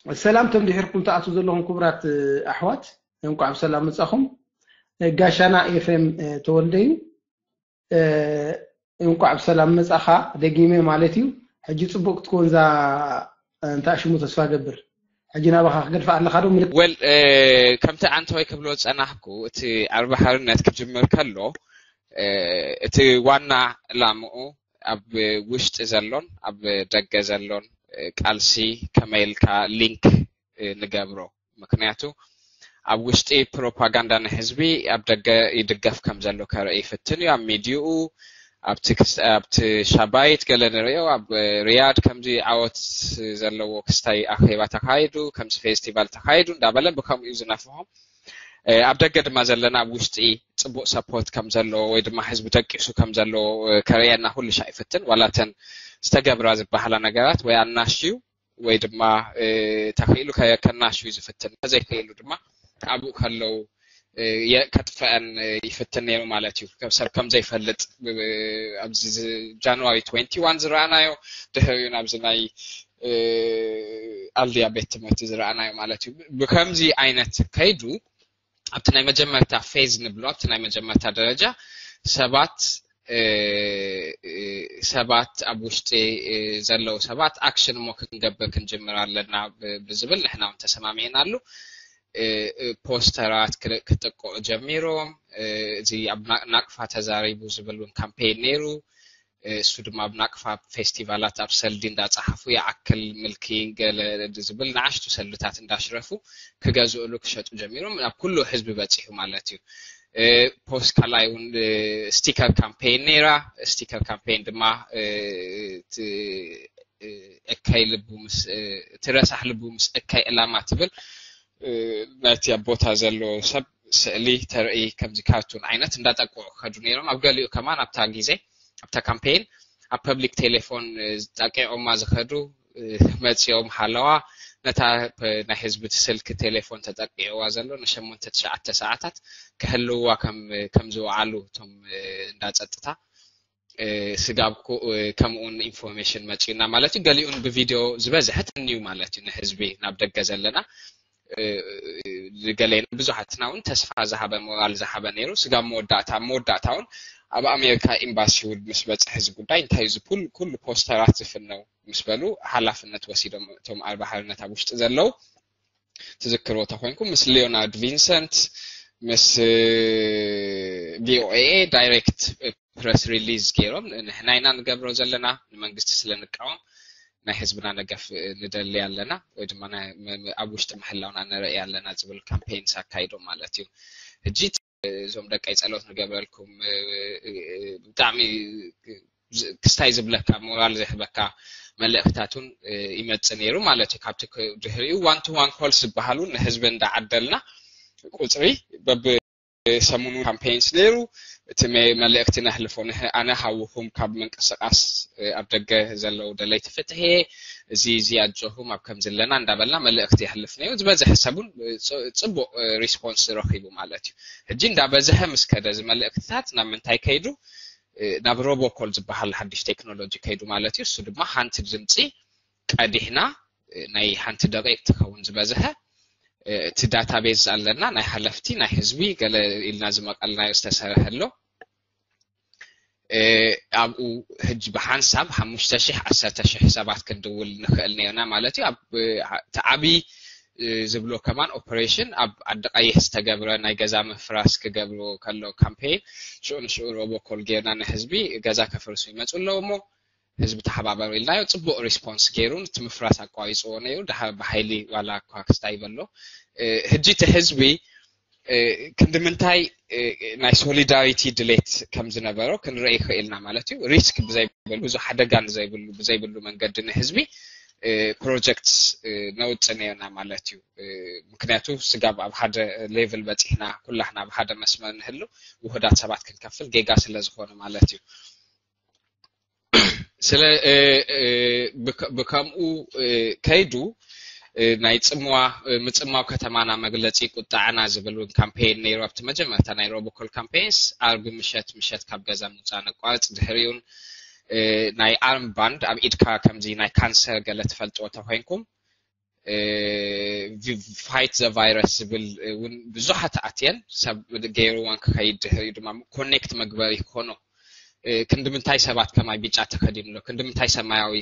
ሰላም፣ ቶም ድሒርኩም ትኣትዉ ዘለኹም ክቡራት ኣሕዋት፣ እንቋዕ ብሰላም መጻኹም። ጋሻና ኤፍሬም ተወልደ እዩ። እንቋዕ ብሰላም መጻኻ ደጊመ ማለት እዩ። ሕጂ ጽቡቕ ክትኮን እዛ እንታይ ሽሙ ተስፋ ገብር። ሕጂ ናባኻ ክገድፋ ኣለኻ ዶ? ምልክ- ወል ከምቲ ኣንተወይ ክብሎ ዝጸናሕኩ፣ እቲ ኣርባ ሓርነት ክጅምር ከሎ እቲ ዋና ዕላምኡ ኣብ ውሽጢ ዘሎን ኣብ ደገ ዘሎን ቃልሲ ከመይ ኢልካ ሊንክ ንገብሮ። ምክንያቱ ኣብ ውሽጢ ፕሮፓጋንዳ ንህዝቢ ኣብ ደገ ይድገፍ ከም ዘሎ ከርኢ ይፍትን እዩ። ኣብ ሚዲኡ፣ ኣብቲ ክስ- ኣብቲ ሻባይት ገለ ንሪኦ፣ ኣብ ሪያድ ከምዚ ዓወት ዘለዎ ክስታይ ኣኼባ ተኻይዱ፣ ከምዚ ፌስቲቫል ተኻይዱ እንዳበለ ብከምኡ እዩ ዝነፍሖም። ኣብ ደገ ድማ ዘለና ኣብ ውሽጢ ጽቡቕ ሰፖርት ከም ዘለዎ ወይ ድማ ህዝቢ ደቂሱ ከም ዘለዎ ከርእየና ኩሉ ሻዕ ይፍትን። ዋላ እተን ዝተገብራ ዝበሃላ ነገራት ወይ ኣናሽዩ ወይ ድማ ተኽኢሉ ከናሽዩ ዝፍትን፣ ዘይክኢሉ ድማ ኣብኡ ከለው ከጥፈአን ይፍትን ነይሩ ማለት እዩ። ሰብ ከም ዘይፈልጥ ኣብዚ ጃንዋሪ ትወንቲ ዋን ዝረኣናዮ፣ ድሕሪኡ ናብዚ ናይ ኣልድያ ቤት ትምህርቲ ዝረኣናዮ ማለት እዩ። ብከምዚ ዓይነት ከይዱ ኣብቲ ናይ መጀመርታ ፌዝ ንብሎ፣ ኣብቲ ናይ መጀመርታ ደረጃ ሰባት ሰባት ኣብ ውሽጢ ዘለዉ ሰባት ኣክሽን እሞ ክንገብር ክንጅምር ኣለና ብዝብል ንሕና እውን ተሰማሚዕናሉ። ፖስተራት ክጥቅዑ ጀሚሮም። እዚ ኣብ ናቅፋ ተዛሪቡ ዝብል እውን ካምፔን ነይሩ። እሱ ድማ ኣብ ናቅፋ ፌስቲቫላት ኣብ ሰልዲ እንዳፀሓፉ ይኣክል ምልኪ ገለ ዝብል ንኣሽቱ ሰልድታት እንዳሽረፉ ክገዝእሉ ክሸጡ ጀሚሮም። ኣብ ኩሉ ህዝቢ በፂሑ ማለት እዩ። ፖስት ካልኣይ እውን ስቲከር ካምፔን ነይራ። ስቲከር ካምፔን ድማ እካይ ልቡ ምስ እቲ ረሳሕ ልቡ ምስ እካይ ዕላማ ትብል ናይቲ ኣብ ቦታ ዘሎ ሰብ ስእሊ ተርኢ ከምዚ ካርቱን ዓይነት እንዳጠቅዑ ክኸዱ ነይሮም። ኣብ ገሊኡ ከማን ኣብታ ግዜ ኣብታ ካምፔን ኣብ ፐብሊክ ቴሌፎን ጠቂዖማ ዝኸዱ መፂኦም ሃለዋ ነታ ናይ ህዝቢ ስልክ ቴሌፎን ተጠቂዕዋ ዘሎ ንሸሞንተ ትሽዓተ ሰዓታት ክህልውዋ ከም ዝወዓሉ እቶም እንዳፀጥታ ስጋብ ከምኡን ኢንፎርሜሽን መፂኡና ማለት እዩ። ገሊኡን ብቪድዮ ዝበዝሐ ተንዩ ማለት እዩ ንህዝቢ ናብ ደገ ዘለና ገሌና ብዙሓትና እውን ተስፋ ዝሃበ ሞራል ዝሃበ ነይሩ። ስጋብ መወዳእታ መወዳእታ እውን ኣብ ኣሜሪካ ኤምባሲ እውን ምስ በፅሐ እዚ ጉዳይ እንታይ እዚ ኩሉ ፖስተራት ዝፍነው ምስ በሉ ሓላፍነት ወሲዶም እቶም ኣርባ ሓርነት ኣብ ውሽጢ ዘለዉ ትዝክርዎ ተኮይንኩም ምስ ሊዮናርድ ቪንሰንት ምስ ቪኦኤ ዳይሬክት ፕረስ ሪሊዝ ገይሮም ንሕና ኢና ንገብሮ ዘለና ንመንግስቲ ስለ ንቃወም ናይ ህዝብና ደገፍ ንደሊ ኣለና ወይ ድማ ኣብ ውሽጢ ምህላውና ንርኢ ኣለና ዝብል ካምፔይንስ ኣካይዶም ማለት እዩ። ሕጂ እዞም ደቀይ ጸሎት ንገብረልኩም ብጣዕሚ ክስታይ ዝብለካ ሞራል ዝህበካ መልእክታት እውን ይመጽእ ነይሩ ማለት እዩ። ካብቲ ድሕሪኡ ዋን ቱ ዋን ኮልስ ዝበሃሉ ንህዝቢ እንዳዓደልና ቁፅሪ በብ ሰሙኑ ካምፔይንስ ነይሩ። እቲ መልእክቲ ነሕልፎ ኣነ ሃውኹም ካብ ምንቅስቃስ ኣብ ደገ ዘለዉ ደለይቲ ፍትሒ እዚ እዚ ኣጆኹም ኣብ ከምዚ ኣለና እንዳበልና መልእክቲ የሕልፍ ነይሩ። ዝበዝሐ ሰብ እውን ፅቡቅ ሪስፖንስ ረኺቡ ማለት እዩ። ሕጂ እንዳበዝሐ ምስ ከደ እዚ መልእክትታት ናብ ምንታይ ከይዱ ናብ ሮቦኮል ዝበሃል ሓድሽ ቴክኖሎጂ ከይዱ ማለት እዩ። እሱ ድማ ሓንቲ ድምፂ ቀዲሕና ናይ ሓንቲ ደቂቅ ትኸውን ዝበዝሐ እቲ ዳታቤዝ ኣለና ናይ ሓለፍቲ ናይ ህዝቢ ገለ ኢልና ዝመቀልናዮ ዝተሰርሐ ኣሎ። ኣብኡ ሕጂ ብሓንሳብ ሓሙሽተ ሺሕ ዓሰርተ ሺሕ ሰባት ክንድውል ንኽእል ነርና ማለት እዩ። እቲ ዓብዪ ዝብሎ ከማን ኦፐሬሽን ኣብ ዓዲ ቀይሕ ዝተገብረ ናይ ገዛ ምፍራስ ክገብርዎ ከሎ ካምፔይን ሽዑ ንሽዑ ሮቦኮል ጌርና ንህዝቢ ገዛ ከፍርሱ ይመፁ ኣለዉ እሞ ህዝቢ ተሓባበሩ ኢልናዮ። ፅቡቅ ሪስፖንስ ገይሩ እቲ ምፍራስ ኣቋሪፅዎ ነይሩ። ድሓር ብሓይሊ ዋላ እኳ ክስታይ በሎ ሕጂ እቲ ህዝቢ ክንዲ ምንታይ ናይ ሶሊዳሪቲ ድሌት ከም ዝነበሮ ክንርኢ ይኽእልና ማለት እዩ። ሪስክ ብዘይብሉ ብዙ ሓደጋ ንዘይብሉ ብዘይብሉ መንገዲ ንህዝቢ ፕሮጀክትስ ነውፅእ ነርና ማለት እዩ። ምክንያቱ ስጋብ ኣብ ሓደ ሌቭል በፂሕና ኩላህና ኣብ ሓደ መስመር ንህሉ ውህዳት ሰባት ክንከፍል ጌጋ ስለ ዝኾነ ማለት እዩ። ስለ ብከምኡ ከይዱ ናይ ፅምዋ ምፅማው ከተማና መግለፂ ቁጣዕና ዝብል እውን ካምፔይን ነይሩ ኣብቲ መጀመርታ ናይ ሮቦኮል ካምፔይንስ ኣርቢ ምሸት ምሸት ካብ ገዛ ምውፃእ ነቋርፅ ድሕሪኡን ናይ ኣርም ባንድ ኣብ ኢድካ ከምዚ ናይ ካንሰር ገለ ትፈልጥዎ ተኮይንኩም fight the virus ዝብል እውን ብዙሓት ኣትየን ሰብ ገይርዋን ክኸይድ ድሕሪኡ ድማ ኮኔክት መግበሪ ክኾኖ ክንዲ ምንታይ ሰባት ከማይ ቢጫ ተኸዲኑ ኣሎ፣ ክንዲ ምንታይ ሰማያዊ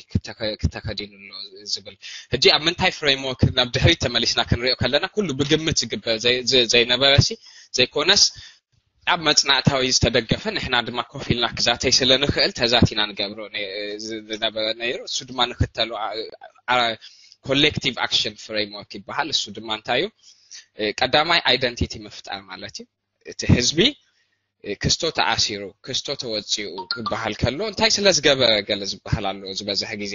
ክተኸዲኑ ኣሎ ዝብል። ሕጂ ኣብ ምንታይ ፍሬምወርክ ናብ ድሕሪት ተመሊስና ክንሪኦ ከለና ኩሉ ብግምት ዝግበር ዘይነበረ ሲ ዘይኮነስ ኣብ መፅናዕታዊ ዝተደገፈ ንሕና ድማ ኮፍ ኢልና ክዛተይ ስለ ንኽእል ተዛቲና ንገብሮ ዝነበረ ነይሩ። እሱ ድማ ንክተሉ ኮሌክቲቭ ኣክሽን ፍሬምወርክ ይበሃል። እሱ ድማ እንታይ እዩ? ቀዳማይ ኣይደንቲቲ ምፍጣር ማለት እዩ። እቲ ህዝቢ ክስቶ ተኣሲሩ ክስቶ ተወፂኡ ክበሃል ከሎ እንታይ ስለ ዝገበረ ገለ ዝበሃል ኣሎ ዝበዝሕ ግዜ።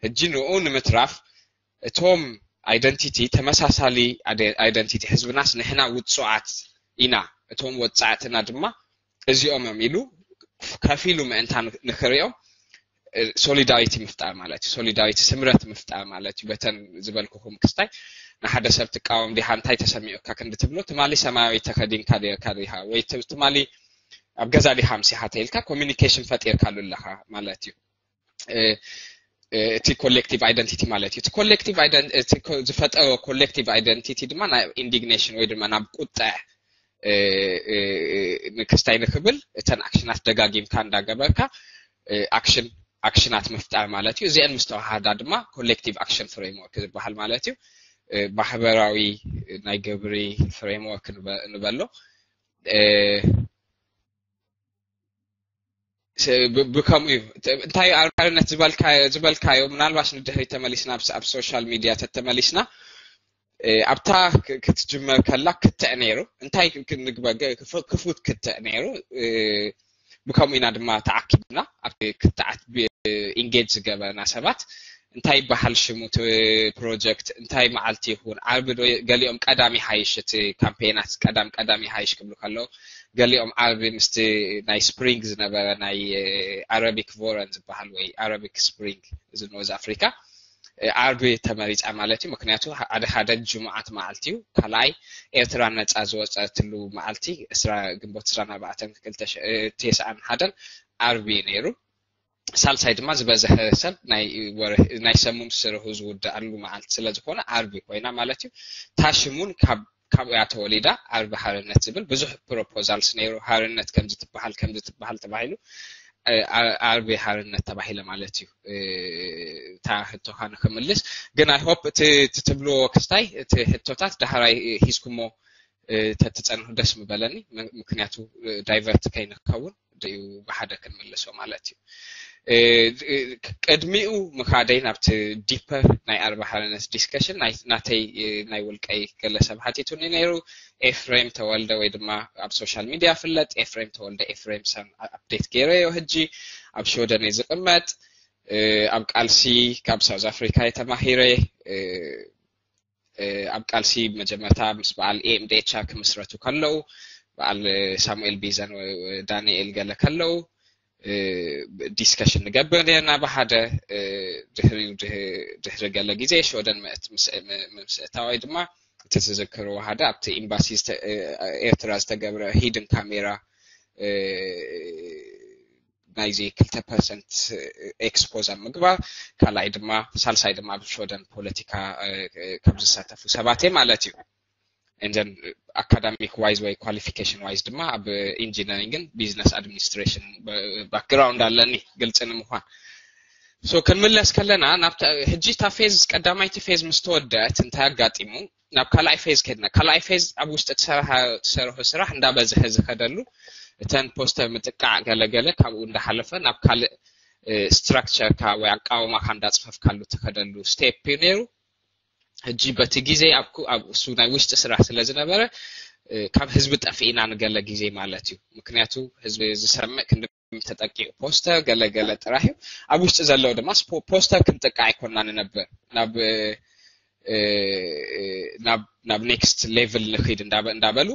ሕጂ ንኡ ንምትራፍ እቶም ኣይደንቲቲ ተመሳሳሊ ኣይደንቲቲ ህዝብናስ ንሕና ውፁዓት ኢና እቶም ወፃዕትና ድማ እዚኦም እዮም ኢሉ ከፊሉ ምእንታ ንክሪኦም ሶሊዳሪቲ ምፍጣር ማለት እዩ። ሶሊዳሪቲ ስምረት ምፍጣር ማለት እዩ። በተን ዝበልኩኹም ክስታይ ንሓደ ሰብ ትቃወም ዲኻ እንታይ ተሰሚዑካ ክንዲ ትብሎ ትማሊ ሰማያዊ ተኸዲንካ ዲኻ ወይ ትማሊ ኣብ ገዛ ዲኻ ምሲሓ ተኢልካ ኮሚኒኬሽን ፈጢርካሉ ኣለኻ ማለት እዩ። እቲ ኮሌክቲቭ ኣይደንቲቲ ማለት እዩ። እቲ ኮሌክቲቭ ዝፈጠሮ ኮሌክቲቭ ኣይደንቲቲ ድማ ናብ ኢንዲግኔሽን ወይ ድማ ናብ ቁጥዕ ንክስታይ ንክብል እተን ኣክሽናት ደጋጊምካ እንዳገበርካ ኣክሽን ኣክሽናት ምፍጣር ማለት እዩ። እዚአን ምስ ተዋሃዳ ድማ ኮሌክቲቭ ኣክሽን ፍሬምወርክ ዝበሃል ማለት እዩ። ማሕበራዊ ናይ ግብሪ ፍሬምወርክ ንበሎ ብከምኡ እዩ። እንታይ ኣርነት ዝበልካዮ ምናልባሽ ንድሕሪ ተመሊስና ኣብ ሶሻል ሚድያ ተተመሊስና ኣብታ ክትጅመር ከላ ክትዕ ነይሩ እንታይ ክፉት ክትዕ ነይሩ። ብከምኡ ኢና ድማ ተዓኪብና ኣብቲ ክትዓት ኢንጌጅ ዝገበርና ሰባት እንታይ ይበሃል ሽሙ ፕሮጀክት እንታይ መዓልቲ ይኹን ዓርቢ ዶ ገሊኦም ቀዳም ይሓይሽ እቲ ካምፔናት ቀዳም ቀዳም ይሓይሽ ክብሉ ከለዉ ገሊኦም ዓርቢ ምስቲ ናይ ስፕሪንግ ዝነበረ ናይ ኣረቢክ ቮረን ዝበሃል ወይ ኣረቢክ ስፕሪንግ እዚ ኖርዝ ኣፍሪካ ዓርቢ ተመሪፃ ማለት እዩ። ምክንያቱ ሓደ ሓደ ጅሙዓት መዓልቲ እዩ። ካልኣይ ኤርትራ ነፃ ዝወፀትሉ መዓልቲ ግንቦት ዕስራን ኣርባዕተን ክልተ ሺሕ ተስዓን ሓደን ዓርቢ እዩ ነይሩ። ሳልሳይ ድማ ዝበዝሐ ሰብ ናይ ሰሙን ስርሑ ዝውድኣሉ መዓልቲ ስለዝኾነ ዓርቢ ኮይና ማለት እዩ። ታሽሙን ካብ ካብኡ እያ ተወሊዳ ዓርቢ ሓርነት ዝብል ብዙሕ ፕሮፖዛልስ ነይሩ። ሓርነት ከምዚ ትበሃል ከምዚ ትበሃል ተባሂሉ ዓርቢ ሓርነት ተባሂለ ማለት እዩ። እታ ሕቶኻ ንክምልስ ግን ኣይ ሆፕ እቲ ትብልዎ ክስታይ እቲ ሕቶታት ዳሕራይ ሂዝኩሞ ተትፀንሑ ደስ ምበለኒ። ምክንያቱ ዳይቨርት ከይንከውን ድዩ ብሓደ ክንምልሶ ማለት እዩ። ቅድሚኡ ምኻደይ ናብቲ ዲፐር ናይ ኣርባ ሓርነት ዲስከሽን ናተይ ናይ ውልቀይ ገለ ሰብ ሓቲቱኒ ነይሩ። ኤፍሬም ተወልደ ወይ ድማ ኣብ ሶሻል ሚድያ ፍለጥ ኤፍሬም ተወልደ ኤፍሬም ሰም ኣፕዴት ገይረዮ ሕጂ ኣብ ሽወደን እየ ዝቕመጥ። ኣብ ቃልሲ ካብ ሳውዝ ኣፍሪካ እየ ተማሂረ። ኣብ ቃልሲ መጀመርታ ምስ በዓል ኤምዴቻ ክምስረቱ ከለዉ በዓል ሳሙኤል ቢዘን ዳንኤል ገለ ከለዉ ዲስከሽን ንገብር ነርና ብሓደ። ድሕሪኡ ድሕሪ ገለ ግዜ ሽወደን ምስ እታወይ ድማ እቲ ትዝክርዎ ሓደ ኣብቲ ኤምባሲ ኤርትራ ዝተገብረ ሂድን ካሜራ ናይዚ ክልተ ፐርሰንት ኤክስፖዝ ኣብ ምግባር ካልኣይ ድማ ሳልሳይ ድማ ኣብ ሽወደን ፖለቲካ ካብ ዝሳተፉ ሰባት እየ ማለት እዩ። And then academic wise ወይ qualification wise ድማ ኣብ ኢንጂነሪንግን ቢዝነስ ኣድሚኒስትሬሽን ባክግራውንድ ኣለኒ ግልፂ ንምኳን። ሶ ክንምለስ ከለና ናብ ሕጂ እታ ፌዝ ቀዳማይቲ ፌዝ ምስ ተወደአት እንታይ ኣጋጢሙ ናብ ካልኣይ ፌዝ ከድና። ካልኣይ ፌዝ ኣብ ውሽጢ ትሰርሖ ስራሕ እንዳበዝሐ ዝኸደሉ እተን ፖስተር ምጥቃዕ ገለገለ ካብኡ እንዳሓለፈ ናብ ካልእ ስትራክቸርካ ወይ ኣቃውማካ እንዳፅፈፍካሉ ትኸደሉ ስቴፕ እዩ ነይሩ። ሕጂ በቲ ግዜ ኣብ እሱ ናይ ውሽጢ ስራሕ ስለ ዝነበረ ካብ ህዝቢ ጠፊእና ንገለ ግዜ ማለት እዩ። ምክንያቱ ህዝቢ ዝሰምዕ ክንዲ ተጠቂዑ ፖስተር ገለ ገለ ጥራሕ እዩ። ኣብ ውሽጢ ዘለዉ ድማ ፖስተር ክንጥቃዕ ኣይኮና ንነብር ናብ ናብ ኔክስት ሌቭል ንክድ እንዳበሉ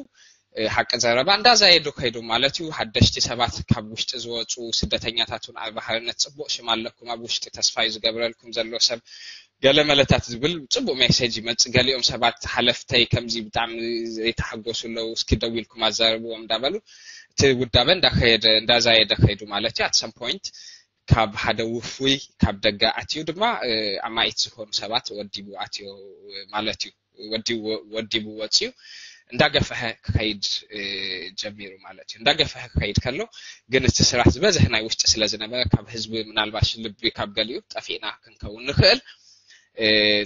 ሓቂ ዘረባ እንዳዛየዱ ከይዱ ማለት እዩ። ሓደሽቲ ሰባት ካብ ውሽጢ ዝወፁ ስደተኛታት እውን ኣብ ባሕርነት ፅቡቅ ሽም ኣለኩም ኣብ ውሽጢ ተስፋ እዩ ዝገብረልኩም ዘሎ ሰብ ገለ መለታት ዝብል ፅቡቅ ሜሴጅ ይመፅእ። ገሊኦም ሰባት ሓለፍተይ ከምዚ ብጣዕሚ ዘይተሓጎሱ ኣለዉ እስኪ ደው ኢልኩም ኣዛርብዎም እንዳበሉ እቲ ውዳበ እንዳከየደ እንዳዛየደ ከይዱ ማለት እዩ። ኣት ሰም ፖይንት ካብ ሓደ ውፉይ ካብ ደገ ኣትዩ ድማ ኣማኢት ዝኾኑ ሰባት ወዲቡ ኣትዮ ማለት እዩ። ወዲቡ ወፅዩ እንዳገፈሐ ክኸይድ ጀሚሩ ማለት እዩ። እንዳገፈሐ ክኸይድ ከሎ ግን እቲ ስራሕ ዝበዝሕ ናይ ውሽጢ ስለ ዝነበረ ካብ ህዝቢ ምናልባሽ ልቢ ካብ ገሊኡ ጠፊእና ክንከውን ንኽእል።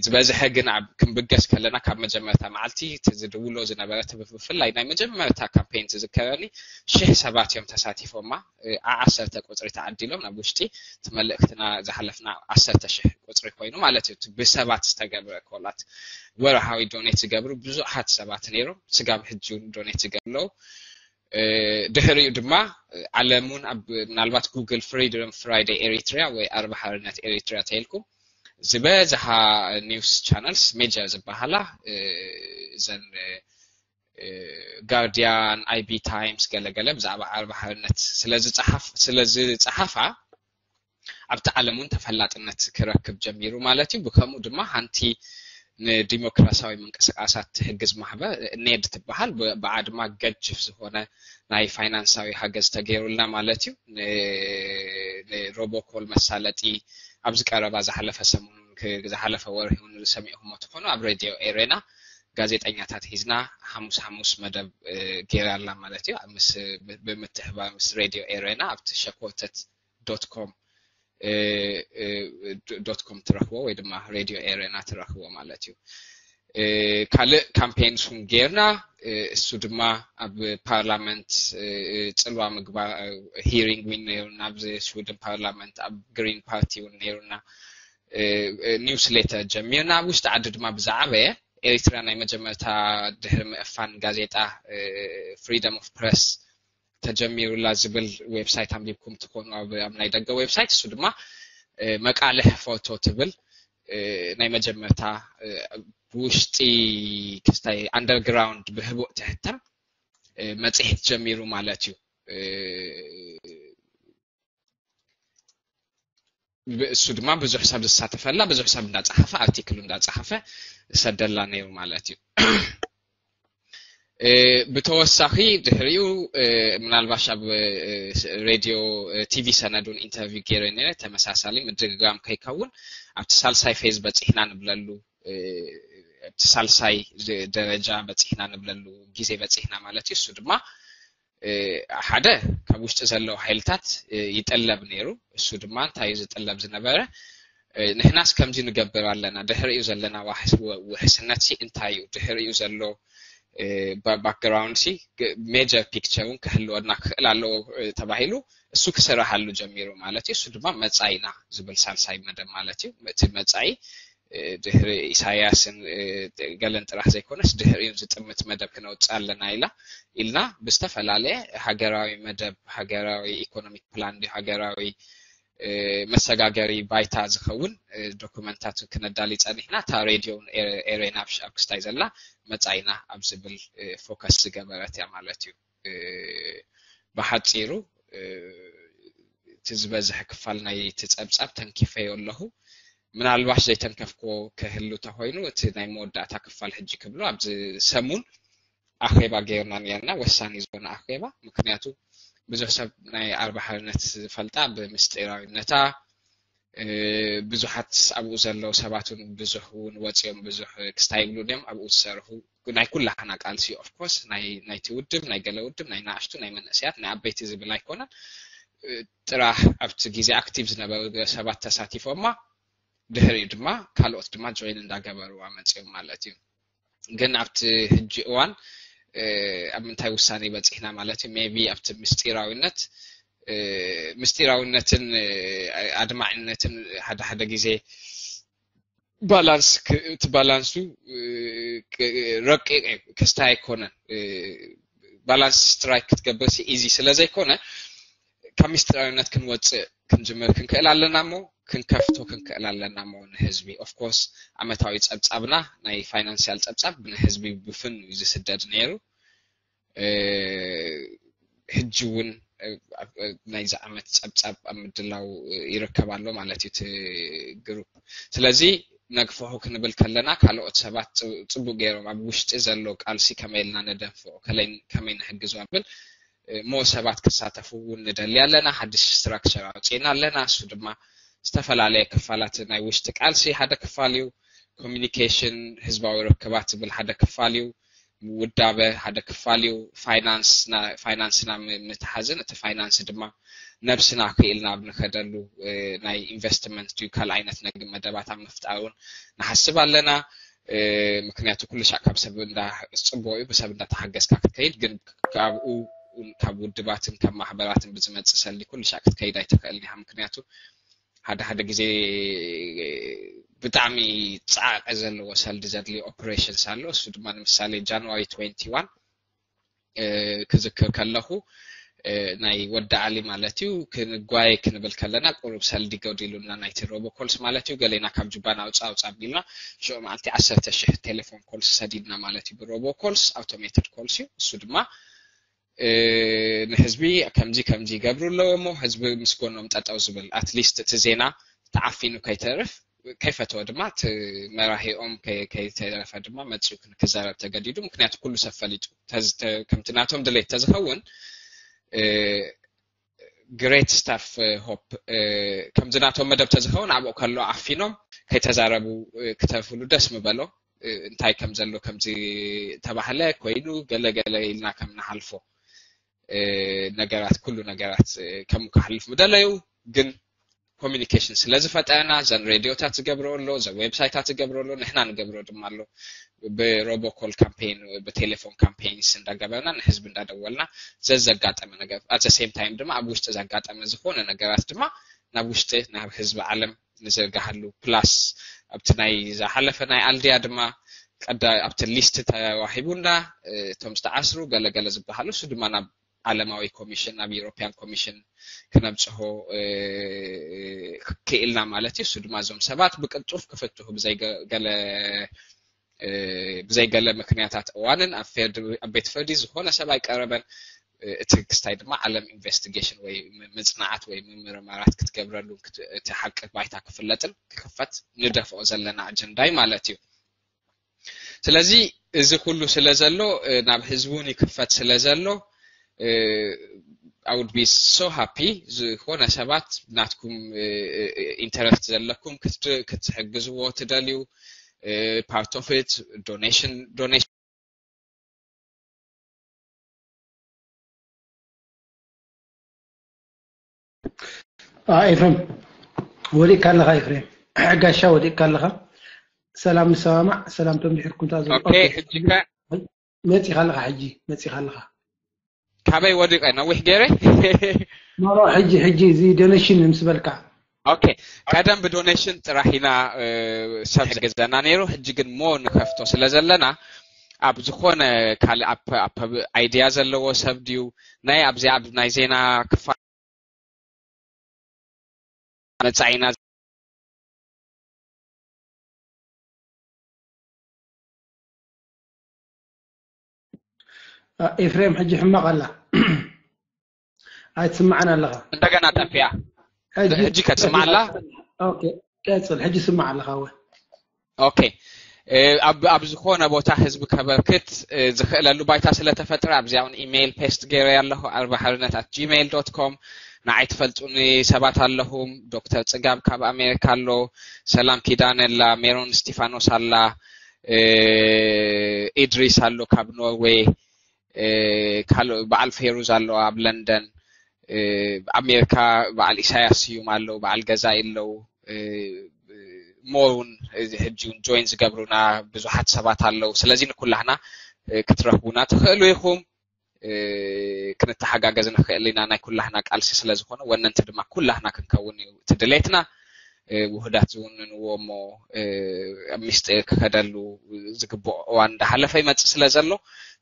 ዝበዝሐ ግን ኣብ ክንብገስ ከለና ካብ መጀመርታ መዓልቲ እቲ ዝድውሎ ዝነበረ ብፍላይ ናይ መጀመርታ ካምፔን ዝዝከረኒ ሽሕ ሰባት እዮም ተሳቲፎማ። ዓሰርተ ቁፅሪ ተዓዲሎም ናብ ውሽጢ እቲ መልእክትና ዝሓለፍና ዓሰርተ ሽሕ ቁፅሪ ኮይኑ ማለት እዩ። ብሰባት ዝተገብረ ኮላት ወርሃዊ ዶኔት ዝገብሩ ብዙሓት ሰባት ነይሮም። ስጋብ ሕጂ ዶኔት ዝገብሩ ኣለዉ። ድሕሪኡ ድማ ዓለም እውን ኣብ ምናልባት ጉግል ፍሪደም ፍራይደይ ኤሪትሪያ ወይ ኣርባ ሓርነት ኤሪትሪያ ተይልኩም ዝበዝሓ ኒውስ ቻነልስ ሜጀር ዝበሃላ እዘን ጋርዲያን፣ ኣይቢ ታይምስ ገለገለ ብዛዕባ ኣርባ ሓርነት ስለዝፀሓፋ ኣብቲ ዓለም እውን ተፈላጥነት ክረክብ ጀሚሩ ማለት እዩ። ብከምኡ ድማ ሓንቲ ንዲሞክራሲያዊ ምንቅስቃሳት ትሕግዝ ማሕበር ኔድ ትበሃል ብዓ ድማ ገጅፍ ዝኾነ ናይ ፋይናንሳዊ ሓገዝ ተገይሩልና ማለት እዩ። ንሮቦኮል መሳለጢ ኣብዚ ቀረባ ዝሓለፈ ሰሙን ዝሓለፈ ወርሒ እውን ዝሰሚዕኹሞ ትኾኑ ኣብ ሬድዮ ኤሬና ጋዜጠኛታት ሒዝና ሓሙስ ሓሙስ መደብ ገይራ ኣላ ማለት እዩ። ብምትሕባር ምስ ሬድዮ ኤሬና ኣብቲ ሸኮተት ዶት ኮም ዶት ኮም ትረኽቦ ወይ ድማ ሬድዮ ኤሬና ትረኽቦ ማለት እዩ። ካልእ ካምፔን ሱን ጌርና እሱ ድማ ኣብ ፓርላመንት ፅልዋ ምግባር ሂሪንግ ውን ነይሩና ኣብ ስዊድን ፓርላመንት ኣብ ግሪን ፓርቲ ውን ነይሩና። ኒውስሌተር ጀሚርና ኣብ ውሽጢ ዓዲ ድማ ብዛዕበየ ኤሪትራ ናይ መጀመርታ ድሕሪ ምእፋን ጋዜጣ ፍሪደም ኦፍ ፕረስ ተጀሚሩላ ዝብል ዌብሳይት ኣንቢብኩም ትኾኑ ኣብ ናይ ደገ ዌብሳይት እሱ ድማ መቃልሕ ፎቶ ትብል ናይ መጀመርታ ብውሽጢ ክስታይ ኣንደርግራውንድ ብህቡእ ትሕተም መፅሄት ጀሚሩ ማለት እዩ። እሱ ድማ ብዙሕ ሰብ ዝሳተፈላ ብዙሕ ሰብ እንዳፀሓፈ ኣርቲክሉ እንዳፀሓፈ ዝሰደላ ነይሩ ማለት እዩ። ብተወሳኺ ድሕሪኡ ምናልባሽ ኣብ ሬድዮ ቲቪ ሰነዱን ኢንተርቪው ገይረ ነረ ተመሳሳሊ ምድግጋም ከይከውን ኣብቲ ሳልሳይ ፌዝ በፂሕና ንብለሉ ኣብቲ ሳልሳይ ደረጃ በፂሕና ንብለሉ ግዜ በፂሕና ማለት እዩ። እሱ ድማ ሓደ ካብ ውሽጢ ዘለዉ ሓይልታት ይጥለብ ነይሩ። እሱ ድማ እንታይ እዩ ዝጥለብ ዝነበረ? ንሕናስ ከምዚ ንገብር ኣለና፣ ድሕሪኡ ዘለና ውሕስነት ሲ እንታይ እዩ? ድሕሪኡ ዘሎ ባክግራውንድ ሲ ሜጀር ፒክቸር እውን ክህልወና ክኽእል ኣለዎ ተባሂሉ እሱ ክስራሓሉ ጀሚሩ ማለት እዩ። እሱ ድማ መፃኢና ዝብል ሳልሳይ መደብ ማለት እዩ። እቲ መፃኢ ድሕሪ ኢሳያስን ገለን ጥራሕ ዘይኮነስ ድሕሪኡ ዝጥምት መደብ ክነውፅእ ኣለና ኢላ ኢልና ብዝተፈላለየ ሃገራዊ መደብ ሃገራዊ ኢኮኖሚክ ፕላን ሃገራዊ መሰጋገሪ ባይታ ዝኸውን ዶኩመንታት ክነዳሊ ፀኒሕና እታ ሬድዮ ኤሬና ኣብ ክስታይ ዘላ መፃኢና ኣብ ዝብል ፎከስ ዝገበረት እያ ማለት እዩ። ብሓፂሩ እቲ ዝበዝሐ ክፋል ናይ እቲ ፀብፃብ ተንኪፈዮ ኣለኹ። ምናልባሽ ዘይተንከፍክዎ ክህሉ ተኮይኑ እቲ ናይ መወዳእታ ክፋል ሕጂ ክብሎ ኣብዚ ሰሙን ኣኼባ ገይርና ነርና ወሳኒ ዝኾነ ኣኼባ ምክንያቱ ብዙሕ ሰብ ናይ ኣርባ ሓርነት ዝፈልጣ ብምስጢራዊነታ ብዙሓት ኣብኡ ዘለዉ ሰባት እውን ብዙሕ እውን ወፂኦም ብዙሕ ክስታይ ይብሉ እዮም ኣብኡ ዝሰርሑ ናይ ኩላህና ቃልሲ ኦፍኮርስ ናይቲ ውድብ ናይ ገለ ውድብ ናይ ናእሽቱ ናይ መንእሰያት ናይ ኣበይቲ ዝብል ኣይኮነን። ጥራሕ ኣብቲ ግዜ ኣክቲቭ ዝነበሩ ሰባት ተሳቲፎማ ድሕሪኡ ድማ ካልኦት ድማ ጆይን እንዳገበርዋ መፅኦም ማለት እዩ። ግን ኣብቲ ሕጂ እዋን ኣብ ምንታይ ውሳኔ በፂሕና ማለት እዩ maybe ኣብቲ ምስጢራዊነት ምስጢራዊነትን ኣድማዕነትን ሓደ ሓደ ግዜ ባላንስ እቲ ባላንሱ ረቂቅ እዩ ክስታይ ኣይኮነን። ባላንስ ስትራይክ ክትገብር ኢዚ ስለዘይኮነ ካብ ምስጢራዊነት ክንወፅእ ክንጅምር ክንክእል ኣለና እሞ ክንከፍቶ ክንክእል ኣለና እሞ ንህዝቢ ኦፍኮርስ ዓመታዊ ፀብፃብና ናይ ፋይናንስያል ፀብፃብ ንህዝቢ ብፍን እዩ ዝስደድ ነይሩ። ሕጂ እውን ናይዚ ዓመት ፀብፃብ ኣብ ምድላው ይርከብ ኣሎ ማለት እዩ እቲ ግሩፕ። ስለዚ ነግፍሑ ክንብል ከለና ካልኦት ሰባት ፅቡቅ ገይሮም ኣብ ውሽጢ ዘሎ ቃልሲ ከመይ ኢልና ነደንፍዑ ከመይ ንሕግዞ ብል እ፣ ሞ ሰባት ክሳተፉ እውን ንደሊ ኣለና። ሓድሽ ስትራክቸር ኣውፅእና ኣለና። እሱ ድማ ዝተፈላለየ ክፋላት ናይ ውሽጢ ቃልሲ ሓደ ክፋል እዩ። ኮሚኒኬሽን፣ ህዝባዊ ርክባት ዝብል ሓደ ክፋል እዩ። ውዳበ ሓደ ክፋል እዩ። ፋይናንስና፣ ፋይናንስና ም-፣ ምትሓዝን እቲ ፋይናንስ ድማ ነብስና ክኢልና ኣብ ንኸደሉ፣ እ፣ ናይ ኢንቨስትመንት ድዩ ካልእ ዓይነት ነግ መደባት ኣብ ምፍጣር እውን ንሓስብ ኣለና። እ፣ ምክንያቱ ኩሉ ሻዕ ካብ ሰብ እንዳ ጽቡቕ እዩ፣ ብሰብ እንዳተሓገዝካ ክትከይድ፣ ግን ካብኡ እውን ካብ ውድባትን ካብ ማሕበራትን ብዝመጽእ ሰልዲ ኩሉ ሻዕ ክትከይድ ኣይትኽእልን ኢኻ። ምክንያቱ ሓደ ሓደ ግዜ ብጣዕሚ ጻዕቂ ዘለዎ ሰልዲ ዘድልዮ ኦፕሬሽንስ ኣሎ። እሱ ድማ ንምሳሌ ጃንዋሪ ትዌንቲ ዋን፣ እ፣ ክዝክር ከለኹ፣ እ፣ ናይ ወዲ ዓሊ ማለት እዩ፣ ክንጓየ ክንብል ከለና ቁሩብ ሰልዲ ጎዲሉና ናይቲ ሮቦኮልስ ማለት እዩ። ገሌና ካብ ጁባና ኣውጻ ኣውጻ ኣቢልና ሽዑ መዓልቲ ዓሰርተ ሽሕ ቴሌፎን ኮልስ ሰዲድና ማለት እዩ። ብሮቦኮልስ ኣውቶሜትድ ኮልስ እዩ። እሱ ድማ፣ እ፣ ንህዝቢ ከምዚ ከምዚ ይገብሩ ኣለዎ እሞ ህዝቢ ምስ ጎኖም ጠጠው ዝብል፣ ኣትሊስት እቲ ዜና ተዓፊኑ ከይተርፍ፣ ከይፈተወ ድማ እቲ መራሂኦም ከይ-፣ ከይተረፈ ድማ መጺኡ ክን-፣ ክዛረብ ተገዲዱ። ምክንያቱ ኩሉ ሰብ ፈሊጡ። ተዝ-፣ ተ-፣ ከምቲ ናቶም ድሌት ተዝኸውን፣ እ፣ ግሬት ስታፍ ሆፕ፣ እ፣ ከምዚ ናቶም መደብ ተዝኸውን ኣብኡ ከሎ ዓፊኖም ከይተዛረቡ፣ እ፣ ክተርፍሉ ደስ ምበሎ። እ፣ እንታይ ከም ዘሎ ከምዚ ተባህለ ኮይኑ ገለ ገለ ኢልና ከም ንሓልፎ፣ እ፣ ነገራት፣ ኩሉ ነገራት፣ እ፣ ከምኡ ክሓልፍ ምደለዩ። ግን ኮሚኒኬሽን ስለ ዝፈጠረና፣ ዘን ሬድዮታት ዝገብሮ ኣሎ፣ ዘን ዌብሳይታት ዝገብሮ ኣሎ፣ ንሕና ንገብሮ ድማ ኣሎ። ብሮቦኮል ካምፔይን፣ ብቴሌፎን ካምፔይንስ እንዳገበርና፣ ንህዝቢ እንዳደወልና፣ ዘዘጋጠመ ነገር፣ ኣት ዘ ሴም ታይም ድማ ኣብ ውሽጢ ዘጋጠመ ዝኾነ ነገራት ድማ ናብ ውሽጢ፣ ናብ ህዝቢ ዓለም ንዘርግሃሉ። ፕላስ ኣብቲ ናይ ዝሓለፈ ናይ ኣልድያ ድማ ቀዳ-፣ ኣብቲ ሊስት ተዋሂቡና፣ እ፣ እቶም ዝተዓስሩ ገለ ገለ ዝበሃሉ፣ እሱ ድማ ናብ ዓለማዊ ኮሚሽን፣ ናብ ዩሮፒያን ኮሚሽን ክነብጽሖ፣ እ፣ ክኢልና ማለት እዩ። እሱ ድማ እዞም ሰባት ብቅልጡፍ ክፍትሑ ብዘይ ገ-፣ ገለ፣ እ፣ ብዘይ ገለ ምክንያታት እዋንን ኣብ ፌርድ-፣ ኣብ ቤት ፍርዲ ዝኾነ ሰብ ኣይቀረበን። እ፣ እቲ ክስታይ ድማ ዓለም ኢንቨስቲጌሽን ወይ ም-፣ ምጽናዓት ወይ ምምርማራት ክትገብረሉ ክት-፣ እቲ ሓቂ ባይታ ክፍለጥን ክኽፈት ንደፍኦ ዘለና ኣጀንዳይ ማለት እዩ። ስለዚ እዚ ኩሉ ስለ ዘሎ፣ እ፣ ናብ ህዝቢ እውን ይክፈት ስለ ዘሎ፣ እ፣ I would be so happy ዝኾነ ሰባት ናትኩም፣ እ፣ እ፣ ኢንተረስት ዘለኩም ክትድ-፣ ክትሕግዝዎ ትደልዩ፣ እ፣ part of it፣ ዶኔሽን፣ ዶኔሽን። አ፣ ኤፍሬም፣ ወዲቕካ ኣለኻ ኤፍሬም። ጋሻ፣ ወዲቕካ ኣለኻ። ሰላም ንሰማማዕ፣ ሰላም ቶም ድሕርኩም ተኣዘቡ። ኦኬ፣ ኦኬ። ሕጂ ከ? መጺኻ ኣለኻ ሕጂ፣ መጺኻ ኣለኻ። ካበይ ወዲቐ? ነዊሕ ገይረ? ኖ፣ ኖ፣ ሕጂ፣ ሕጂ እዚ ዶኔሽን ምስ በልካ። ኦኬ፣ ቀደም ብዶኔሽን ጥራሕ ኢና፣ እ፣ ሰብ ዝሕግዘና ነይሩ። ሕጂ ግን ሞ ንኸፍቶ ስለ ዘለና፣ ኣብ ዝኾነ ካልእ ኣፕ፣ ኣፕ ኣይድያ ዘለዎ ሰብ ድዩ? ናይ ኣብዚ ኣብ ናይ ዜና ክፋል መጻኢና። አ፣ ኤፍሬም፣ ሕጂ ሕማቕ ኣላ። ኣይትስምዓን ኣለኻ። እንደገና ጠፊኣ። ሕጂ፣ ሕጂ ከትስማዕ ኣላ? ኦኬ፣ ቀጽል። ሕጂ ስማዕ ኣለኻ ወ። ኦኬ። እ፣ ኣብ፣ ኣብ ዝኾነ ቦታ ህዝቢ ከበርክት፣ እ፣ ዝኽእለሉ ባይታ ስለ ተፈጥረ፣ ኣብዚኣ እውን ኢሜይል ፔስት ገይረ ኣለኹ፣ ኣርባ ሓርነት ኣት ጂሜይል ዶት ኮም። ንዓይ ትፈልጡኒ ሰባት ኣለኹም፣ ዶክተር ጽጋብ ካብ ኣሜሪካ ኣሎ፣ ሰላም ኪዳነ ኣላ፣ ሜሮን እስቲፋኖስ ኣላ፣ እ፣ ኢድሪስ ኣሎ ካብ ኖርዌይ፣ እ፣ ካልእ በዓል ፌሩዝ ኣሎ ኣብ ለንደን፣ እ፣ ኣሜሪካ በዓል ኢሳያስ ስዩም ኣለዉ፣ በዓል ገዛኢ ኣለዉ፣ እ፣ ሞውን እዚ ሕጂ እውን ጆይን ዝገብሩና ብዙሓት ሰባት ኣለዉ። ስለዚ ንኩላህና፣ እ፣ ክትረኽቡና ትኽእሉ ኢኹም። እ፣ ክንተሓጋገዝ ንኽእል ኢና። ናይ ኩላህና ቃልሲ ስለ ዝኾነ ወነንቲ ድማ ኩላህና ክንከውን እዩ እቲ ድሌትና። እ፣ ውሁዳት ዝውንንዎ እሞ፣ እ፣ ኣብ ሚስጢር ክኸደሉ ዝግብኦ እዋን እንዳሓለፈ ይመጽእ ስለ ዘሎ፣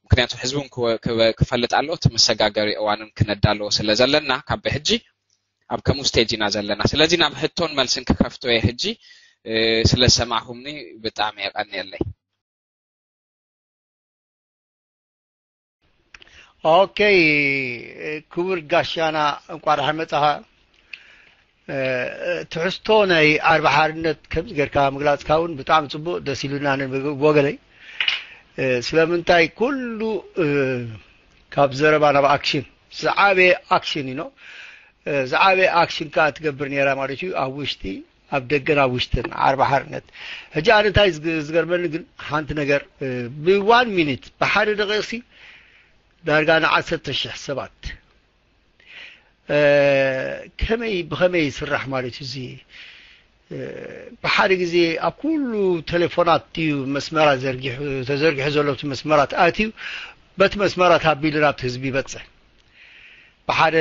ምክንያቱ ህዝቢ እውን ክወ-፣ ክወ-፣ ክፈልጥ ኣለዎ። እቲ መሰጋገሪ እዋንን ክነዳለዎ ስለ ዘለና ካብ ብሕጂ ኣብ ከምኡ ስቴጅ ኢና ዘለና። ስለዚ ናብ ሕቶን መልስን ክከፍቶ እየ ሕጂ። እ፣ ስለ ዝሰማዕኹምኒ ብጣዕሚ የቐንየለይ። ኦኬ፣ ክቡር ጋሻና፣ እንቋዕ ደሓን መጻኻ። እ፣ ትሕዝቶ ናይ ኣርባ ሓርነት ከምዚ ጌርካ ምግላጽካ እውን ብጣዕሚ ጽቡቕ፣ ደስ ኢሉና ንብል ብወገነይ። እ፣ ስለምንታይ ኩሉ፣ እ፣ ካብ ዘረባ ናብ ኣክሽን ዝዓበየ ኣክሽን እዩ። ዝዓበየ ኣክሽን ከዓ ትገብር ነይራ ማለት እዩ። ኣብ ውሽጢ፣ ኣብ ደገን ኣብ ውሽጥን ዓርቢ ሓርነት። ሕጂ ኣነ እንታይ ዝግ- ዝገርመኒ ግን ሓንቲ ነገር፣ እ፣ ብዋን ሚኒት፣ ብሓደ ደቂቕሲ ዳርጋ ንዓሰርተ ሽሕ ሰባት፣ እ፣ ከመይ ብኸመይ ይስራሕ ማለት እዩ እዚ? እ፣ ብሓደ ግዜ ኣብ ኩሉ ቴሌፎናት እዩ መስመራት ዘርጊሑ፣ ተዘርጊሑ ዘሎ እቲ መስመራት ኣትዩ፣ በቲ መስመራት ኣቢሉ ናብቲ ህዝቢ ይበፅሕ። ብሓደ፣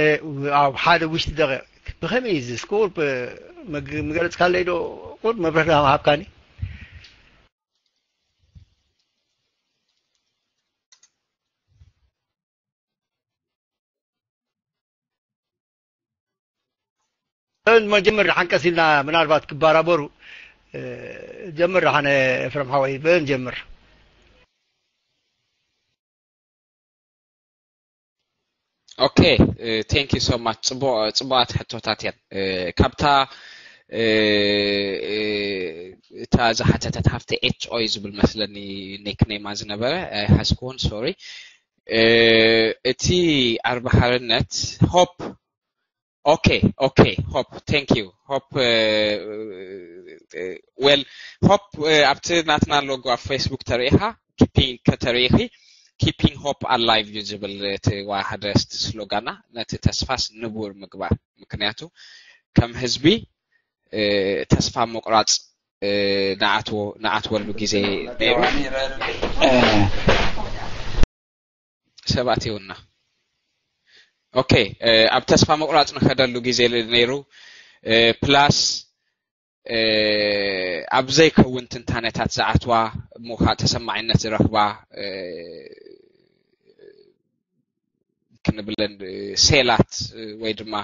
ኣብ ሓደ ውሽጢ ደቂቕ ብኸመይ እዩ እዚ? እስኪ ቁርብ መግ- ምገለፅካለይ ዶ? ቁርብ መብርህ ሃብካኒ። መጀመር ሓንቀስ ኢልና ምናልባት ክባራበሩ፣ እ፣ ጀምር ሓነ ኤፍረም ሓወይ፣ በን ጀምር። Okay, thank you so much. ጽቡቕ ጽቡቓት ሕቶታት እየን። እ፣ ካብታ እ፣ እ፣ እታ ዝሓተተት ሃፍቲ ኤች ኦ እዩ ዝብል መስለኒ ኒክኔማ ዝነበረ፣ ኣይሓዝክዎን፣ ሶሪ። እ፣ እቲ ዓርቢ ሓርነት ሆፕ። Okay, okay, ሆፕ፣ thank you ሆፕ። እ፣ እ፣ እ፣ well፣ ሆፕ፣ እ፣ ኣብቲ ናትና ሎጎ ኣብ ፌስቡክ ተሪኢኻ፣ ኪፒንግ ከተሪኢኺ፣ ኪፒንግ ሆፕ ኣላይቭ እዩ ዝብል እቲ ዋ- ሓደ ስሎጋና። ነቲ ተስፋስ ንቡር ምግባር። ምክንያቱ ከም ህዝቢ፣ እ፣ ተስፋ ምቑራፅ፣ እ፣ ንኣትዎ ንኣትወሉ ግዜ ነይሩ። እ፣ ሰባት ይውና። Okay፣ እ፣ ኣብ ተስፋ ምቑራፅ ንኸደሉ ግዜ ነይሩ። እ፣ ፕላስ፣ እ፣ ኣብ ዘይከውን ትንታነታት ዝኣትዋ፣ እሞ ከዓ ተሰማዒነት ዝረኽባ፣ እ፣ ክንብለን፣ እ፣ ሴላት፣ እ፣ ወይ ድማ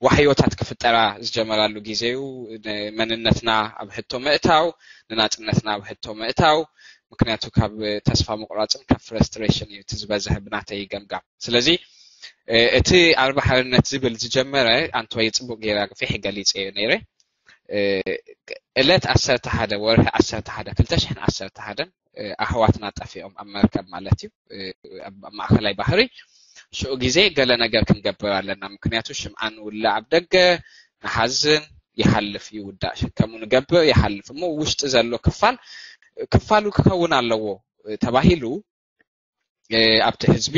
ዋሕዮታት ክፍጠራ ዝጀመራሉ ግዜ እዩ። ንመንነትና ኣብ ሕቶ ምእታው፣ ንናጽነትና ኣብ ሕቶ ምእታው። ምክንያቱ ካብ ተስፋ ምቑራፅን ካብ ፍረስትሬሽን እዩ እቲ ዝበዝሕ ብናተይ ገምጋም። ስለዚ፣ እ፣ እቲ ዓርቢ ሓርነት ዝብል ዝጀመረ፣ ኣንቶይ፣ ጽቡቕ ገይረ ኣግፊሐ ገሊጸዮ ነይረ። እ፣ ዕለት ዓሰርተ ሓደ ወርሒ ዓሰርተ ሓደ ክልተ ሽሕን ዓሰርተ ሓደን፣ እ፣ ኣሕዋትና ጠፊኦም ኣብ መርከብ ማለት እዩ፣ እ፣ ኣብ ኣብ ማእከላይ ባሕሪ። ሽዑ ግዜ ገለ ነገር ክንገብር ኣለና፣ ምክንያቱ ሽምዓ ንውልዕ ኣብ ደገ፣ ንሓዝን፣ ይሓልፍ፣ ይውዳእ፣ ሽከሙ ንገብር፣ ይሓልፍ። እሞ ውሽጢ ዘሎ ክፋል ክፋሉ ክኸውን ኣለዎ፣ እ፣ ተባሂሉ፣ እ፣ ኣብቲ ህዝቢ፣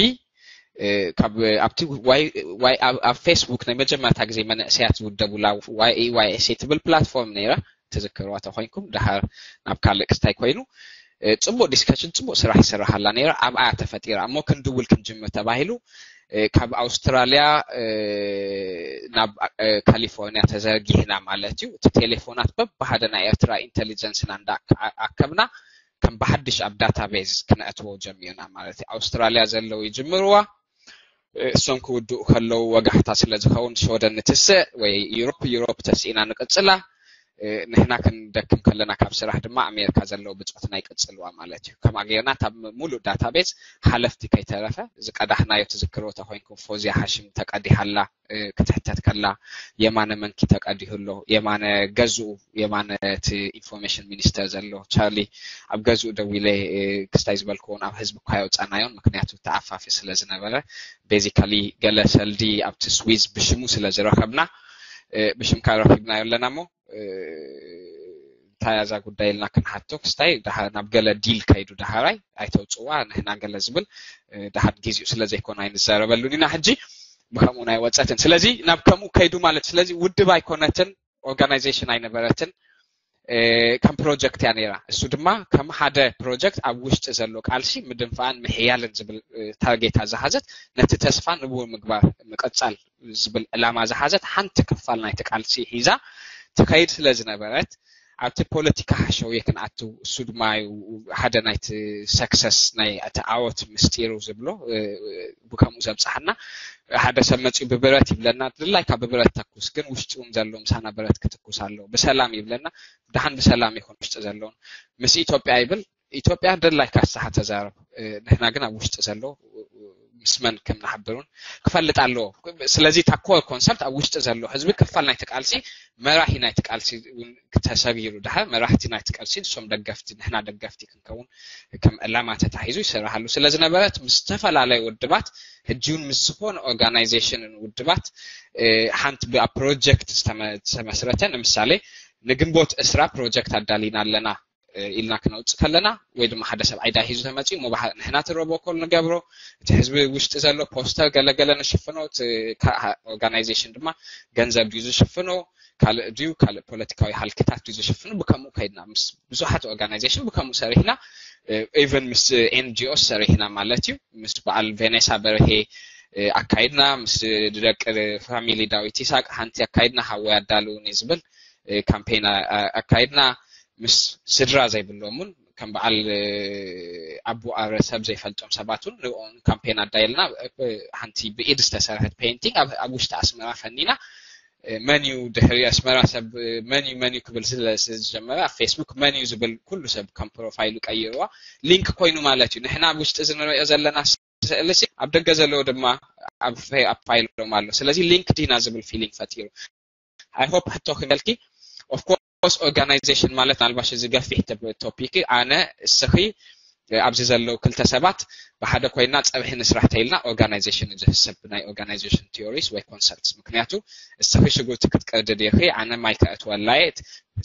እ፣ ካብ ኣብቲ ዋይ ዋይ ኣብ ኣብ ፌስቡክ ናይ መጀመርታ ግዜ መንእሰያት ዝውደቡላ ዋይ ኤ ዋይ ኤስ ኤ ትብል ፕላትፎርም ነይራ፣ ትዝክርዋ ተኾይንኩም። ደሓር ናብ ካልእ ክስታይ ኮይኑ፣ እ፣ ጽቡቕ ዲስከሽን፣ ጽቡቕ ስራሕ ይስራሓላ ነይራ። ኣብኣ ተፈጢራ። እሞ ክንድውል ክንጅምር ተባሂሉ፣ እ፣ ካብ ኣውስትራልያ፣ እ፣ ናብ፣ እ፣ ካሊፎርኒያ ተዘርጊሕና ማለት እዩ። እቲ ቴሌፎናት በብሓደ ናይ ኤርትራ ኢንተሊጀንስና እንዳ ኣከብና ከም ብሓድሽ ኣብ ዳታቤዝ ክነእትዎ ጀሚርና ማለት እዩ። ኣውስትራልያ ዘለዉ ይጅምርዋ፣ እ፣ እሶም ክውድኡ ከለዉ ወጋሕታ ስለ ዝኸውን ሽወደን ንትስእ ወይ ዩሮፕ፣ ዩሮፕ ተስኢና ንቅጽላ። እ፣ ንሕና ክንደክም ከለና ካብ ስራሕ ድማ ኣሜሪካ ዘለዉ ብጾትና ይቅጽልዋ ማለት እዩ። ከምኣ ጌርና እታ ም- ሙሉእ ዳታቤዝ ሓለፍቲ ከይተረፈ ዝቀዳሕናዮ ትዝክርዎ ተኾይንኩም ፎዝያ ሓሽም ተቀዲሓላ፣ እ፣ ክትሕተት ከላ የማነ መንኪ ተቀዲሁ ኣሎ። የማነ ገዝኡ፣ የማነ እቲ ኢንፎርሜሽን ሚኒስተር ዘሎ ቻርሊ ኣብ ገዝኡ ደዊለ፣ እ፣ ክስታይ ዝበልክዎን ኣብ ህዝቢ እኳ የውፃናዮን ምክንያቱ ተኣፋፊ ስለ ዝነበረ ቤዚካሊ ገለ ሰልዲ ኣብቲ ስዊዝ ብሽሙ ስለ ዝረኸብና፣ እ፣ ብሽምካ ረኺብናዮ ኣለና እሞ፣ እ፣ እንታይ እዛ ጉዳይ ኢልና ክንሓቶ ክስታይ ደሓ- ናብ ገለ ዲል ከይዱ ደሃራይ ኣይተውፅዋ ንሕና ገለ ዝብል፣ እ፣ ደሓን ጊዜኡ ስለ ዘይኮነ ኣይንዛረበሉን ኢና። ሕጂ ብከምኡ ናይ ወፀትን ስለዚ ናብ ከምኡ ከይዱ ማለት ስለዚ ውድብ ኣይኮነትን፣ ኦርጋናይዜሽን ኣይነበረትን፣ እ፣ ከም ፕሮጀክት እያ ነይራ። እሱ ድማ ከም ሓደ ፕሮጀክት ኣብ ውሽጢ ዘሎ ቃልሲ ምድንፋዕን ምሕያልን ዝብል፣ እ፣ ታርጌታ ዝሓዘት ነቲ ተስፋ ንቡር ምግባር ምቅፃል ዝብል ዕላማ ዝሓዘት ሓንቲ ክፋል ናይቲ ቃልሲ ሒዛ ትኸይድ ስለ ዝነበረት ኣብቲ ፖለቲካ ሓሸውየ ክንኣቱ እሱ ድማ እዩ ሓደ ናይቲ ሰክሰስ ናይ እቲ ዓወት ምስጢሩ ዝብሎ፣ እ፣ ብከምኡ ዘብፅሓና። ሓደ ሰብ መፂኡ ብብረት ይብለና፣ ድላይካ ብብረት ተኩስ፣ ግን ውሽጢ እውን ዘሎ ምሳና ብረት ክትኩስ ኣለዎ። ብሰላም ይብለና፣ ደሓን ብሰላም ይኹን ውሽጢ ዘለውን። ምስ ኢትዮጵያ ይብል፣ ኢትዮጵያ ድላይካ ንስኻ ተዛረብ፣ እ፣ ንሕና ግን ኣብ ውሽጢ ዘሎ ምስ መን ከም ንሓብር እውን ክፈልጥ ኣለዎ። ስለዚ እታ ኮር ኮንሰፕት ኣብ ውሽጢ ዘሎ ህዝቢ ክፋል ናይቲ ቃልሲ፣ መራሒ ናይቲ ቃልሲ እውን ተሰጊሩ ድሓር መራሕቲ ናይቲ ቃልሲ ንሶም ደገፍቲ ንሕና ደገፍቲ ክንከውን ከም ዕላማ ተታሒዙ ይስራሓሉ ስለ ዝነበረት ምስ ዝተፈላለዩ ውድባት ሕጂ እውን ምስ ዝኾነ ኦርጋናይዜሽንን ውድባት ሓንቲ ኣብ ፕሮጀክት ዝተመስረተ ንምሳሌ ንግንቦት እስራ ፕሮጀክት ኣዳሊና ኣለና ኢልና ክነውፅእ ከለና ወይ ድማ ሓደ ሰብ ኣይዳ ሒዙ ተመፂኡ እሞ ንሕና እቲ ሮቦኮል ንገብሮ እቲ ህዝቢ ውሽጢ ዘሎ ፖስተር ገለገለ ንሽፍኖ ኦርጋናይዜሽን ድማ ገንዘብ ድዩ ዝሽፍኖ ካልእ ድዩ ካልእ ፖለቲካዊ ሃልክታት ድዩ ዝሽፍኖ ብከምኡ ከይድና ምስ ብዙሓት ኦርጋናይዜሽን ብከምኡ ሰሪሕና ኢቨን ምስ ኤንጂኦ ሰሪሕና ማለት እዩ ምስ በዓል ቬኔሳ በርሄ ኣካይድና ምስ ደቂ ፋሚሊ ዳዊት ይስሐቅ ሓንቲ ኣካይድና ሓወይ ኣዳልውኒ ዝብል ካምፔን ኣካይድና ምስ ስድራ ዘይብሎም እውን ከም በዓል ኣቡ ኣረ ሰብ ዘይፈልጦም ሰባት እውን ንኦም ካምፔን ኣዳየልና ሓንቲ ብኢድ ዝተሰርሐት ፔይንቲንግ ኣብ ውሽጢ ኣስመራ ፈኒና መን እዩ ድሕሪ ኣስመራ ሰብ መን እዩ መን እዩ ክብል ስለ ዝጀመረ ኣብ ፌስቡክ መን እዩ ዝብል ኩሉ ሰብ ከም ፕሮፋይሉ ቀይርዋ ሊንክ ኮይኑ ማለት እዩ ንሕና ኣብ ውሽጢ ዝንሪኦ ዘለና ስእሊ ኣብ ደገ ዘለዎ ድማ ኣብ ፋይሎም ኣሎ ስለዚ ሊንክ ዲና ዝብል ፊሊንግ ፈጢሩ I hope ሕቶ ክመልኪ of course organization ማለት ናልባሽ እዚ ገፊሕ ቶፒክ ኣነ እስኺ ኣብዚ ዘለዉ ክልተ ሰባት ብሓደ ኮይና ፀብሒ ንስራሕ ተይልና organization ዝህሰብ ናይ organization theories ወይ concepts ምክንያቱ እስኺ ሽጉርቲ ክትቀድድ ኢኺ ኣነ ማይ ከእትወላየት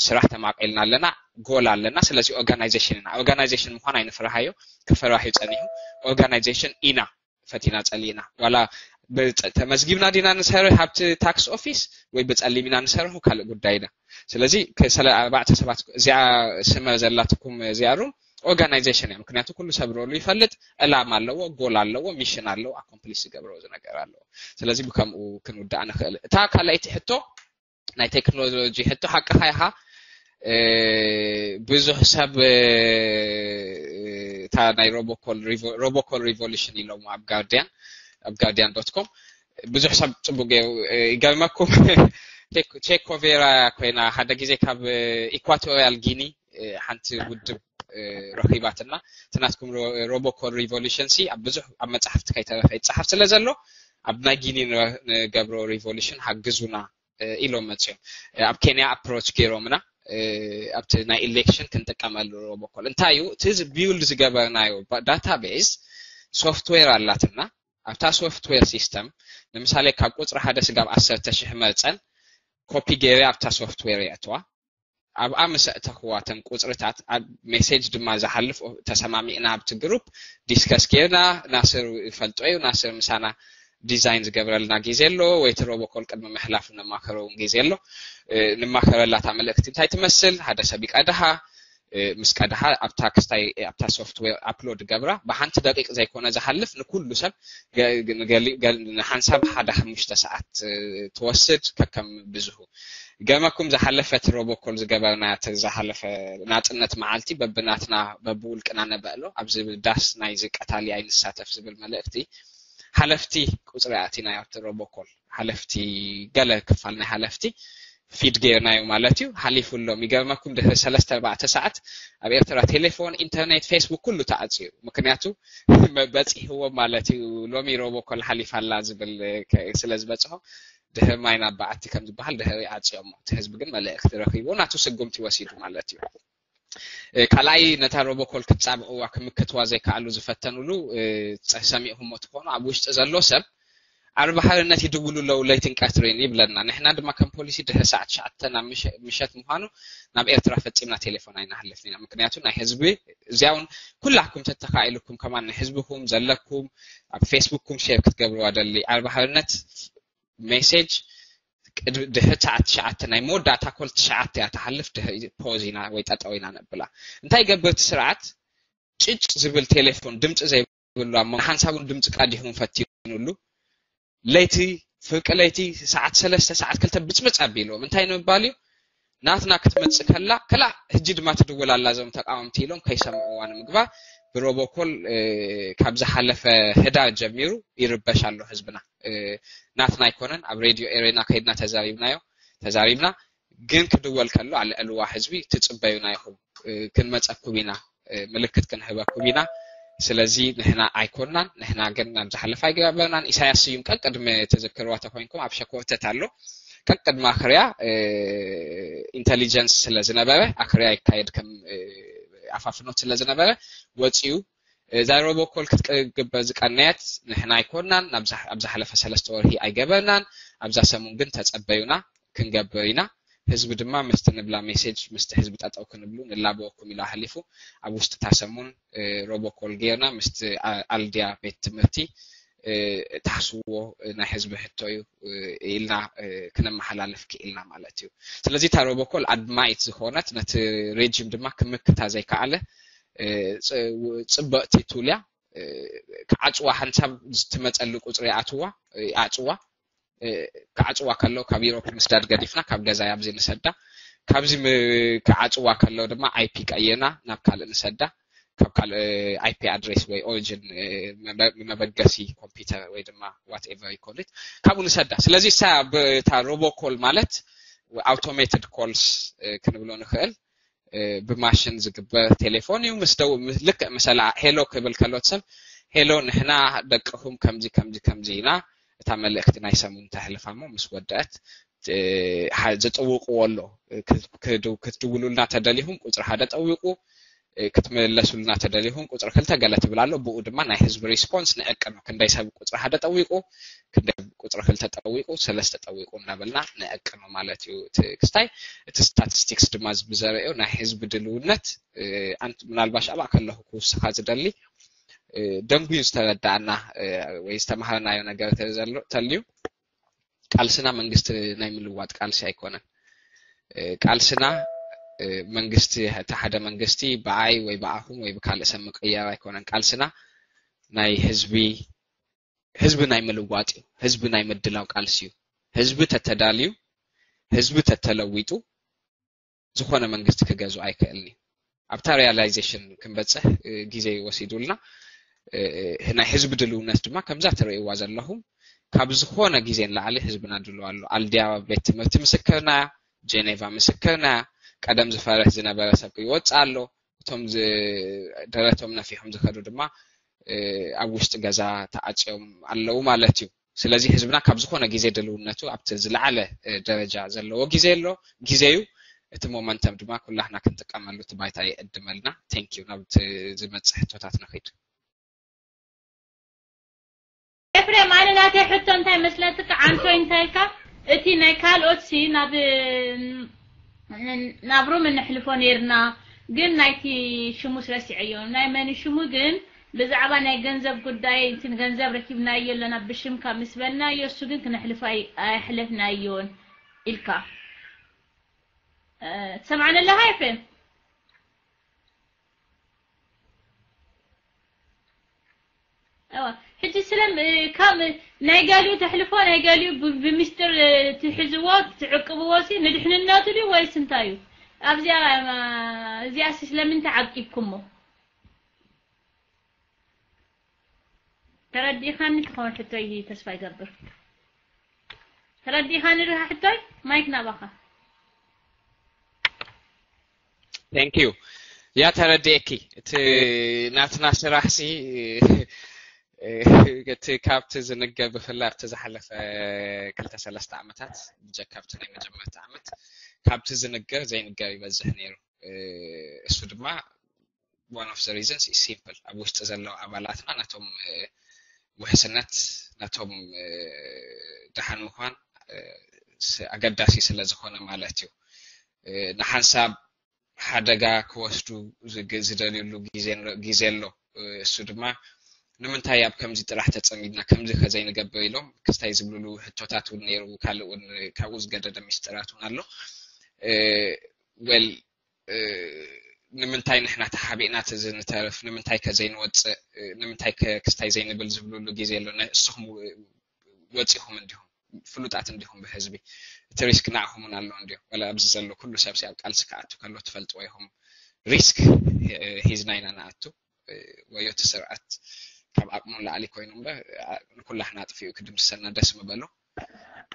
ስራሕ ተማቂልና ኣለና ጎል ኣለና ስለዚ organization ኢና organization ምኳን ኣይንፍርሃዮ ክፈራህ እዩ ፀኒሑ organization ኢና ፈቲና ጸሊእና ዋላ ተመዝጊብና ዲና ንሰርሕ ኣብቲ ታክስ ኦፊስ ወይ ብጸሊም ኢና ንሰርሑ ካልእ ጉዳይና ስለዚ ኣርባዕተ ሰባት እዚኣ ስመ ዘላትኩም እዚኣ ሩም ኦርጋናይዜሽን እያ ምክንያቱ ኩሉ ሰብ ሮሉ ይፈልጥ ዕላማ ኣለዎ ጎል ኣለዎ ሚሽን ኣለዎ ኣኮምፕሊሽ ዝገብሮ ዝነገር ኣለዎ ስለዚ ብከምኡ ክንውዳእ ንኽእል እታ ካልኣይቲ ሕቶ ናይ ቴክኖሎጂ ሕቶ ሓቅኻ ኢኻ ብዙሕ ሰብ እታ ናይ ሮቦኮል ሪቮሉሽን ኢሎም ኣብ ጋርዲያን ኣብ ጋርዲያን ዶት ኮም ብዙሕ ሰብ ፅቡቅ ይገርመኩም ቼኮቬራ ኮይና ሓደ ግዜ ካብ ኢኳቶሪያል ጊኒ ሓንቲ ውድብ ረኺባትና እቲ ናትኩም ሮቦኮል ሪቮሉሽን ሲ ኣብ ብዙሕ ኣብ መፅሓፍቲ ከይተረፈ ይፀሓፍ ስለ ዘሎ ኣብ ናይ ጊኒ ንገብሮ ሪቮሉሽን ሓግዙና ኢሎም መፅኦም ኣብ ኬንያ ኣፕሮች ገይሮምና ኣብቲ ናይ ኢሌክሽን ክንጥቀመሉ ሮቦኮል እንታይ እዩ እቲ ቢውልድ ዝገበርናዮ ዳታቤዝ ሶፍትዌር ኣላትና ኣብታ ሶፍትዌር ሲስተም ንምሳሌ ካብ ቁፅሪ ሓደ ስጋብ ዓሰርተ ሽሕ መፀን ኮፒ ገይረ ኣብታ ሶፍትዌር የእትዋ ኣብኣ ምስ ኣእተኽዋ እተን ቁፅርታት ኣብ ሜሴጅ ድማ ዝሓልፍ ተሰማሚዕና ኣብቲ ግሩፕ ዲስከስ ጌርና ናስር ይፈልጦ እዩ ናስር ምሳና ዲዛይን ዝገብረልና ግዜ ኣሎ ወይ እቲ ሮቦኮል ቅድሚ ምሕላፉ ነማኸረውን ግዜ ኣሎ ንማኸረላታ መልእክቲ እንታይ ትመስል ሓደ ሰብ ይቀድሃ ምስ ቀድሃ ኣብታ ክስታይ ኣብታ ሶፍትዌር ኣፕሎድ ገብራ ብሓንቲ ደቂቅ ዘይኮነ ዝሓልፍ ንኩሉ ሰብ ንሓንሳብ ሓደ ሓሙሽተ ሰዓት ትወስድ ከከም ብዝሁ ገመኩም ዝሓለፈት ሮቦኮል ዝገበርና ዝሓለፈ ናፅነት መዓልቲ በብናትና በብውልቅና ነበእሎ ኣብዚ ዳስ ናይዚ ቀታሊ ኣይንሳተፍ ዝብል መልእክቲ ሓለፍቲ ቁፅሪ ኣቲና ኣብቲ ሮቦኮል ሓለፍቲ ገለ ክፋል ናይ ሓለፍቲ ፊድ ገይርናዮ ማለት እዩ ሓሊፉሎም ይገርመኩም ድሕሪ ሰለስተ ኣርባዕተ ሰዓት ኣብ ኤርትራ ቴሌፎን ኢንተርኔት ፌስቡክ ኩሉ ተዓፅዩ ምክንያቱ በፂሕዎ ማለት እዩ ሎሚ ሮቦኮል ሓሊፋ ኣላ ዝብል ስለ ዝበፅሖ ድሕሪ ማይ ናብ በዓቲ ከም ዝበሃል ድሕሪ ዓፅዮሞ እቲ ህዝቢ ግን መልእክቲ ረኺቡ ናቱ ስጉምቲ ወሲዱ ማለት እዩ ካልኣይ ነታ ሮቦኮል ክትፃብእዋ ክምክትዋ ዘይከኣሉ ዝፈተኑሉ ሰሚዕኩሞ ትኾኑ ኣብ ውሽጢ ዘሎ ሰብ ዓርቢ ሓርነት ይድውሉ ኣለዉ ለይትን ቀትርን ይብለና ንሕና ድማ ከም ፖሊሲ ድሕሪ ሰዓት ትሽዓተ ናብ ምሸት ምዃኑ ናብ ኤርትራ ፈፂምና ቴሌፎን ኣይንሓልፍን ኢና ምክንያቱ ናይ ህዝቢ እዚኣ እውን ኩላኩም ተተኻኢልኩም ከማን ንህዝብኩም ዘለኩም ኣብ ፌስቡክኩም ሼር ክትገብርዋ ደሊ ዓርቢ ሓርነት ሜሴጅ ድሕሪ ሰዓት ትሽዓተ ናይ መወዳእታ ኮል ትሽዓተ እያ ትሓልፍ ድሕሪ ፖዝ ኢና ወይ ጠጠው ኢና ነብላ እንታይ ገብርቲ ስርዓት ጭጭ ዝብል ቴሌፎን ድምፂ ዘይብሉ ኣብ ሓንሳቡን ድምፂ ቀዲሁን ፈቲኑሉ ለይቲ ፍርቂ ለይቲ ሰዓት ሰለስተ ሰዓት ክልተ ብፅብፅ ኣቢልዎም እንታይ ንምባል እዩ ናትና ክትመፅእ ከላ ከላ ሕጂ ድማ ትድውል ኣላ እዞም ተቃወምቲ ኢሎም ከይሰምዕዋ ንምግባር ብሮቦኮል ካብ ዝሓለፈ ህዳር ጀሚሩ ይርበሽ ኣሎ ህዝብና ናትና ኣይኮነን ኣብ ሬድዮ ኤሬና ከይድና ተዛሪብናዮ ተዛሪብና ግን ክድወል ከሎ ኣልዕልዋ ህዝቢ ትፅበዩና ኢኹም ክንመፀኩም ኢና ምልክት ክንህበኩም ኢና ስለዚ ንሕና ኣይኮናን፣ ንሕና ግን ናብ ዝሓለፈ ኣይገበርናን። ኢሳያስ ስዩም ቀቅድሚ ተዘክርዋ ተኮይንኩም ኣብ ሸኮተት ኣሎ። ቀቅድሚ ኣኽርያ ኢንተሊጀንስ ስለ ዝነበረ፣ ኣኽርያ ይካየድ ከም ኣፋፍኖት ስለ ዝነበረ ወፂኡ። እዛ ሮቦኮል ክትግበር ዝቀነየት ንሕና ኣይኮናን፣ ኣብ ዝሓለፈ ሰለስተ ወርሒ ኣይገበርናን። ኣብዛ ሰሙን ግን ተጸበዩና፣ ክንገብር ኢና። ህዝቢ ድማ ምስቲ ንብላ ሜሴጅ፣ ምስቲ ህዝቢ ጠጠው ክንብሉ ንላበወኩም ኢሉ ኣሕሊፉ። ኣብ ውሽጢ እታ ሰሙን ሮቦኮል ጌርና ምስቲ ኣልድያ ቤት ትምህርቲ፣ ታሕስዎ ናይ ህዝቢ ሕቶ እዩ ኢልና ክነመሓላልፍ ክኢልና ማለት እዩ። ስለዚ እታ ሮቦኮል ኣድማይት ዝኾነት፣ ነቲ ሬጂም ድማ ክምክታ ዘይከኣለ ጽብቕቲ ቱል እያ። ክዓጽዋ ሓንሳብ ትመጸሉ ቁጽሪ ይኣትዋ ይኣጽዋ። ክዓጽዋ ከለዉ ካብ ዩሮፕ ምስዳድ ገዲፍና ካብ ገዛ ኣብዚ ንሰዳ። ካብዚ ክዓጽዋ ከለዉ ድማ ኣይፒ ቀይርና ናብ ካልእ ንሰዳ። ካብ ካልእ ኣይፒ ኣድሬስ ወይ ኦሪጂን መበገሲ ኮምፒውተር ወይ ድማ ዋትኤቨር ይኮሊት ካብኡ ንሰዳ። ስለዚ እሳ እታ ሮቦኮል ማለት ኣውቶሜትድ ኮልስ ክንብሎ ንኽእል። ብማሽን ዝግበር ቴሌፎን እዩ። ምስ ደው ልክዕ መሰላ ሄሎ ክብል ከሎት ሰብ ሄሎ ንሕና ደቅኹም ከምዚ ከምዚ ከምዚ ኢና። እታ መልእክቲ ናይ ሰሙን ተሕልፋ እሞ ምስ ወደአት ዝጥውቅዎ ኣሎ። ክትድውሉልና ተደሊኹም ቁፅሪ ሓደ ጠዊቁ፣ ክትመለሱልና ተደሊኹም ቁፅሪ ክልተ ገለ ትብል ኣሎ። ብኡ ድማ ናይ ህዝቢ ሪስፖንስ ንዕቅኖ ክንደይ ሰብ ቁፅሪ ሓደ ጠዊቁ፣ ክንደይ ቁፅሪ ክልተ ጠዊቁ፣ ሰለስተ ጠዊቁ እናበልና ንዕቅኖ ማለት እዩ። እቲ ክስታይ እቲ ስታቲስቲክስ ድማ ብዘርእዮ ናይ ህዝቢ ድልውነት ምናልባሽ ኣብኣ ከለኹ ክውስኻ ዝደሊ ደንጉዩ ዝተረዳእና ወይ ዝተምሃርናዮ ነገር ተልዩ ቃልስና መንግስቲ ናይ ምልዋጥ ቃልሲ ኣይኮነን። ቃልስና መንግስቲ እቲ ሓደ መንግስቲ ብኣይ ወይ ብኣኹም ወይ ብካልእ ሰብ ምቅያር ኣይኮነን። ቃልስና ናይ ህዝቢ ህዝቢ ናይ ምልዋጥ እዩ። ህዝቢ ናይ ምድላው ቃልሲ እዩ። ህዝቢ ተተዳልዩ ህዝቢ ተተለዊጡ ዝኾነ መንግስቲ ክገዝኦ ኣይክእልን እዩ። ኣብታ ሪያላይዜሽን ክንበፅሕ ግዜ ወሲዱልና። ናይ ህዝቢ ድልውነት ድማ ከምዛ ትርእይዋ ዘለኹም ካብ ዝኾነ ግዜ ንላዕሊ ህዝብና ድልው ኣሎ። ኣልድያ ቤት ትምህርቲ ምስክርና፣ ጄኔቫ ምስክርና፣ ቀደም ዝፈርሕ ዝነበረ ሰብ ይወፅእ ኣሎ። እቶም ደረቶም ነፊሖም ዝኸዱ ድማ ኣብ ውሽጢ ገዛ ተዓፅዮም ኣለዉ ማለት እዩ። ስለዚ ህዝብና ካብ ዝኾነ ግዜ ድልውነቱ ኣብቲ ዝለዓለ ደረጃ ዘለዎ ግዜ ኣሎ፣ ግዜ እዩ። እቲ ሞመንተም ድማ ኩላህና ክንጥቀመሉ እቲ ባይታ ይዕድመልና። ቴንክ ዩ። ናብ ዝመፅእ ሕቶታት ንኺድ። ኤፍሬም፣ ኣነ ናተይ ሕቶ እንታይ መስለትካ? ዓንቶይ እንታይ ኢልካ? እቲ ናይ ካልኦት ሲ ናብ ናብ ሩም እንሕልፎ ነይርና፣ ግን ናይቲ ሽሙስ ረሲዐዮ። ናይ መን ሽሙ ግን ብዛዕባ ናይ ገንዘብ ጉዳይ፣ እቲ ገንዘብ ረኪብናዮ ኣለና ብሽምካ ምስ በልናዮ፣ እሱ ግን ክነሕልፎ ኣይ-፣ ኣየሕለፍናዮን ኢልካ። እ፣ ትሰምዓኒ ኣለኻ ኤፍሬም? እዋ፣ ሕጂ ስለም፣ እ፣ ካብ ናይ ገሊኡ ተሕልፎ፣ ናይ ገሊኡ ብ-፣ ብምስጢር፣ እ፣ ትሕዝዎ፣ ትዕቅብዎ ሲ ንድሕንነቱ ድዩ ወይስ እንታይ እዩ? ኣብዚኣ፣ እ፣ እዚኣ ሲ ስለምንታይ ዓቂብኩሞ? ተረዲእኻኒ ትኸውን ሕቶይ ተስፋ ይገብር። ተረዲእኻኒ ድኻ ሕቶይ? ማይክ ናባኻ። Thank you። ያ ተረዲኤኪ። እቲ ናትና ስራሕ ሲ፣ እቲ ካብቲ ዝንገር ብፍላይ ኣብቲ ዝሓለፈ ክልተ ሰለስተ ዓመታት፣ ብጀካ ኣብቲ ናይ መጀመርታ ዓመት፣ ካብቲ ዝንገር ዘይንገር ይበዝሕ ነይሩ። እ፣ እሱ ድማ one of the reasons is simple። ኣብ ውሽጢ ዘለዉ ኣባላትና ነቶም፣ እ፣ ውሕስነት፣ ነቶም፣ እ፣ ደሓን ምዃን፣ እ፣ ስ-፣ ኣገዳሲ ስለ ዝኾነ ማለት እዩ። እ፣ ንሓንሳብ ሓደጋ ክወስዱ ዝግ-፣ ዝደልዩሉ ግዜ ን-፣ ግዜ ኣሎ። እ፣ እሱ ድማ ንምንታይ ኣብ ከምዚ ጥራሕ ተጸሚድና፣ ከምዚ ከ ዘይንገብር ኢሎም ክስታይ ዝብልሉ ሕቶታት እውን ነይሩ። ካልእ እውን ካብኡ ዝገደደ ሚስጥራት እውን ኣሎ። እ፣ well፣ እ፣ ንምንታይ ንሕና ተሓቢእና እቲ ዝንተርፍ፣ ንምንታይ ከ ዘይንወጽእ፣ እ፣ ንምንታይ ከ ክስታይ ዘይንብል ዝብልሉ ግዜ ኣሎ። ነ-፣ እስኹም ው-፣ ወጺኹም እንዲኹም፣ ፍሉጣት እንዲኹም ብህዝቢ፣ እቲ ሪስክ ንዓኹም እውን ኣሎ እንዲኹም። ወላ ኣብዚ ዘሎ ኩሉ ሰብ ሲ ኣብ ቃልሲ ክኣቱ ከሎ ትፈልጥዎ ኢኹም። ሪስክ ሂ-፣ ሂዝና ኢና ንኣቱ። እ፣ ወዮ እቲ ስርዓት ካብ ዓቕሙ ንላዕሊ ኮይኑ እምበር፣ ኣ-፣ ንኩላህና ኣጥፊኡ ክድምስሰና ደስ ምበሎ።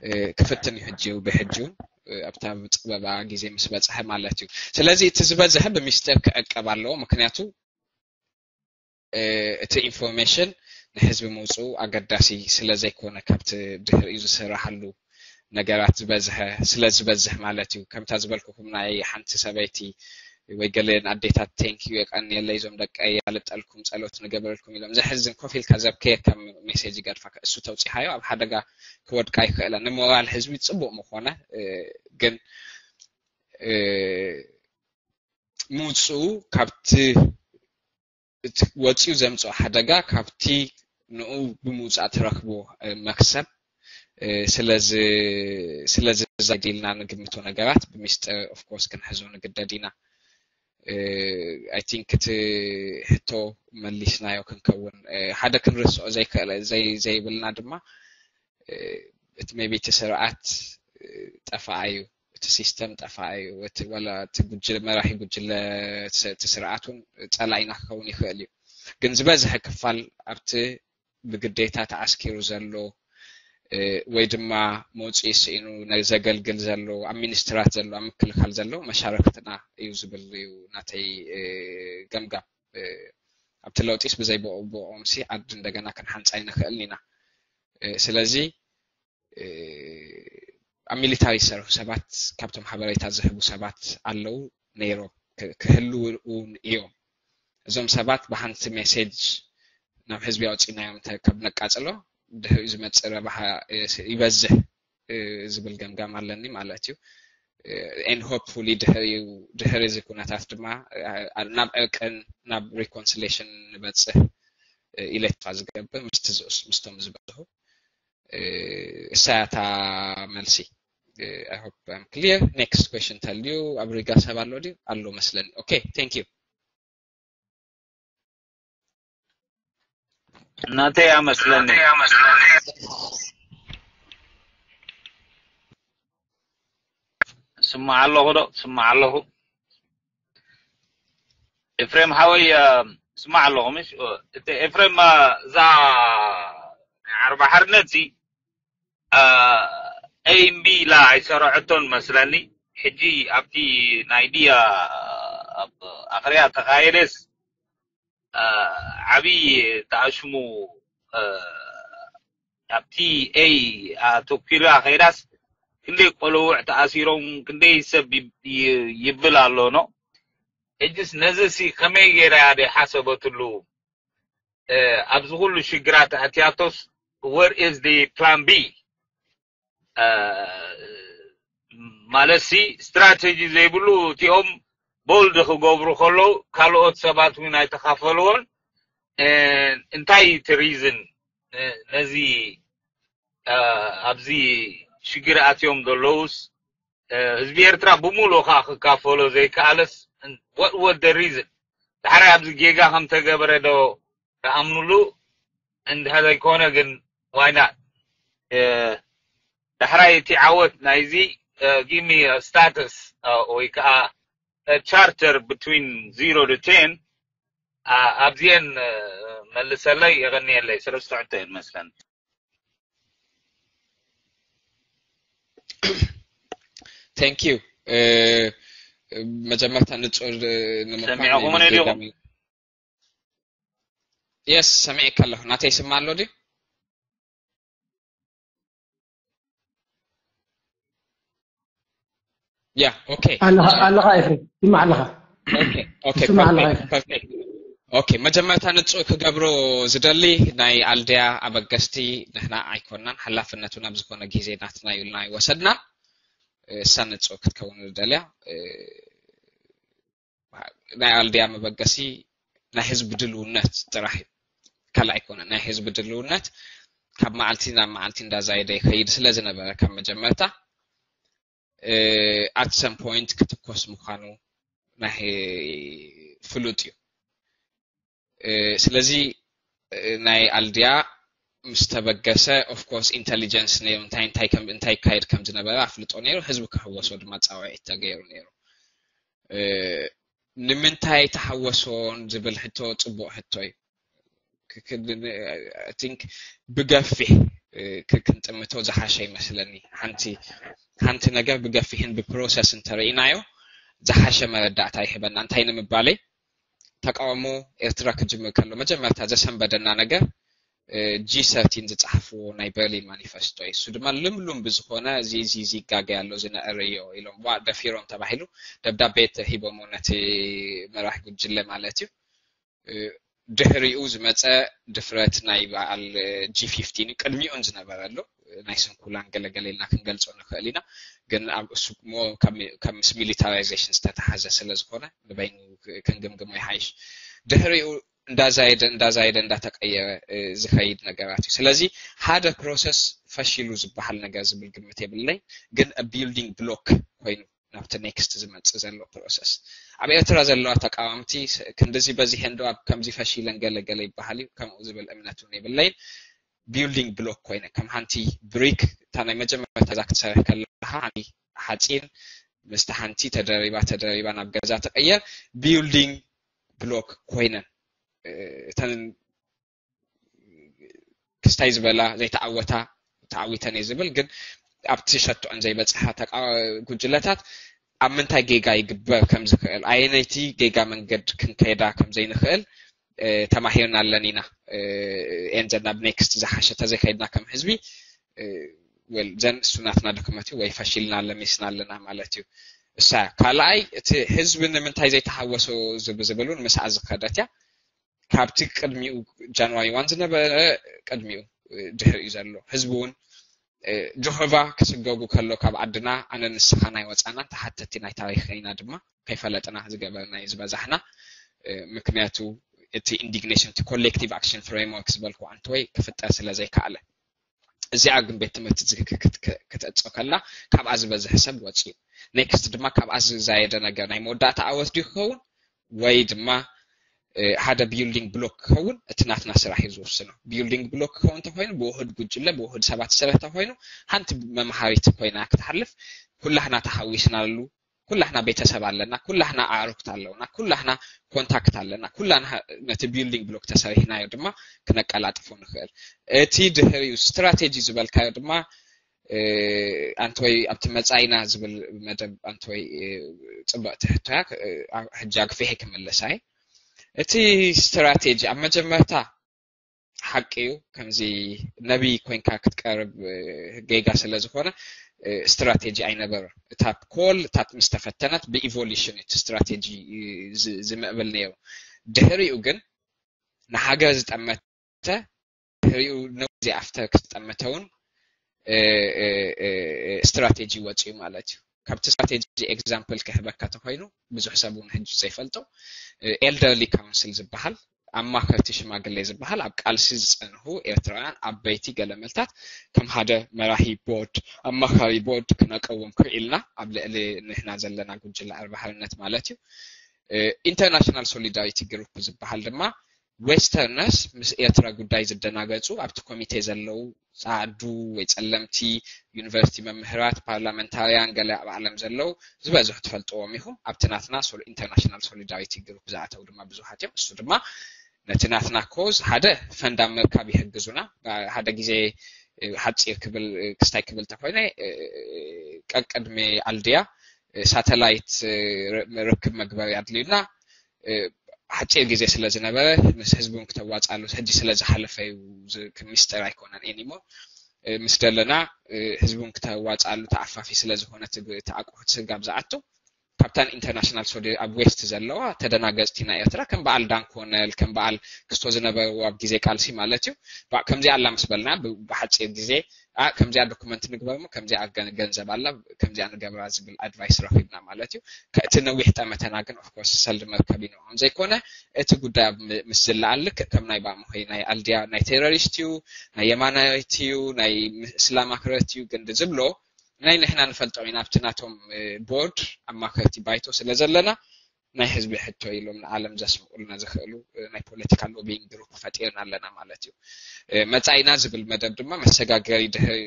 እ፣ ክፍትን እዩ ሕጂ እዩ ብሕጂ እውን፣ እ፣ ኣብታ ዝጸበባ ግዜ ምስ በጽሐ ማለት እዩ። ስለዚ እቲ ዝበዝሐ ብሚስጥር ክዕቀብ ኣለዎ። ምክንያቱ እቲ ኢንፎርሜሽን ንህዝቢ ምውፅኡ ኣገዳሲ ስለ ዘይኮነ ካብቲ ድሕሪኡ ዝስራሓሉ ነገራት ዝበዝሐ ስለ ዝበዝሕ ማለት እዩ። ከምታ ዝበልኩኹም ናይ ሓንቲ ሰበይቲ ወይ ገለን ኣዴታት thank you የቀንየለይ እዞም ደቀይ ኣልጠልኩም ጸሎት ንገበረልኩም ኢሎም ዘሕዝን ኮፍ ኢልካ ዘብከየካ ሜሴጅ ይገድፋካ። እሱ ተውፂሓዮ ኣብ ሓደጋ ክወድቃ ይኽእለ። ንሞራል ህዝቢ ፅቡቅ ምኾነ ግን ምውፅኡ ካብቲ ወፂኡ ዘምፅኦ ሓደጋ ካብቲ ንኡ ብምውፃእ ትረክቦ መክሰብ ስለዚ ስለዚ ዛይድ ኢልና ንግምቶ ነገራት ብሚስጥር of course ክንሕዞ ንግደድ ኢና። I think እቲ ሕቶ መሊስናዮ ክንከውን ሓደ ክንርስዖ ዘይብልና ድማ እቲ maybe እቲ ስርዓት ጠፋኣ እዩ፣ እቲ ሲስተም ጠፋኣ እዩ፣ ወላ እቲ ጉጅለ መራሒ ጉጅለ እቲ ስርዓት እውን ፀላኢና ክኸውን ይኽእል እዩ። ግን ዝበዝሐ ክፋል ኣብቲ ብግዴታ ተዓስኪሩ ዘሎ ወይ ድማ መውፅኢ ስኢኑ ዘገልግል ዘሎ ኣብ ሚኒስትራት ዘሎ ኣብ ምክልኻል ዘሎ መሻረክትና እዩ ዝብል እዩ ናተይ ገምጋም። ኣብቲ ለውጢስ ብዘይ ብኦምሲ ዓዲ እንደገና ክንሓንፃ ኣይንኽእልን ኢና። ስለዚ ኣብ ሚሊታሪ ዝሰርሑ ሰባት ካብቶም ሓበሬታ ዝህቡ ሰባት ኣለዉ ነይሮም ክህልዉ እውን እዮም። እዞም ሰባት ብሓንቲ ሜሴጅ ናብ ህዝቢ ኣውፂእናዮም ካብ ነቃፅሎ ድሕሪኡ ዝመፅእ ረብሓ ይበዝሕ ዝብል ገምጋም ኣለኒ ማለት እዩ። And hopefully ድሕሪ እዚ ኩነታት ድማ ናብ ዕርቅን ናብ reconciliation ንበፅሕ ኢለ ተስፋ ዝገብር ምስቶም ዝበዝሑ እሳያታ መልሲ። I hope I'm clear. Next question ተልዩ ኣብ ሪጋ ሰብ ኣሎ ድዩ? ኣሎ መስለኒ። Okay, thank you. እናተይ ኣመስለኒ ስማዕ ኣለኹ ዶ ስማዕ ኣለኹ። ኤፍሬም ሓወይ ስማዕ ኣለኹ። ምሽ እቲ ኤፍሬም እዛ ናይ ዓርባ ሓርነት ሲ ኤምቢ ኢላ ኣይሰረዐቶን መስለኒ። ሕጂ ኣብቲ ናይ ድያ ኣብ ኣኽርያ ተኻየደስ ዓብዪ ተኣሽሙ ኣብቲ ኤይ ኣተኲራ ከይዳስ ክንደይ ቆልውዕ ተኣሲሮም ክንደይ ሰብ ይብል ኣሎ ኖ። ሕጅስ ነዚ ሲ ከመይ ገይራ እያ ደይ ሓሰበትሉ? ኣብዚ ኩሉ ሽግራት ኣትያቶስ where is the plan B? ማለት ሲ ስትራቴጂ ዘይብሉ እቲኦም bold ክገብሩ ከለዉ ካልኦት ሰባት እውን ኣይተኻፈልዎን። እንታይ እቲ reason ነዚ ኣብዚ ሽግር ኣትዮም ዘለዉስ ህዝቢ ኤርትራ ብምሉእ ከዓ ክካፈሎ ዘይከኣለስ what was the reason? ዳሕራይ ኣብዚ ጌጋ ከም ተገበረ ዶ ተኣምኑሉ? እንድሕር ዘይኮነ ግን why not? ዳሕራይ እቲ ዓወት ናይዚ give me status ወይ ከዓ charter between zero to ten ኣብዚኤን መልሰለይ የቐንየለይ። ሰለስተ ሕቶ እየን መስለን። Thank you። መጀመርታ ንጹር ንምዃን ሰሚዕኹምኒ ዲኹም? Yes፣ ሰሚዕካ ኣለኹ። ናተይ ይስማዕ ኣሎ ድዩ? Yeah, okay. ኣለኻ ኣለኻ ኤፍሬም ይስማዕ ኣለኻ። Okay, okay, ይስማዕ ኣለኻ perfect, perfect. Okay, መጀመርታ ንጹር ክገብሮ ዝደሊ ናይ ኣልድያ ኣበገስቲ ንሕና ኣይኮናን፣ ሓላፍነቱ ናብ ዝኾነ ግዜ ናትና እዩ ኢልና ኣይወሰድናን። እሳ ንጹር ክትከውን ዝደልያ ናይ ኣልድያ መበገሲ ናይ ህዝቢ ድልውነት ጥራሕ እዩ። ካልእ ኣይኮነን። ናይ ህዝቢ ድልውነት ካብ መዓልቲ ናብ መዓልቲ እንዳዛየደ ይኸይድ ስለ ዝነበረ ካብ መጀመርታ at some point ክትኮስ ምዃኑ ናይ ፍሉጥ እዩ። ስለዚ ናይ ኣልድያ ምስ ተበገሰ of course intelligence ነይሩ እንታይ እንታይ ከም እንታይ ይካየድ ከም ዝነበረ ኣፍልጦ ነይሩ። ህዝቢ ክሕወሶ ድማ ጻውዒት ተገይሩ ነይሩ። ንምንታይ ተሓወሶን ዝብል ሕቶ ጽቡቕ ሕቶ እዩ። I think ብገፊሕ ክንጥምቶ ዝሓሸ ይመስለኒ። ሓንቲ ሓንቲ ነገር ብገፊሕን ብፕሮሰስ እንተርኢናዮ ዝሓሸ መረዳእታ ይህበና። እንታይ ንምባለይ ተቃውሞ ኤርትራ ክጅምር ከሎ መጀመርታ ዘሰንበደና ነገር ጂ ሰርቲን ዝጸሓፍዎ ናይ በርሊን ማኒፈስቶ እዩ። እሱ ድማ ልምሉም ብዝኾነ እዚ እዚ እዚ ይጋገ ኣሎ ዝነዕርዮ ኢሎም ዋ ደፊሮም ተባሂሉ ደብዳቤ ተሂቦሞ ነቲ መራሕ ጉጅለ ማለት እዩ። ድሕሪኡ ዝመፀ ድፍረት ናይ በዓል ጂ ፊፍቲን ቅድሚኡን ዝነበረ ኣሎ ናይ ስንኩላን ገለገለ ኢልና ክንገልፆ ንኽእል ኢና። ግን ኣብ እሱ ሞ ከም ምስ ሚሊታራይዜሽን ዝተተሓዘ ስለ ዝኾነ ንበይኑ ክንግምግሞ ይሓይሽ። ድሕሪኡ እንዳዛየደ እንዳዛየደ እንዳተቀየረ ዝኸይድ ነገራት እዩ። ስለዚ ሓደ ፕሮሰስ ፈሺሉ ዝበሃል ነገር ዝብል ግምት የብለይ። ግን ቢልዲንግ ብሎክ ኮይኑ ናብቲ ኔክስት ዝመፅእ ዘሎ ፕሮሰስ ኣብ ኤርትራ ዘለዋ ተቃወምቲ ክንድዚ በዚሐን ዶ ኣብ ከምዚ ፈሺለን ገለገለ ይበሃል እዩ ከምኡ ዝብል እምነት እውን የብለይን። ቢልዲንግ ብሎክ ኮይነ ከም ሓንቲ ብሪክ እታ ናይ መጀመርታ ዛ ክትሰርሕ ከለካ ሓንቲ ሓፂን ምስቲ ሓንቲ ተደሪባ ተደሪባ ናብ ገዛ ትቀየር ቢልዲንግ ብሎክ ኮይነን እተን ክስታይ ዝበላ ዘይተዓወታ ተዓዊተን እየ ዝብል ግን ኣብቲ ሸቶአን ዘይበፅሓ ጉጅለታት ኣብ ምንታይ ጌጋ ይግበር ከም ዝኽእል ኣየነይቲ ጌጋ መንገድ ክንከይዳ ከም ዘይንኽእል ተማሂርና ኣለና ኢና። ኤንዘ ናብ ኔክስት ዝሓሸ ተዘይከይድና ከም ህዝቢ ወል ዘን እሱ ናትና ድክመት እዩ ወይ ፈሺልና ለሚስና ኣለና ማለት እዩ። እሳ ካልኣይ እቲ ህዝቢ ንምንታይ ዘይተሃወሶ ዝብል እውን ምስኣ ዝኸደት እያ። ካብቲ ቅድሚኡ ጃንዋሪ ዋን ዝነበረ ቅድሚኡ ድሕሪኡ ዘሎ ህዝቢ እውን ጆሆቫ ክስገጉ ከሎ ካብ ዓድና ኣነ ንስኻ ናይ ወፃናን ተሓተቲ ናይ ታሪክ ኢና ድማ ከይፈለጥና ዝገበርና እዩ ዝበዛሕና። ምክንያቱ እቲ ኢንዲግኔሽን እቲ ኮሌክቲቭ ኣክሽን ፍሬምወርክ ዝበልኩ ኣንተወይ ክፍጠር ስለ ዘይከኣለ እዚኣ ግን ቤት ትምህርቲ ክትእጾ ከላ ካብኣ ዝበዝሕ ሰብ ወፂኡ ኔክስት ድማ ካብኣ ዝዛየደ ነገር ናይ መወዳእታ ኣወት ድዩ ክኸውን ወይ ድማ ሓደ ቢልዲንግ ብሎክ ክኸውን እቲ ናትና ስራሕ እዩ ዝወስኖ። ቢልዲንግ ብሎክ ክኸውን እንተኮይኑ ብውህድ ጉጅለ ብውህድ ሰባት ዝሰረት እንተኮይኑ ሓንቲ መምሃሪት ኮይና ክትሓልፍ ኩላህና ተሓዊስናሉ ኩላህና ቤተሰብ ኣለና ኩላህና ኣዕሩክት ኣለውና ኩላህና ኮንታክት ኣለና ኩላና ነቲ ቢልዲንግ ብሎክ ተሰሪሕናዮ ድማ ክነቀላጥፎ ንኽእል። እቲ ድሕሪኡ ስትራቴጂ ዝበልካዮ ድማ ኣንተወይ ኣብቲ መጻኢና ዝብል መደብ ኣንተወይ ጽብቕቲ ሕቶያ ሕጂ ኣግፊሐ ክምልሳ እየ። እቲ ስትራቴጂ ኣብ መጀመርታ ሓቂ እዩ ከምዚ ነቢይ ኮይንካ ክትቀርብ ጌጋ ስለ ዝኾነ ስትራቴጂ ኣይነበረን። እታ ኮል እታ ምስ ተፈተነት ብኢቮሉሽን እዩ እቲ ስትራቴጂ ዝምዕብል ነይሩ። ድሕሪኡ ግን ንሃገር ዝጠመተ ድሕሪኡ ነዚ ኣፍተር ክዝጠመተ እውን ስትራቴጂ ወፂኡ ማለት እዩ። ካብቲ ስትራቴጂ ኤግዛምፕል ክህበካ ተኮይኑ ብዙሕ ሰብ እውን ሕጂ ዘይፈልጦ ኤልደርሊ ካውንስል ዝበሃል ኣማኸርቲ ሽማግሌ ዝበሃል ኣብ ቃልሲ ዝፀንሑ ኤርትራውያን ዓበይቲ ገለመልታት ከም ሓደ መራሒ ቦርድ ኣማኻሪ ቦርድ ክነቀውም ክኢልና ኣብ ልዕሊ ንሕና ዘለና ጉጅለ ኣርባ ሓርነት ማለት እዩ። ኢንተርናሽናል ሶሊዳሪቲ ግሩፕ ዝበሃል ድማ ዌስተርነርስ ምስ ኤርትራ ጉዳይ ዝደናገጹ ኣብቲ ኮሚቴ ዘለዉ ጻዕዱ ወይ ጸለምቲ ዩኒቨርሲቲ መምህራት ፓርላመንታርያን ገለ ኣብ ዓለም ዘለዉ ዝበዝሑ ትፈልጥዎም ኢኹም ኣብቲ ናትና ኢንተርናሽናል ሶሊዳሪቲ ግሩፕ ዝኣተው ድማ ብዙሓት እዮም እሱ ድማ ነቲ ናትና ኮዝ ሓደ ፈንድ ኣብ ምርካብ ይሕግዙና ሓደ ግዜ ሓፂር ክብል ክስታይ ክብል ተኮይነ ቀቅድሚ ኣልድያ ሳተላይት ርክብ መግበሪ ኣድልዩና ሓፂር ግዜ ስለ ዝነበረ ምስ ህዝቡን ክተዋፃሉ ሕጂ ስለ ዝሓለፈ እዩ ሚስጥር ኣይኮነን ኤኒሞ ምስ ደለና ህዝቡን ክተዋፃሉ ተኣፋፊ ስለ ዝኾነ ተኣቁሑት ስጋብ ዝኣቱ ካብታን ኢንተርናሽናል ሶ ኣብ ዌስት ዘለዋ ተደናገፅቲ ናይ ኤርትራ ከም በዓል ዳንኮነል ከም በዓል ክስቶ ዝነበርዎ ኣብ ግዜ ቃልሲ ማለት እዩ ከምዚኣ ኣላ ምስ በልና ብሓፂር ግዜ ከምዚኣ ዶክመንት ንግበር ሞ ከምዚኣ ገንዘብ ኣላ ከምዚኣ ንገብራ ዝብል ኣድቫይስ ረኪብና ማለት እዩ እቲ ነዊሕ ጠመተና ግን ኦፍኮርስ ሰልዲ መርከብ ይንኦም ዘይኮነ እቲ ጉዳይ ኣብ ምስ ዝለኣል ልክዕ ከም ናይ ባምሆይ ናይ ኣልድያ ናይ ቴሮሪስት እዩ ናይ የማናይት እዩ ናይ እስላም ኣክረት እዩ ግን ዝብሎ ናይ ንሕና ንፈልጦ ኢና ኣብቲ ናቶም ቦርድ ኣማከርቲ ባይቶ ስለ ዘለና ናይ ህዝቢ ሕቶ ኢሎም ንዓለም ዘስምዑልና ዝኽእሉ ናይ ፖለቲካ ሎቢንግ ግሩፕ ፈጢርና ኣለና ማለት እዩ። መጻኢና ዝብል መደብ ድማ መሰጋገሪ ድሕሪ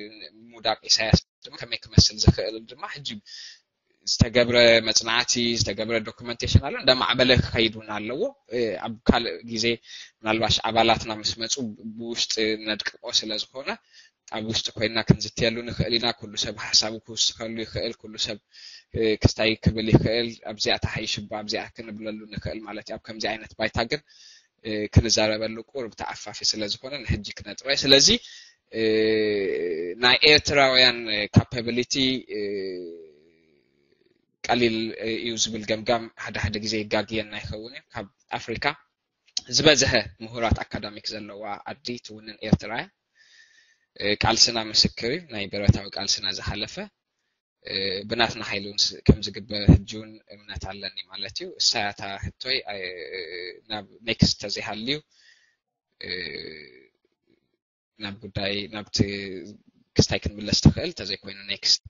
ምውዳቅ ኢሳያስ ድማ ከመይ ክመስል ዝኽእል ድማ ሕጂ ዝተገብረ መጽናዕቲ ዝተገብረ ዶክመንቴሽን ኣሎ እንዳማዕበለ ክኸይድ እውን ኣለዎ ኣብ ካልእ ግዜ ምናልባሽ ኣባላትና ምስ መፁ ብውሽጢ ነድቅቆ ስለ ዝኾነ ኣብ ውሽጢ ኮይንና ክንዝትየሉ ንኽእል ኢና ኩሉ ሰብ ሓሳቡ ክውስኸሉ ይኽእል ኩሉ ሰብ ክስታይ ክብል ይኽእል ኣብዚኣ ተሓይሽባ ኣብዚኣ ክንብለሉ ንኽእል ማለት እዩ ኣብ ከምዚ ዓይነት ባይታ ግን ክንዛረበሉ ቁርብ ተዓፋፊ ስለዝኾነ ንሕጂ ክነጥሮ ስለዚ ናይ ኤርትራውያን capability ቀሊል እዩ ዝብል ገምጋም ሓደ ሓደ ግዜ ይጋግየና ይኸውን እዩ ካብ ኣፍሪካ ዝበዝሐ ምሁራት ኣካዳሚክ ዘለዋ ዓዲ ትውንን ኤርትራ እያ ቃልስና ምስክር እዩ ናይ ብረታዊ ቃልስና ዝሓለፈ ብናትና ሓይሊ እውን ከም ዝግበር ሕጂ እውን እምነት ኣለኒ ማለት እዩ እሳያታ ሕቶይ ናብ next ተዘይሃልዩ ናብ ጉዳይ ናብቲ ክስታይ ክንምለስ ትኽእል እንተዘይኮይኑ next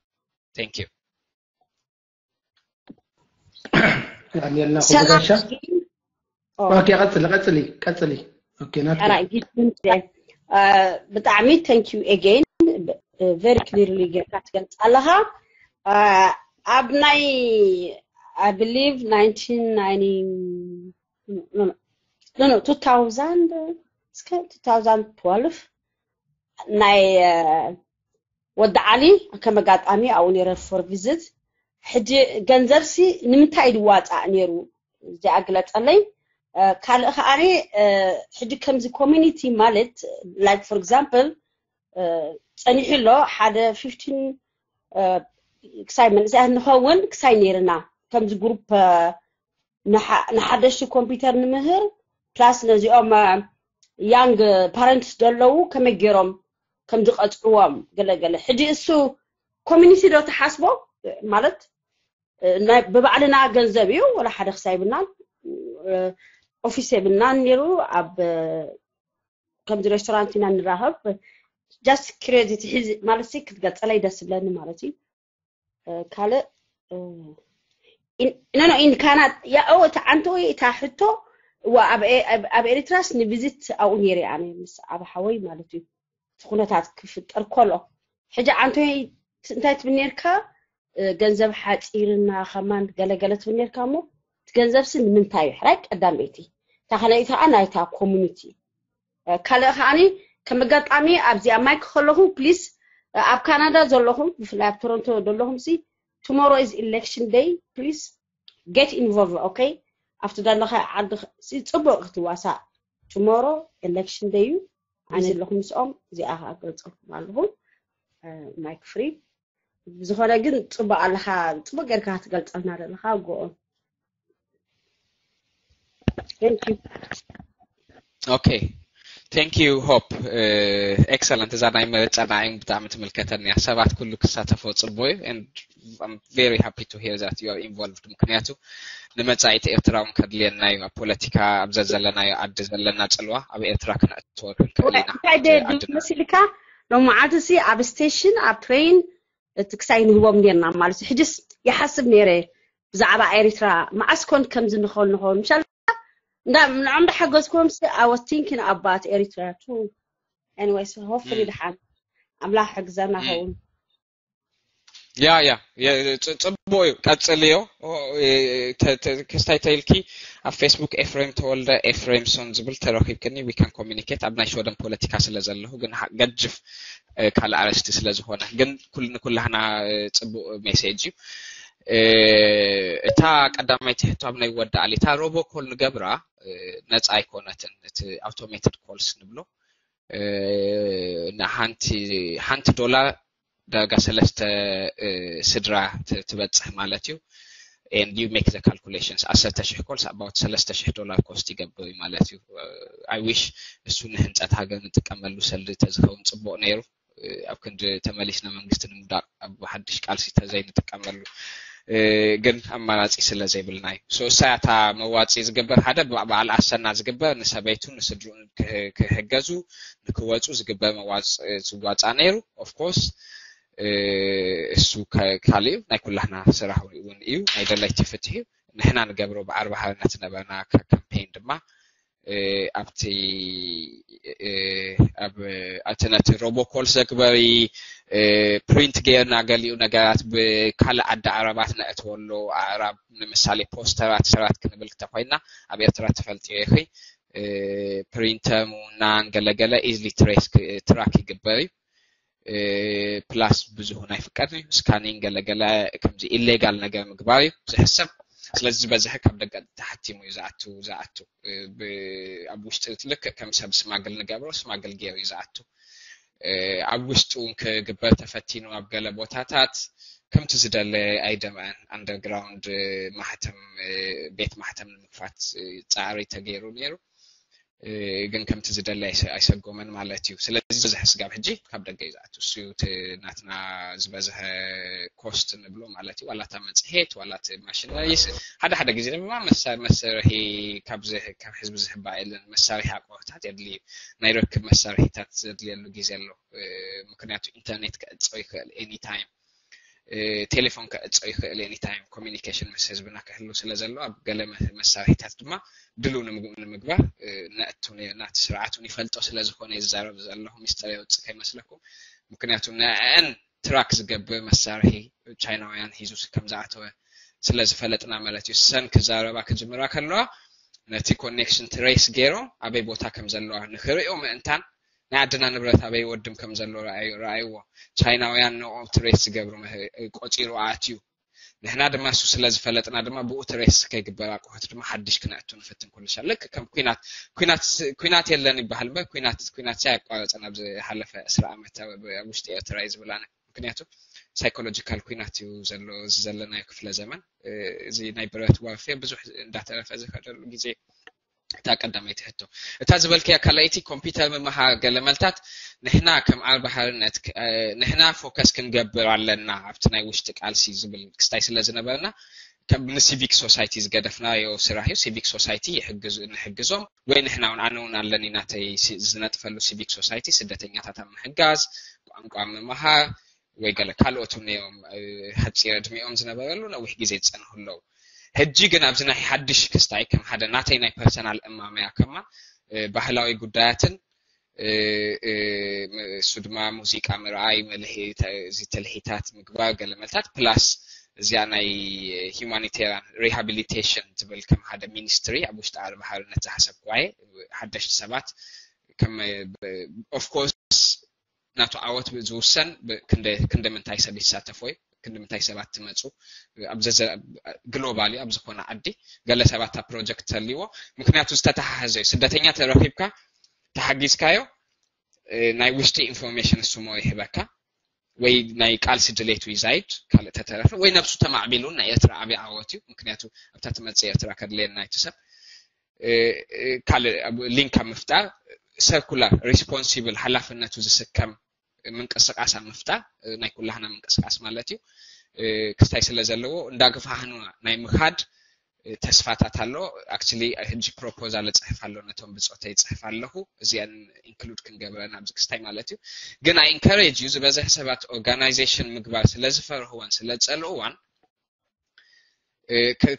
thank you ዳንኤልና ኩበሻ ኦኬ ቀጽሊ ቀጽሊ ቀጽሊ ኦኬ ናት ብጣዕሚ thank you again very clearly ጌርካ ትገልጽ ኣለኻ ኣብ ናይ I believe nineteen ninety no no two thousand እስከ two thousand twelve ናይ ወዲ ዓሊ ከም ኣጋጣሚ ኣብኡ ነይረ for visit ሕጂ ገንዘብሲ ንምንታይ ድዋፃእ ነይሩ እዚኣ ግለፀለይ ካልእ ከዓኒ ሕጂ ከምዚ community ማለት like for example ፀኒሑ ኣሎ ሓደ fifteen ክሳይ መንእሰያት ንኸውን ክሳይ ነይርና ከምዚ group ንሓደሽቲ ኮምፒውተር ንምህር plus ነዚኦም young parents ዘለዉ ከመይ ገይሮም ከም ዝቐፅዕዎም ገለገለ ሕጂ እሱ community ዶ ተሓስቦ ማለት ብባዕልና ገንዘብ እዩ ወላ ሓደ ክሳይ ብናን ኦፊስ የብልናን ነይሩ ኣብ ከምዚ restaurant ኢና ንራኸብ just curiosity ሕዚ ማለት ክትገልፀለይ ደስ ዝብለኒ ማለት እዩ ካልእ no no in Canada ያኦ እቲ ዓንተ ወይ እታ ሕቶ እዋ ኣብ ኤሪትራስ ንቪዚት ኣብኡ ነይረ ኣነ ምስ ኣብ ሓወይ ማለት እዩ እቲ ኩነታት ክፍጠር ከሎ ሕጂ ዓንተ እንታይ ትብል ነርካ ገንዘብ ሓፂርና ከማን ገለገለ ትብል ነርካ እሞ እቲ ገንዘብሲ ንምንታይ እዩ ሕራይ ቀዳመይቲ እታ ካልኣይቲ ከዓ ናይታ community ካልእ ከዓኒ ከም ኣጋጣሚ ኣብዚኣ ማይክ ከለኹ ፕሊስ ኣብ ካናዳ ዘለኹም ብፍላይ ኣብ ቶሮንቶ ዘለኹም ሲ tomorrow is election day please get involved okay ኣብቲ ዘለኻ ዓዲ ጽቡቕ ክትዋሳእ tomorrow election day እዩ ኣነ ዘለኹ ምስኦም እዚኣ ከዓ ገልጸልኩም ኣለኹ ማይክ ፍሪ ብዝኾነ ግን ጽቡቕ ኣለኻ ጽቡቕ ጌርካ ክትገልጸልና ዘለኻ ጎኦም okay thank you hope excellent እዛ ናይ መረፃ ንዓይ ብጣዕሚ ትምልከተኒ እያ ሰባት ኩሉ ክሳተፎ ፅቡቅ እዩ and I'm very happy to hear that you are involved ምክንያቱ ንመፃኢት ኤርትራ እውን ከድልየና እዩ ኣብ ፖለቲካ ኣብ ዘዘለናዮ ዓዲ ዘለና ፅልዋ ኣብ ኤርትራ ክነእትወ ክንክእል ኢና እንታይ ደ መሲልካ ሎመዓልቲ ሲ ኣብ ስቴሽን ኣብ ትሬን እቲ ክሳይ ንህቦም ኔርና ማለት እዩ ሕጅስ ይሓስብ ነይረ ብዛዕባ ኤሪትራ መዓስ ኮን ከምዚ ንኸውን ንኸውን ምሻል እንዳ ንዖም ዳሓገዝኩም ሲ I was thinking about ኤሪትራ too anyways hopefully ድሓን ኣምላኽ ሕግዘና ኸውን ያ ያ ጽቡቅ እዩ ቀጽልዮ ክስታይ ተይልኪ ኣብ ፌስቡክ ኤፍሬም ተወልደ ኤፍሬምሶን ዝብል ተረኪብክኒ we can communicate ኣብ ናይ ሸወደን ፖለቲካ ስለ ዘለኹ ግን ገጅፍ ካልእ ኣረስቲ ስለ ዝኾነ ግን ንኩላህና ጽቡቅ ሜሴጅ እዩ እታ ቀዳማይቲ ሕቶ ኣብ ናይ ወዲ ኣሊ እታ ሮቦኮል ንገብራ ነፃ ኣይኮነትን እቲ automated calls ንብሎ ሓንቲ ሓንቲ ዶላር ዳርጋ ሰለስተ ስድራ ትበፅሕ ማለት እዩ and you make the calculations ዓሰርተ ሽሕ calls about ሰለስተ ሽሕ ዶላር cost ይገብር እዩ ማለት እዩ I wish እሱ ንህንፀት ሃገር ንጥቀመሉ ሰልዲ ተዝኸውን ፅቡቅ ነይሩ ኣብ ክንዲ ተመሊስና መንግስቲ ንምውዳቅ ኣብ ሓድሽ ቃልሲ ተዘይንጥቀመሉ ግን ኣማራፂ ስለ ዘይብልና እዩ so እሳያ እታ መዋፂ ዝግበር ሓደ በዓል ኣሰና ዝግበር ንሰበይቱ ንስድርኡን ክሕገዙ ንክወፁ ዝግበር መዋፅ ዝዋፃ ነይሩ of course እሱ ካልእ ናይ ኩላህና ስራሕ እውን እዩ ናይ ደለይቲ ፍትሒ ንሕና ንገብሮ ብዓርቢ ሓርነት ነበርና ካምፔን ድማ ኣብቲ ኣብ እቲ ነቲ ሮቦኮል ዘግበሪ ፕሪንት ገይርና ገሊኡ ነገራት ብካልእ ዓዲ ዓረባት ነእትወሉ ኣዕራብ ንምሳሌ ፖስተራት ሰራት ክንብል ክተኮይና ኣብ ኤርትራ ትፈልጥዮ ኢኺ ፕሪንተር ምውናን ገለገለ ኢዝሊ ትራክ ይግበር እዩ ፕላስ ብዙሁ ናይ ፍቀድ እዩ። ስካኒንግ ገለገለ ከምዚ ኢሌጋል ነገር ምግባር እዩ ዝሕሰብ። ስለዚ ዝበዝሐ ካብ ደገ ተሓቲሙ እዩ ዝኣቱ ዝኣቱ ኣብ ውሽጢ ልክእ ከም ሰብ ስማግል ንገብሮ ስማግል ገይሩ እዩ ዝኣቱ። ኣብ ውሽጡ እውን ክግበር ተፈቲኑ ኣብ ገለ ቦታታት ከምቲ ዝደለ ኣይደምዐን። ኣንደርግራውንድ ማህተም ቤት ማህተም ንምክፋት ፃዕሪ ተገይሩ ነይሩ። ግን ከምቲ ዝደለ ኣይሰጎመን ማለት እዩ። ስለዚ ዝበዝሐ ስጋብ ሕጂ ካብ ደገ እዩ ዝኣቱ። እሱ እዩ እቲ ናትና ዝበዝሐ ኮስት ንብሎ ማለት እዩ። ዋላ እታ መፅሄት ዋላ እቲ ማሽነሪስ ሓደ ሓደ ግዜ ድማ መሳርሒ ካብ ህዝቢ ዝህባ የለን። መሳርሒ ኣቅርቦታት የድልዩ ናይ ርክብ መሳርሒታት ዘድልየሉ ግዜ ኣሎ። ምክንያቱ ኢንተርኔት ክዕፆ ይኽእል ኤኒታይም ቴሌፎን ክዕፆ ይኽእል ኤኒታይም ኮሚኒኬሽን ምስ ህዝብና ክህሉ ስለ ዘሎ ኣብ ገለ መሳርሒታት ድማ ድሉ ንምግባር ነእቱ ናቲ ስርዓት እውን ይፈልጦ ስለ ዝኾነ ይዛረብ ዘለኹ ሚስጥር የውፅእ ከይመስለኩም። ምክንያቱ ንዕን ትራክ ዝገብር መሳርሒ ቻይናውያን ሂዙ ከም ዝኣተወ ስለ ዝፈለጥና ማለት እዩ። ሰን ክዛረባ ክጅምራ ከለዋ ነቲ ኮኔክሽን ትሬስ ገይሮም ኣበይ ቦታ ከም ዘለዋ ንክርእዮ ምእንታን ናይ ዓድና ንብረት ኣበይ ወድም ከም ዘሎ ረኣይዎ። ቻይናውያን ንኦም ትሬስ ዝገብሩ ቆፂሩ ኣትዩ። ንሕና ድማ እሱ ስለ ዝፈለጥና ድማ ብኡ ትሬስ ከይግበር ኣቁሑት ድማ ሓድሽ ክነእቱ ንፍትን ኩሉ ሻዕ። ልክ ከም ኩናት ኩናት የለን ይበሃል እምበር ኩናት ኩናት ሲ ኣቋረፅን ኣብ ዝሓለፈ ዕስራ ዓመት ኣብ ውሽጢ ኤርትራ እዩ ዝብል ኣነ። ምክንያቱ ሳይኮሎጂካል ኩናት እዩ ዘሎ እዚ ዘለናዮ ክፍለ ዘመን። እዚ ናይ ብረት ዋርፌር ብዙሕ እንዳተረፈ ዝኸደሉ ግዜ እታ ቀዳመይቲ ሕቶ። እታ ዝበልክያ ካልኣይቲ ኮምፒውተር ምምሃር ገለ መልታት ንሕና ከም ኣርባ ሓርነት ንሕና ፎከስ ክንገብር ኣለና ኣብቲ ናይ ውሽጢ ቃልሲ ዝብል ክስታይ ስለ ዝነበርና ከም ንሲቪክ ሶሳይቲ ዝገደፍናዮ ስራሕ እዩ። ሲቪክ ሶሳይቲ ንሕግዞም ወይ ንሕና እውን ኣነ እውን ኣለኒ ናተይ ዝነጥፈሉ ሲቪክ ሶሳይቲ ስደተኛታት ኣብ ምሕጋዝ ቋንቋ ምምሃር ወይ ገለ ካልኦት እውን እዮም ሓፂር ዕድሚኦም ዝነበረሉ ነዊሕ ግዜ ዝፀንሑ ኣለዉ። ሕጂ ግን ኣብዚ ናይ ሓድሽ ክስታይ ከም ሓደ ናተይ ናይ ፐርሰናል እማመያ ከማን ባህላዊ ጉዳያትን እሱ ድማ ሙዚቃ ምርኣይ እዚ ትልሂታት ምግባር ገለ መልታት ፕላስ እዚኣ ናይ ሂማኒቴሪያን ሪሃቢሊቴሽን ትብል ከም ሓደ ሚኒስትሪ ኣብ ውሽጢ ኣርቢ ሓርነት ዝሓሰብክዋ ሓደሽቲ ሰባት ኦፍኮርስ ናቱ ዓወት ዝውሰን ክንደ ምንታይ ሰብ ይሳተፎ እዩ ክንደ ምንታይ ሰባት ትመፁ ግሎባል እዩ ኣብ ዝኾነ ዓዲ ገለ ሰባት ኣብ ፕሮጀክት ተልዎ ምክንያቱ ዝተተሓሓዘ እዩ ስደተኛ ተረኪብካ ተሓጊዝካዮ ናይ ውሽጢ ኢንፎርሜሽን እሱሞ ይህበካ ወይ ናይ ቃልሲ ድሌቱ ይዛይድ ካልእ ተተረፈ ወይ ነብሱ ተማዕቢሉ ናይ ኤርትራ ዓብዪ ዓወት እዩ ምክንያቱ ኣብታ ትመፅእ ኤርትራ ከድልየና እቲ ሰብ ካልእ ሊንክ ኣብ ምፍጣር ሰርኩላር ሪስፖንሲብል ሓላፍነቱ ዝስከም ምንቅስቃስ ኣብ ምፍጣር ናይ ኩላህና ምንቅስቃስ ማለት እዩ ክስታይ ስለ ዘለዎ እንዳግፋህኑ ናይ ምኻድ ተስፋታት ኣሎ actually ሕጂ ፕሮፖዛል እፅሕፍ ኣሎ ነቶም ብፆተይ ይፅሕፍ ኣለኹ እዚአን ኢንክሉድ ክንገብረን ኣብዚ ክስታይ ማለት እዩ ግን ኣይ ኢንካሬጅ እዩ ዝበዝሕ ሰባት ኦርጋናይዜሽን ምግባር ስለ ዝፈርህወን ስለ ዝፀልእዋን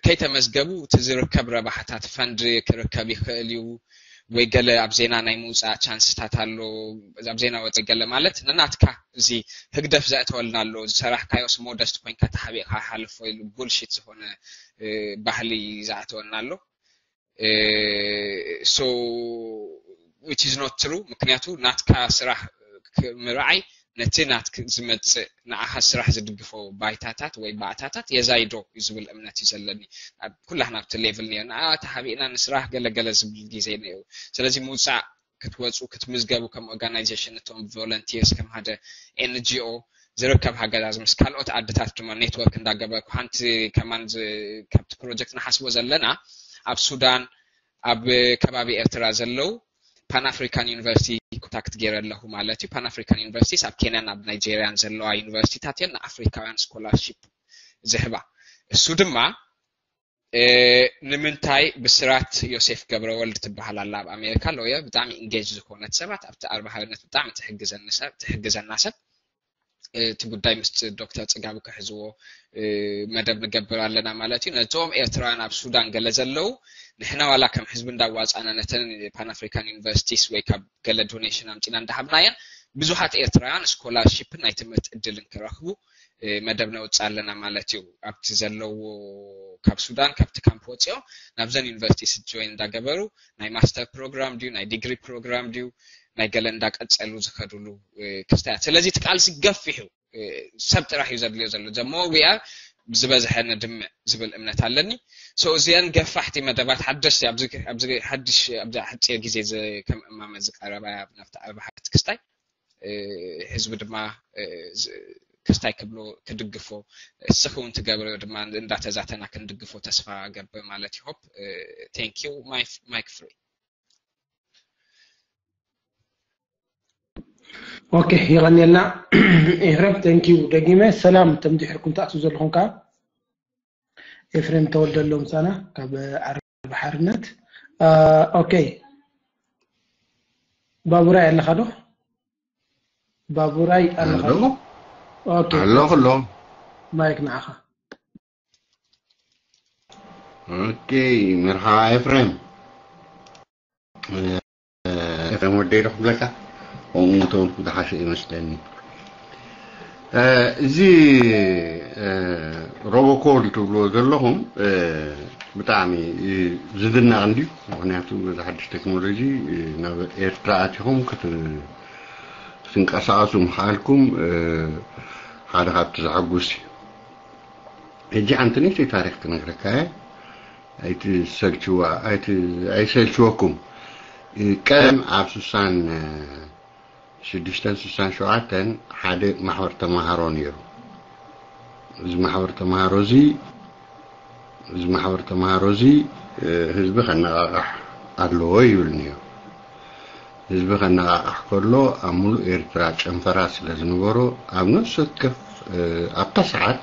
ከይተመዝገቡ እቲ ዝርከብ ረባሕታት ፈንድ ክርከብ ይኽእል እዩ ወይ ገለ ኣብ ዜና ናይ ምውፃእ ቻንስታት ኣሎ ኣብ ዜና ወፀ ገለ ማለት ንናትካ እዚ ህግደፍ ዘእተወልና ኣሎ ዝሰራሕካዮስ ሞደስት ኮይንካ ተሓቢእካ ሓልፎ ኢሉ ቡልሽት ዝኾነ ባህሊ ዝኣተወልና ኣሎ so which is not true ምክንያቱ ናትካ ስራሕ ምርዓይ ነቲ ናት ዝመፅእ ንዓኻ ስራሕ ዝድግፎ ባይታታት ወይ ባእታታት የዛይዶ እዩ ዝብል እምነት እዩ ዘለኒ ኩላህና ኣብቲ ሌቭል ነርና ተሓቢእና ንስራሕ ገለገለ ዝብል ግዜ ነይሩ ስለዚ ምውፃእ ክትወፁ ክትምዝገቡ ከም ኦርጋናይዜሽን እቶም ቮለንቲርስ ከም ሓደ ኤንጂኦ ዝርከብ ሃገዛዝ ምስ ካልኦት ዓድታት ድማ ኔትወርክ እንዳገበርኩ ሓንቲ ከማን ካብቲ ፕሮጀክት ንሓስቦ ዘለና ኣብ ሱዳን ኣብ ከባቢ ኤርትራ ዘለዉ ፓን ኣፍሪካን ዩኒቨርሲቲ ኮንታክት ገይረ ኣለኹ ማለት እዩ ፓን ኣፍሪካን ዩኒቨርሲቲስ ኣብ ኬንያን ኣብ ናይጄሪያን ዘለዋ ዩኒቨርሲቲታት እየን ንኣፍሪካውያን ስኮላርሺፕ ዝህባ እሱ ድማ ንምንታይ ብስራት ዮሴፍ ገብረወልድ ትበሃል ኣላ ኣብ ኣሜሪካ ሎየር ብጣዕሚ ኢንጌጅ ዝኾነት ሰባት ኣብቲ ኣርባሃርነት ብጣዕሚ ትሕግዘና ሰብ እቲ ጉዳይ ምስ ዶክተር ፅጋቡ ክሕዝዎ መደብ ንገብር ኣለና ማለት እዩ ነቶም ኤርትራውያን ኣብ ሱዳን ገለ ዘለዉ ንሕና ዋላ ከም ህዝቢ እንዳዋፃና ነተን ፓን ኣፍሪካን ዩኒቨርሲቲስ ወይ ካብ ገለ ዶኔሽን ኣምፂና እንዳሃብናየን ብዙሓት ኤርትራውያን ስኮላርሺፕን ናይ ትምህርቲ እድልን ክረኽቡ መደብ ነውፅእ ኣለና ማለት እዩ። ኣብቲ ዘለዎ ካብ ሱዳን ካብቲ ካምፕ ወፂኦም ናብዘን ዩኒቨርሲቲ ጆይን እንዳገበሩ ናይ ማስተር ፕሮግራም ድዩ ናይ ዲግሪ ፕሮግራም ድዩ ናይ ገለ እንዳቀፀሉ ዝኸዱሉ ክስታያት። ስለዚ እቲ ቃልሲ ገፊሕ እዩ። ሰብ ጥራሕ እዩ ዘድልዮ ዘሎ። ዘሞ ዊኣ ዝበዝሐ ነድምዕ ዝብል እምነት ኣለኒ። እዚአን ገፋሕቲ መደባት ሓደሽቲ ኣብዚ ሓድሽ ኣብዚ ሓፂር ግዜ ከም እማመ ዝቀረባ ናብቲ ኣርባሓት ክስታይ ህዝቢ ድማ ክስታይ ክብሎ ክድግፎ እስኺ እውን ትገብርዮ ድማ እንዳተዛተና ክንድግፎ ተስፋ ገብር ማለት ይሆፕ። Thank you. Mic free. ኦኬ፣ ይቐንየልና ኤፍሬም። Thank you ደጊመ። ሰላም እቶም ድሕርኩም ትኣትዉ ዘለኹም ከዓ ኤፍሬም ተወልደ ኣሎ ምሳና ካብ ዓርቢ ሓርነት። ኦኬ፣ ባቡራይ ኣለኻ ዶ? ባቡራይ ኣለኻ ዶ? ኦኬ፣ ኣለኹ ኣሎ። ማይክ ንዓኻ። ኦኬ፣ መርሓባ ኤፍሬም። ኤፍሬም ወደይ ዶ ክብለካ? ከምኡ ተበልኩ ዝሓሸ ይመስለኒ። እዚ ሮቦኮል ትብልዎ ዘለኹም ብጣዕሚ ዝድነቕ እንድዩ። ምክንያቱ በዚ ሓድሽ ቴክኖሎጂ ናብ ኤርትራ ኣቲኹም ክትንቀሳቐሱ ምኽኣልኩም ሓደ ካብቲ ዘሐጉስ እዩ። ሕጂ ሓንቲ ንእሽተይ ታሪኽ ክነግረካ እየ። ኣይትሰልችዋ ኣይሰልችወኩም። ቀደም ኣብ ስሳን ሽዱሽተን ስሳን ሸውዓተን ሓደ ማሕበር ተማሃሮ ነይሩ። እዚ ማሕበር ተማሃሮ እዚ እዚ ማሕበር ተማሃሮ እዚ ህዝቢ ከነቓቕሕ ኣለዎ ይብል ነይሩ። ህዝቢ ከነቓቕሕ ከሎ ኣብ ሙሉእ ኤርትራ ጨንፈራ ስለ ዝነበሮ ኣብ ነፍሲ ወከፍ ኣብታ ሰዓት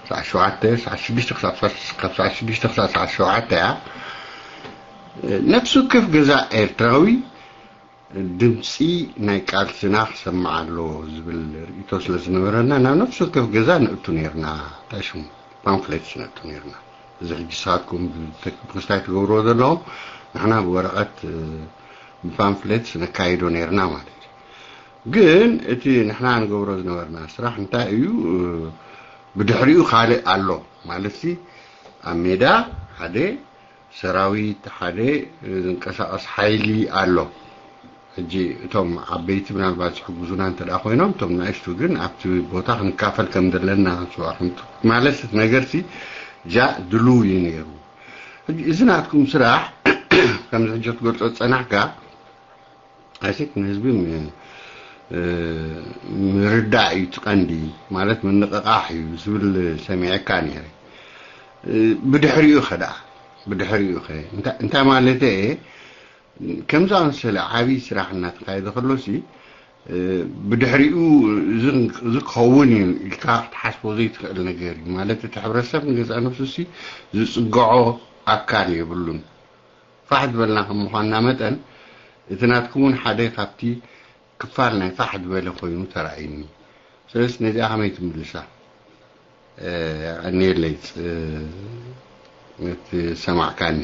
ሰዓት ሸውዓተ ሰዓት ሽዱሽተ ክሳብ ሰዓት ሽዱሽተ ክሳብ ሰዓት ሸውዓተ እያ። ነፍሲ ወከፍ ገዛ ኤርትራዊ ድምፂ ናይ ቃልስና ክሰማዕ ኣለዎ ዝብል ርእይቶ ስለ ዝነበረና ናብ ነፍሲ ወከፍ ገዛ ነእቱ ነርና። እንታይ ሽሙ ፓምፍሌትስ ነእቱ ነርና። እዚ ሕጂ ንስኻትኩም ብክስታይ ትገብርዎ ዘለኹም ንሕና ብወረቐት ብፓምፍሌትስ ነካይዶ ነርና ማለት እዩ። ግን እቲ ንሕና ንገብሮ ዝነበርና ስራሕ እንታይ እዩ? ብድሕሪኡ ካልእ ኣሎ ማለት ሲ ኣብ ሜዳ ሓደ ሰራዊት ሓደ ዝንቀሳቐስ ሓይሊ ኣሎ። ሕጂ እቶም ዓበይቲ ምናልባት ዝሕግዙና እንተ ደኣ ኮይኖም እቶም ንእሽቱ ግን ኣብቲ ቦታ ክንካፈል ከም ዘለና ክንስዋ ማለት እቲ ነገርሲ ጃ ድልው እዩ ነይሩ። ሕጂ እዚ ናትኩም ስራሕ ከምዚ ሕጂ ክትገልጾ ዝጸናሕካ ኣይሲክ ንህዝቢ ምርዳእ እዩ እቲ ቀንዲ ማለት ምንቕቓሕ እዩ ዝብል ሰሚዐካ ነይረ። ብድሕሪኡ ኸ ደኣ ብድሕሪኡ ኸ እንታይ ማለት እየ ከምዚ ኣመሰለ ዓብዪ ስራሕ እናተካየደ ከሎሲ ብድሕሪኡ እዚ ክኸውን እዩ ኢልካ ክትሓስቦ ዘይትኽእል ነገር እዩ ማለት እቲ ሕብረተሰብ ንገዛእ ነብሱ ሲ ዝፅግዖ ኣካል የብሉን። ፋሕ ዝበልና ከም ምዃንና መጠን እቲ ናትኩም እውን ሓደ ካብቲ ክፋል ናይ ፋሕ ዝበለ ኮይኑ ተራእዩኒ። ስለዚ ነዚኣ ከመይ ትምልሳ? የቐንየለይ እቲ ሰማዕካኒ።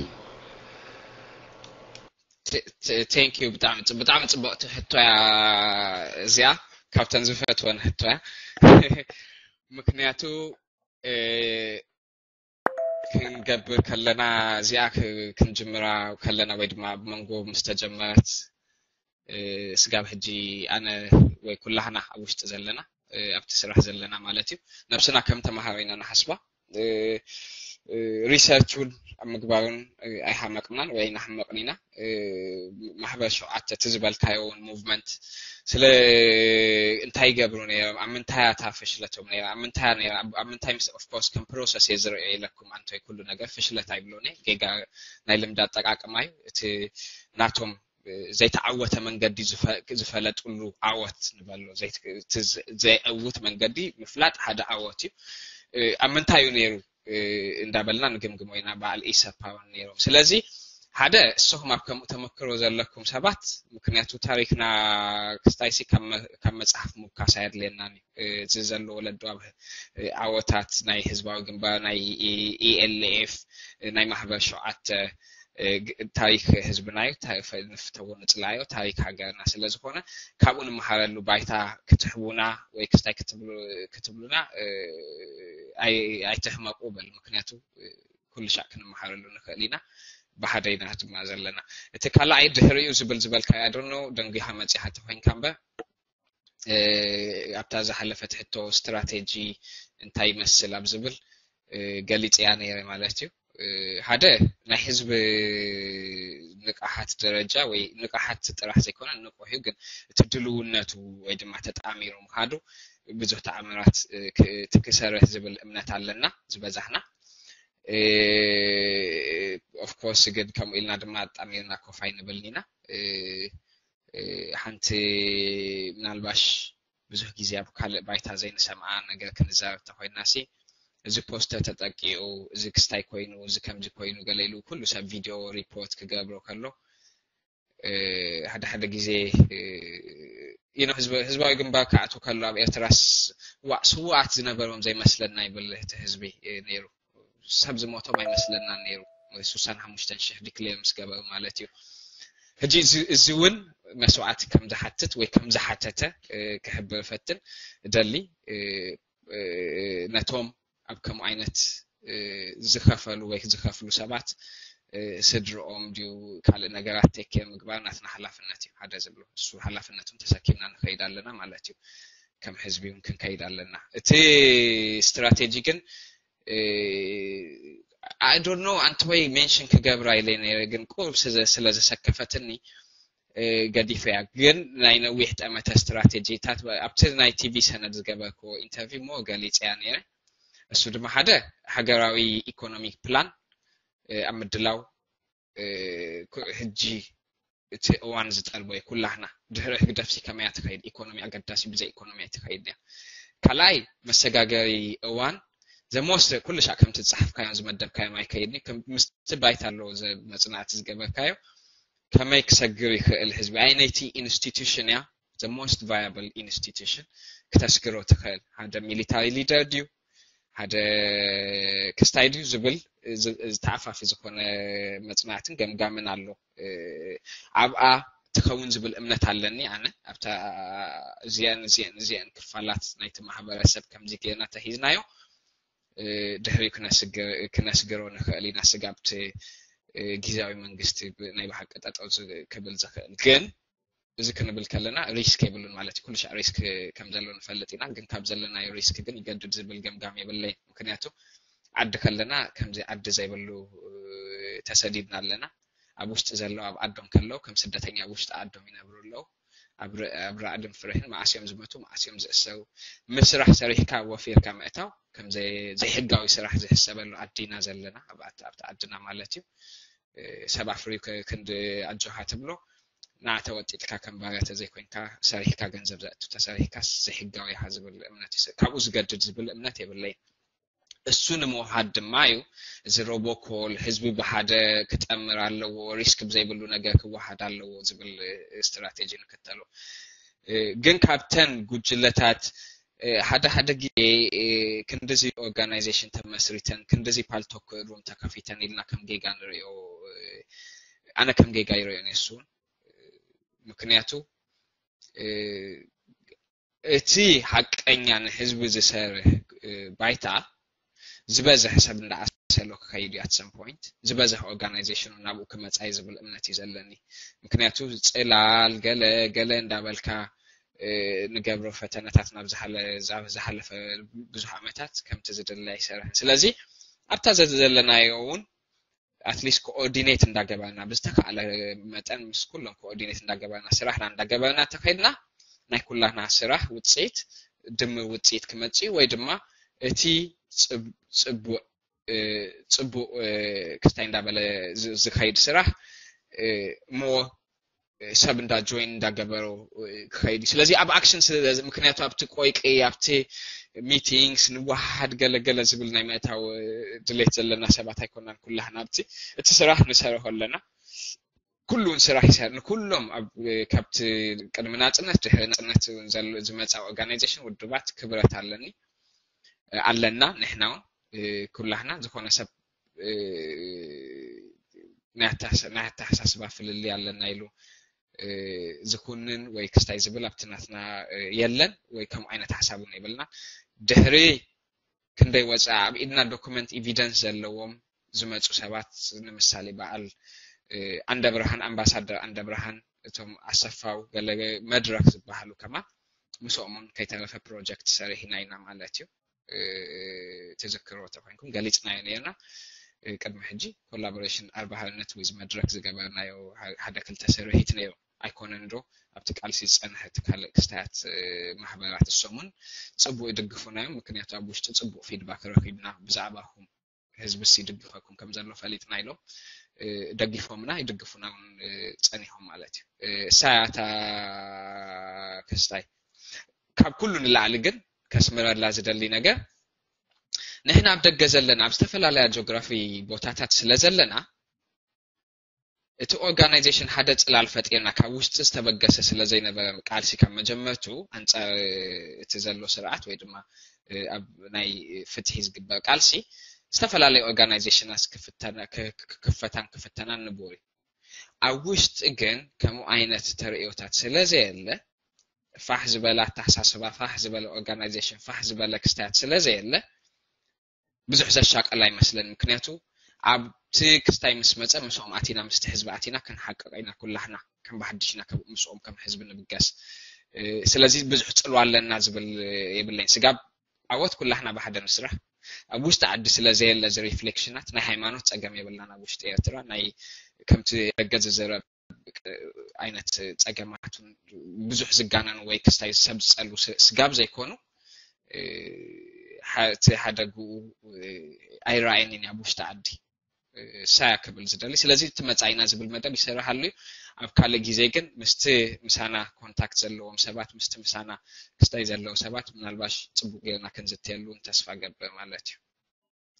Thank you ብጣዕሚ ብጣዕሚ ፅብቕቲ ሕቶ እያ እዚኣ ካብተን ዝፈትወን ሕቶ እያ ምክንያቱ ክንገብር ከለና እዚኣ ክንጅምራ ከለና ወይ ድማ ኣብ መንጎ ምስ ተጀመረት ስጋብ ሕጂ ኣነ ወይ ኩላህና ኣብ ውሽጢ ዘለና ኣብቲ ስራሕ ዘለና ማለት እዩ ነብስና ከም ተማሃሮ ኢና ንሓስባ። ሪሰርች እውን ኣብ ምግባርን ኣይሃመቅናን ወይ ኣይናሕመቅን ኢና። ማሕበር ሸውዓተ እቲ ዝበልካዮ እውን ሙቭመንት ስለ እንታይ ይገብሩ ነይሮም ኣብ ምንታይ ኣታ ፍሽለቶም ነይራ ኣብ ምንታይ ነይራ ኣብ ምንታይ ምስ ኦፍኮርስ ከም ፕሮሰስ እየ ዝርእዮ ኢለኩም ኣንቶይ ኩሉ ነገር ፍሽለት ኣይብሎን እየ ጌጋ ናይ ልምዲ ኣጠቃቅማ እዩ እቲ ናቶም ዘይተዓወተ መንገዲ ዝፈለጥሉ ዓወት ንበሎ ዘይዕውት መንገዲ ምፍላጥ ሓደ ዓወት እዩ ኣብ ምንታይ እዩ ነይሩ እንዳበልና ንግምግሞ ኢና በዓል ኢሰፓ ነይሮም ስለዚ ሓደ እሰኹም ኣብ ከምኡ ተመክሮ ዘለኩም ሰባት ምክንያቱ ታሪክና ክስታይሲ ካብ መፅሓፍ ምውካስ ኣየድልየናን እዩ እዚ ዘሎ ወለዶ ኣብ ዓወታት ናይ ህዝባዊ ግንባር ናይ ኢኤልኤፍ ናይ ማሕበር ሸውዓተ ታሪክ ህዝብና እዩ። ንፍተዎ ንፅላዮ፣ ታሪክ ሃገርና ስለዝኾነ ካብኡ ንመሃረሉ ባይታ ክትህቡና ወይ ክስታይ ክትብሉና ኣይትሕመቁ በል። ምክንያቱ ኩሉ ሻዕ ክንመሃረሉ ንኽእል ኢና። ብሓደ ኢና ድማ ዘለና። እቲ ካልኣይ ድሕሪኡ ዝብል ዝበልካዮ ኣድርኖ ደንጊኻ መፂኻ ተኮይንካ እምበር ኣብታ ዝሓለፈት ሕቶ ስትራቴጂ እንታይ ይመስል ኣብ ዝብል ገሊፅያ ነይረ ማለት እዩ። ሓደ ናይ ህዝቢ ንቕሓት ደረጃ ወይ ንቕሓት ጥራሕ ዘይኮነ ንቑሕ እዩ፣ ግን እቲ ድልውነቱ ወይ ድማ ተጣሚሩ ምኻዱ ብዙሕ ተኣምራት ክሰርሕ ዝብል እምነት ኣለና ዝበዛሕና። ኦፍኮርስ ግን ከምኡ ኢልና ድማ ኣጣሚርና ኮፍ ኣይንብልን ኢና። ሓንቲ ምናልባሽ ብዙሕ ግዜ ኣብ ካልእ ባይታ ዘይንሰምዓ ነገር ክንዛረብ ተኮይንና ሲ፣ እዚ ፖስተር ተጠቂዑ፣ እዚ ክስታይ ኮይኑ፣ እዚ ከምዚ ኮይኑ ገለ ኢሉ ኩሉ ሰብ ቪድዮ ሪፖርት ክገብሮ ከሎ ሓደ ሓደ ግዜ you know ህዝባዊ ግንባር ክኣቱ ከሎ ኣብ ኤርትራስ ዋዕ ስዋኣት ዝነበሮም ዘይመስለና ይብል እቲ ህዝቢ ነይሩ። ሰብ ዝሞቶም ኣይመስለናን ነይሩ። ስሳን ሓሙሽተን ሽሕ ዲክሌር ምስ ገበሩ ማለት እዩ። ሕጂ እዚ እውን መስዋዕቲ ከም ዝሓትት ወይ ከም ዝሓተተ ክሕብር እፈትን እደሊ። ነቶም ኣብ ከምኡ ዓይነት ዝኸፈሉ ወይ ዝኸፍሉ ሰባት ስድርኦም ድዩ ካልእ ነገራት ቴክ ኬር ምግባር ናትና ሓላፍነት እዩ ሓደ ዝብሎ እሱ ሓላፍነቱን ተሰኪምና ንኸይድ ኣለና ማለት እዩ። ከም ህዝቢ እውን ክንከይድ ኣለና። እቲ ስትራቴጂ ግን I don't know ኣንተ ወይ ሜንሽን ክገብራ ኢለ ነይረ ግን ቁሩብ ስለ ዘሰከፈትኒ ገዲፈያ። ግን ናይ ነዊሕ ጠመተ ስትራቴጂታት ኣብቲ ናይ ቲቪ ሰነድ ዝገበርክዎ ኢንተርቪው ሞ ገሊፀያ ነይረ። እሱ ድማ ሓደ ሃገራዊ ኢኮኖሚክ ፕላን ኣብ ምድላው ሕጂ እቲ እዋን ዝጠልቦ እዩ። ኩላህና ድሕሪ ህግደፍሲ ከመያ ትኸይድ ኢኮኖሚ ኣገዳሲ ብዘይ ኢኮኖሚ ኣይትኸይድ እያ። ካልኣይ መሰጋገሪ እዋን ዘሞስ ኩሉ ሻዕ ከምቲ ዝፀሓፍካዮም ዝመደብካዮም ኣይከይድን ምስቲ ባይታ ኣለዎ መፅናዕቲ ዝገበርካዮ ከመይ ክሰግር ይኽእል ህዝቢ ኣይ ነይቲ ኢንስቲቱሽን እያ the most viable institution ክተስግሮ ትኽእል ሓደ ሚሊታሪ ሊደር ድዩ ሓደ ክስታይ ድዩ ዝብል ዝተዓፋፊ ዝኾነ መፅናዕትን ገምጋምን ኣሎ። ኣብኣ ትኸውን ዝብል እምነት ኣለኒ ኣነ ኣብታ እዚአን እዚአን እዚአን ክፋላት ናይቲ ማህበረሰብ ከምዚ ገይርና ተሂዝናዮ ድሕሪኡ ክነስግሮ ንኽእል ኢና ስጋብቲ ግዜያዊ መንግስቲ ናይ ብሓቂ ጠጠው ክብል ዝኽእል ግን እዚ ክንብል ከለና ሪስክ የብሉን ማለት እዩ። ኩሉ ሻዕ ሪስክ ከም ዘሎ ንፈልጥ ኢና፣ ግን ካብ ዘለናዮ ሪስክ ግን ይገድድ ዝብል ገምጋም የብለይ። ምክንያቱ ዓዲ ከለና ከምዚ ዓዲ ዘይብሉ ተሰዲድና ኣለና። ኣብ ውሽጢ ዘለዉ ኣብ ዓዶም ከለዉ ከም ስደተኛ ኣብ ውሽጢ ዓዶም ይነብሩ ኣለዉ። ኣብ ራዕድን ፍርሕን መዓስ እዮም ዝመቱ፣ መዓስ እዮም ዝእሰሩ። ምስራሕ ሰሪሕካ ወፊርካ ምእታው ከም ዘይሕጋዊ ስራሕ ዝሕሰበሉ ዓዲ ኢና ዘለና፣ ኣብቲ ዓድና ማለት እዩ። ሰብ ኣፍርዩ ክንዲ ኣጆኻ ትብሎ ንዓ ተወጢጥካ ከም ባርያ ተዘይኮይንካ ሰሪሕካ ገንዘብ ዘእቱ ተሰሪሕካ ዘይሕጋዊ ኢኻ ዝብል እምነት ይስ- ካብኡ ዝገድድ ዝብል እምነት የብለይን። እሱ ንምውሃድ ድማ እዩ እዚ ሮቦኮል ህዝቢ ብሓደ ክጠምር ኣለዎ፣ ሪስክ ብዘይብሉ ነገር ክወሃድ ኣለዎ ዝብል ስትራቴጂ ንክተሎ። ግን ካብተን ጉጅለታት ሓደ ሓደ ግዜ ክንድዚ ኦርጋናይዜሽን ተመስሪተን ክንድዚ ፓልቶክ ሩም ተከፊተን ኢልና ከም ጌጋ ንሪኦ ኣነ ከም ጌጋ ይሪኦ ነሱ ምክንያቱ እቲ ሓቀኛ ንህዝቢ ዝሰርህ ባይታ ዝበዝሕ ሰብ እንዳዓሰሎ ክኸይድ እዩ ኣትሰም ፖይንት ዝበዝሕ ኦርጋናይዜሽኑ ናብኡ ክመፃ እዩ ዝብል እምነት እዩ ዘለኒ ምክንያቱ ፅላል ገለ ገለ እንዳበልካ ንገብሮ ፈተነታት ናብ ዝሓለፈ ብዙሕ ዓመታት ከምቲ ዝድለ ኣይሰርሕን ስለዚ ኣብታ ዘለናዮ እውን ኣትሊስት ኮኦርዲኔት እንዳገበርና ብዝተካእለ መጠን ምስ ኩሎም ኮኦርዲኔት እንዳገበርና ስራሕና እንዳገበርና ተኸድና ናይ ኩላና ስራሕ ውፅኢት ድምር ውፅኢት ክመፅእ ወይ ድማ እቲ ፅቡቅ ፅቡቅ ክስታይ እንዳበለ ዝኸይድ ስራሕ ሞ ሰብ እንዳ ጆይን እንዳገበሮ ክኸይድ እዩ ስለዚ ኣብ ኣክሽን ምክንያቱ ኣብቲ ቆይቂ ኣብቲ ሚቲንግስ ንዋሓድ ገለገለ ዝብል ናይ ምእታው ድሌት ዘለና ሰባት ኣይኮናን ኩላህና ኣብቲ እቲ ስራሕ ንሰርሖ ኣለና ኩሉን ስራሕ ይሰር ንኩሎም ካብቲ ቅድሚ ናፅነት ድሕሪ ናፅነት ዝመፃ ኦርጋናይዜሽን ውድባት ክብረት ኣለኒ ኣለና ንሕና እውን ኩላህና ዝኾነ ሰብ ናይ ኣተሓሳስባ ፍልልይ ኣለና ኢሉ ዝኹንን ወይ ክስታይ ዝብል ኣብቲ ናትና የለን፣ ወይ ከምኡ ዓይነት ሓሳብ እውን የብልና። ድሕሪ ክንደይ ወፅኣ ኣብ ኢድና ዶኩመንት ኤቪደንስ ዘለዎም ዝመፁ ሰባት፣ ንምሳሌ በዓል ኣንደብርሃን፣ ኣምባሳደር ኣንደብርሃን፣ እቶም ኣሰፋው ገለ መድረክ ዝበሃሉ ከማን ምስኦምን ከይተረፈ ፕሮጀክት ሰሪሕና ኢና ማለት እዩ። ትዝክርዎ ተኮይንኩም ገሊፅናዮ ነርና። ቅድሚ ሕጂ ኮላቦሬሽን ኣርባሃልነት ዊዝ መድረክ ዝገበርናዮ ሓደ ክልተ ስርሒት ነይሩ። ኣይኮነን ዶ ኣብቲ ቃልሲ ዝፀንሐ እቲ ካልእ ክስታያት ማሕበራት እሶምን ፅቡቅ ይድግፉና እዮም። ምክንያቱ ኣብ ውሽጢ ፅቡቅ ፊድባክ ረኪብና ብዛዕባኹም፣ ህዝብስ ይድግፈኩም ከም ዘሎ ፈሊጥና ኢሎም፣ እ፣ ደጊፎምና ይድግፉና እውን፣ እ፣ ጸኒሖም ማለት እዩ። እ፣ እሳ እያ እታ ክስታይ። ካብ ኩሉ ንላዕሊ ግን ከስምረላ ዝደሊ ነገር፣ ንሕና ኣብ ደገ ዘለና ኣብ ዝተፈላለያ ጂኦግራፊ ቦታታት ስለ ዘለና፣ እቲ ኦርጋናይዜሽን ሓደ ጽላል ፈጢርና ካብ ውሽጢ ዝተበገሰ ስለ ዘይነበረ፣ ቃልሲ ካብ መጀመርቱ ኣንጻር እቲ ዘሎ ስርዓት ወይ ድማ ኣብ ናይ ፍትሒ ዝግበር ቃልሲ ዝተፈላለዩ ኦርጋናይዜሽናት ክፍተና- ክ- ክ- ክፈታን ክፍተናን ንቡር እዩ። ኣብ ውሽጢ ግን ከምኡ ዓይነት ተርእዮታት ስለ ዘየለ፣ ፋሕ ዝበለ ኣተሓሳስባ፣ ፋሕ ዝበለ ኦርጋናይዜሽን፣ ፋሕ ዝበለ ክስታያት ስለ ዘየለ ብዙሕ ዘሻቀል ኣይመስለን። ምክንያቱ ኣብቲ ክስታይ ምስ መፀ ምስኦም ኣቲና ምስቲ ህዝቢ ኣቲና ክንሓቅቕ ኢና ኩላህና ከም ብሓድሽ ኢና ምስኦም ከም ህዝቢ ንብገስ። ስለዚ ብዙሕ ፅልዋ ኣለና ዝብል የብለይን። ስጋብ ዓወት ኩላህና ብሓደ ንስራሕ። ኣብ ውሽጢ ዓዲ ስለ ዘየለ እዚ ሪፍሌክሽናት ናይ ሃይማኖት ፀገም የብልናን። ኣብ ውሽጢ ኤርትራ ናይ ከምቲ ደገ ዝዝረብ ዓይነት ፀገማት ብዙሕ ዝጋነኑ ወይ ክስታይ ሰብ ዝፀሉ ስጋብ ዘይኮኑ እቲ ሓደግኡ ኣይረኣየንን ኣብ ውሽጢ ዓዲ ሳያ ክብል ዝደሊ። ስለዚ እቲ መፃኢና ዝብል መደብ ይሰርሓሉ እዩ። ኣብ ካልእ ግዜ ግን ምስቲ ምሳና ኮንታክት ዘለዎም ሰባት፣ ምስቲ ምሳና ክስታይ ዘለዉ ሰባት ምናልባሽ ፅቡቅ ጌርና ክንዝተየሉ ተስፋ ገብር ማለት እዩ።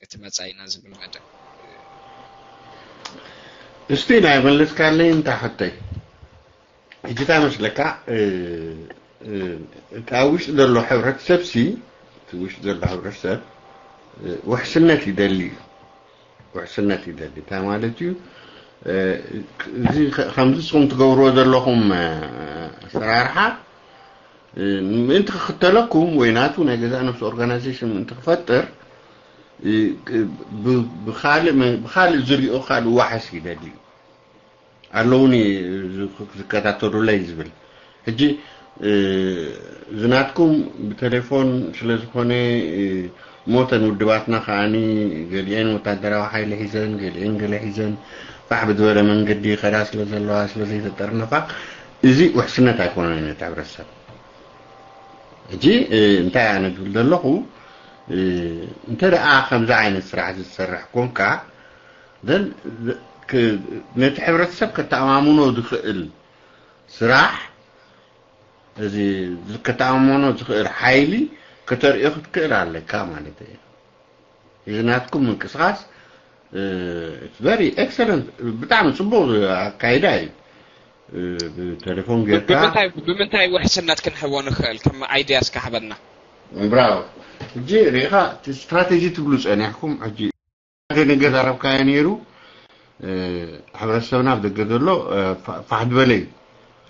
እቲ መፃኢና ዝብል መደብ እስቲ ናይ መለስካለይ እንታ ሕተይ ሕጂ እንታይ መስለካ እቲ ኣብ ውሽጢ ዘሎ ሕብረተሰብ ሲ እቲ ውሽጢ ዘሎ ሕብረተሰብ ውሕስነት ይደሊ እዩ። ውሕስነት ይደሊ እንታይ ማለት እዩ? እዚ ከምዚ ንስኹም ትገብርዎ ዘለኹም ኣሰራርሓ ምእንቲ ክኽተለኩም ወይ ናቱ ናይ ገዛእ ነፍሱ ኦርጋናይዜሽን ምእንቲ ክፈጥር ብካልእ ዝሪኦ ካልእ ዋሕስ ይደሊ እዩ። ኣለውኒ ዝከታተሉለይ ዝብል ሕጂ ዝናትኩም ብቴሌፎን ስለ ዝኾነ ሞተን ውድባትና ከዓኒ ገሊአን ወታደራዊ ሓይሊ ሒዘን ገሊአን ገለ ሒዘን ፋሕ ብዝበለ መንገዲ ከዳ ስለ ዘለዋ ስለ ዘይተጠርነፋ እዚ ውሕስነት ኣይኮነን ነቲ ሕብረተሰብ። ሕጂ እንታይ ኣነ ዝብል ዘለኹ እንተ ደኣ ከምዚ ዓይነት ስራሕ ዝሰርሕ ኮንካ ነቲ ሕብረተሰብ ከተኣማምኖ ዝኽእል ስራሕ እዚ ከተኣማምኖ ዝኽእል ሓይሊ ከተርእዮ ክትክእል ኣለካ ማለት እዩ። እዚ ናትኩም ምንቅስቃስ very excellent ብጣዕሚ ፅቡቅ ኣካይዳ እዩ። ብቴሌፎን ጌርካ ብምንታይ ውሕስነት ክንህቦ ንኽእል ከም ኣይድያ እስካ ሃበና። ብራው ሕጂ ሪኢኻ ስትራቴጂ ትብሉ ፀኒሕኩም ሕጂ ሓደ ነገር ኣረብካዮ ነይሩ። ሕብረተሰብና ኣብ ደገ ዘሎ ፋሕ ዝበለ እዩ።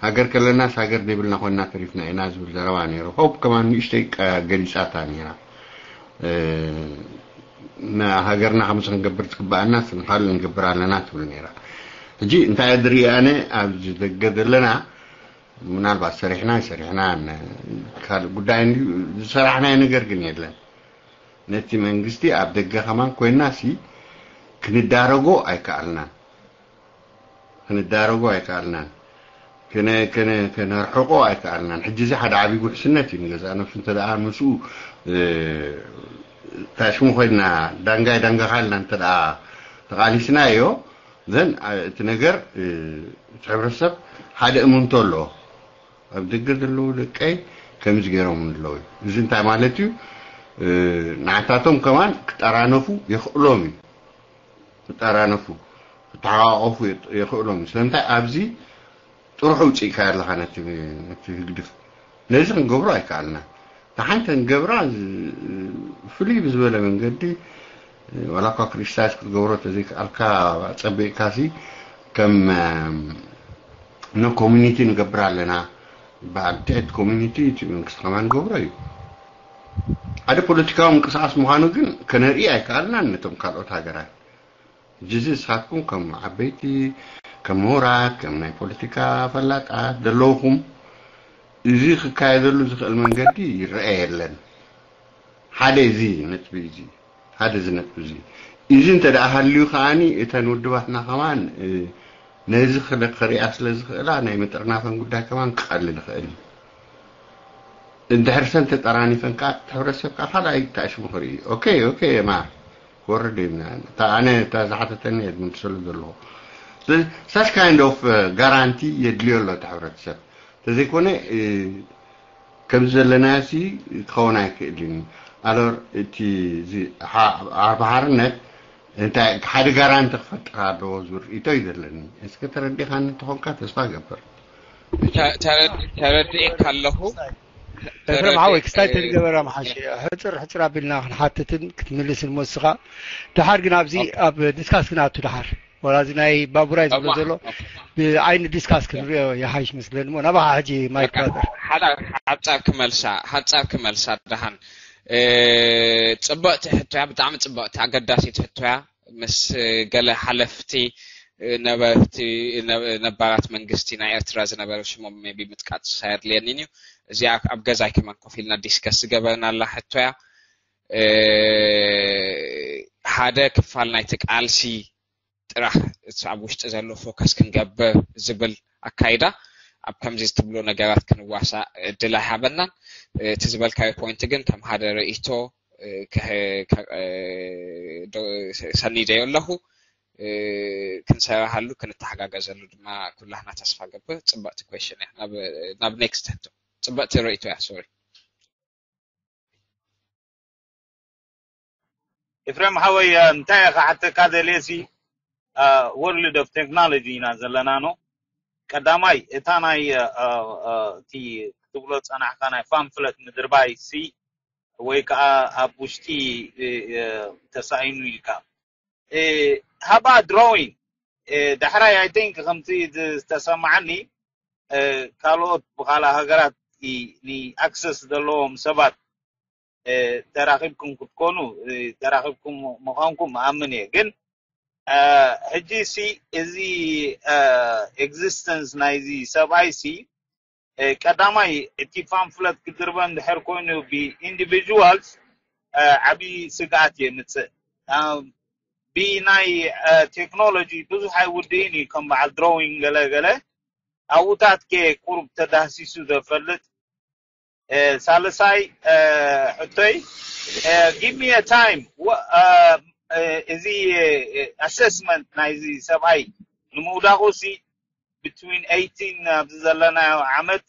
ሃገር ከለናስ ሃገር ዘይብልና ኮይና ተሪፍና ኢና ዝብል ዘረባ ነይሩ። ሆፕ ከማን ንእሽተይ ገሊፃታ ነይራ። ሃገርና ከምዚ ክንገብር ትግበኣና ንካልእ ንገብር ኣለና ትብል ነይራ። ሕጂ እንታይ ዝርኢ ኣነ ኣብዚ ደገ ዘለና ምናልባት ሰሪሕና ይሰሪሕና ካልእ ጉዳይ ዝሰራሕናዮ ነገር ግን የለን። ነቲ መንግስቲ ኣብ ደገ ከማን ኮይና ሲ ክንዳረጎ ኣይከኣልናን ክንዳረጎ ኣይከኣልናን ክነርሕቆ ኣይከኣልናን። ሕጂ እዚ ሓደ ዓብዪ ውሕስነት እዩ። ንገዛእ ነብሱ እንተ ደኣ ምስኡ ታሽሙ ኮይና ዳንጋይ ዳንጋኻ ኢልና እንተ ደኣ ተቓሊስናዮ ዘን እቲ ነገር እቲ ሕብረተሰብ ሓደ እምንቶ ኣለዎ። ኣብ ደገ ዘለዉ ደቀይ ከምዚ ገይሮም ኣለዉ። እዚ እንታይ ማለት እዩ? ንዓታቶም ከማን ክጠራነፉ የኽእሎም እዩ። ክጠራነፉ ክተሓቋቆፉ የኽእሎም እዩ። ስለምንታይ ኣብዚ ጥርሑ ውፅእካ ኣለኻ ነቲ ህግድፍ ነዚ ክንገብሮ ኣይከኣልና። ንሓንቲ ንገብራ ፍሉይ ብዝበለ መንገዲ ዋላ እኳ ክሪቲሳይዝ ክትገብሮ ተዘይከኣልካ ጸቢቕካ ሲ ከም ኖ ኮሚኒቲ ንገብር ኣለና ይበሃል። ትዕት ኮሚኒቲ እቲ መንግስቲ ከማን ንገብሮ እዩ። ሓደ ፖለቲካዊ ምንቅስቃስ ምዃኑ ግን ከነርኢ ኣይከኣልናን ነቶም ካልኦት ሃገራት። ጅዚ ንስኻትኩም ከም ዓበይቲ፣ ከም ምሁራት፣ ከም ናይ ፖለቲካ ፈላጣት ዘለውኹም እዚ ክካየደሉ ዝኽእል መንገዲ ይረአ የለን። ሓደ እዚ ነጥቢ እዚ ሓደ እዚ ነጥቢ እዚ እዚ እንተ ደኣ ሃልዩ ከዓኒ እተን ውድባትና ከማን ነዚ ክሪኣ ስለ ዝኽእላ ናይ ምጥርናፈን ጉዳይ ከማን ክቐልል ይኽእል እዩ። እንድሕር ሰን ተጠራኒፈን ከዓ እቲ ሕብረተሰብ ከዓ ካልኣይ ተኣሽሙ ክርኢ እዩ። ኦኬ ኦኬ ማ ክወርድ እዩ። ኣነ እታ ዝሓተተኒ እየ ዝምልሰሉ ዘለኹ። Such kind of guarantee የድልዮ ኣሎ እቲ ሕብረተሰብ። ተዘይኮነ ከምዚ ዘለናዮ ሲ ክኸውን ኣይክእልን እዩ። ኣሎር እቲ ኣርባሓርነት እንታይ ሓደ ጋራንቲ ክፈጥር ኣለዎ ዝብል ርእይቶ እዩ ዘለኒ። እስከ ተረዲኻኒ እንተኾንካ ተስፋ ገብር። ተረዲእካ ኣለኹ። ኤፍረም ሓወይ ክስታይ ተዝገበራ ምሓሸ። ሕፅር ሕፅር ኣቢልና ክንሓትትን ክትምልስን መስኻ። ድሓር ግን ኣብዚ ኣብ ዲስካስ ክንኣቱ ድሓር ወላ እዚ ናይ ባቡራይ ዝብሎ ዘሎ ብዓይኒ ዲስካስ ክንሪኦ ይሓይሽ መስለኒ። እሞ ናባኻ ሕጂ ማይክ ብራዘር። ሓጻር ክመልሳ ሓጻር ክመልሳ ደሓን ጽብቕቲ ሕቶያ፣ ብጣዕሚ ጽብቕቲ ኣገዳሲት ሕቶያ። ምስ ገለ ሓለፍቲ ነበርቲ ነባራት መንግስቲ ናይ ኤርትራ ዝነበሩ ሽሞም ቢ ምጥቃስ ኣየድልየኒን እዩ። እዚኣ ኣብ ገዛይ ከማን ኮፍ ኢልና ዲስከስ ዝገበርናላ ሕቶያ። ሓደ ክፋል ናይቲ ቃልሲ ጥራሕ እቲ ኣብ ውሽጢ ዘሎ ፎከስ ክንገብር ዝብል ኣካይዳ ኣብ ከምዚ ትብሎ ነገራት ክንዋሳእ እድል ኣይሃበናን። እቲ ዝበልካዮ ፖይንት ግን ከም ሓደ ርእይቶ ሰኒደዮ ኣለኹ። ክንሰራሃሉ ክንተሓጋገዘሉ ድማ ኩላህና ተስፋ ገብር። ጽብቕቲ ኩዌሽን እያ። ናብ ኔክስት ሕቶ። ጽብቕቲ ርእይቶ እያ። ሶሪ። ኤፍሬም ሓወይ እንታይ ኢኻ ሓተካ ደልየሲ ወርልድ ኦፍ ቴክኖሎጂ ኢና ዘለና ኖ ቀዳማይ እታ ናይ እቲ ክትብሎ ጸናሕካ ናይ ፋምፍለት ምድርባይ ሲ ወይ ከዓ ኣብ ውሽጢ ተሳኢኑ ኢልካ ሃባ ድሮዊንግ ዳሕራይ ኣይ ቲንክ ከምቲ ዝተሰማዓኒ ካልኦት ብካልእ ሃገራት ንኣክሰስ ዘለዎም ሰባት ተራኺብኩም ክትኮኑ ተራኺብኩም ምዃንኩም ኣምን እየ ግን ሕጂ ሲ እዚ ኤግዚስተንስ ናይዚ ሰብኣይ ሲ ቀዳማይ እቲ ፓምፍለት ክድርበ እንድሕር ኮይኑ ብኢንዲቪጁዋልስ ዓብዪ ስግኣት የምፅእ ብናይ ቴክኖሎጂ ብዙሕ ኣይውድእን እዩ ከም በዓል ድሮዊንግ ገለ ገለ ኣብኡታት ከ ቁሩብ ተዳህሲሱ ዘፈልጥ ሳልሳይ ሕቶይ give me a time እዚ ኣሰስመንት ናይዚ ሰብኣይ ንምውዳቑ ሲ between eighteen ኣብዚ ዘለናዮ ዓመት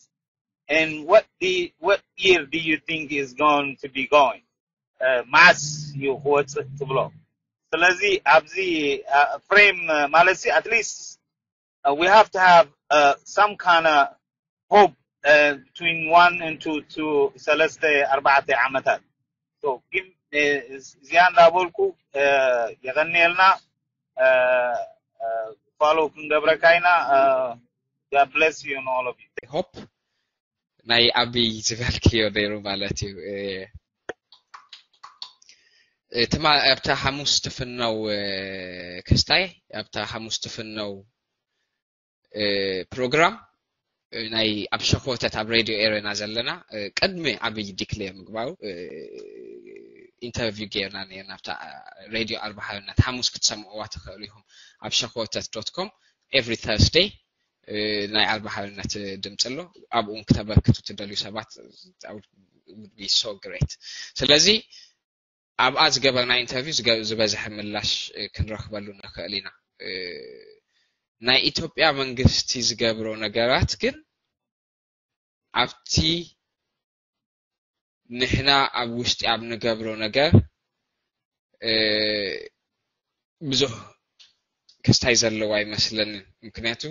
and what the what year do you think is going to be going መዓስ እዩ ክወፅእ ትብሎ ስለዚ ኣብዚ ፍሬም ማለት ሲ at least we have to have some kind of hope between one and two to ሰለስተ ኣርባዕተ ዓመታት ግን እዚኣ እንዳበልኩ የቐንየልና follow ክንገብረካ ኢና God bless you and all of you hope ናይ ኣብይ ዝበልክዮ ነይሩ ማለት እዩ ትማ ኣብታ ሓሙስ ትፍነው ክስታይ ኣብታ ሓሙስ ትፍነው ፕሮግራም ናይ ኣብ ሸኮተት ኣብ ሬድዮ ኤረና ዘለና ቅድሚ ኣብይ ዲክሌር ምግባሩ ኢንተርቪው ጌርና ነርና ኣብታ ሬድዮ ኣርባሃርነት ሓሙስ ክትሰምዕዋ ትኽእሉ ኢኹም ኣብ ሸኮተት ዶት ኮም every Thursday ናይ ኣርባሃርነት ድምፂ ኣሎ ኣብኡን ክተበርክቱ ትደልዩ ሰባት so great ስለዚ ኣብኣ ዝገበርና ኢንተርቪው ዝበዝሐ ምላሽ ክንረክበሉ ንክእል ኢና ናይ ኢትዮጵያ መንግስቲ ዝገብሮ ነገራት ግን ኣብቲ ንሕና ኣብ ውሽጢ ኣብ ንገብሮ ነገር ብዙሕ ክስታይ ዘለዎ ኣይመስለንን ምክንያቱ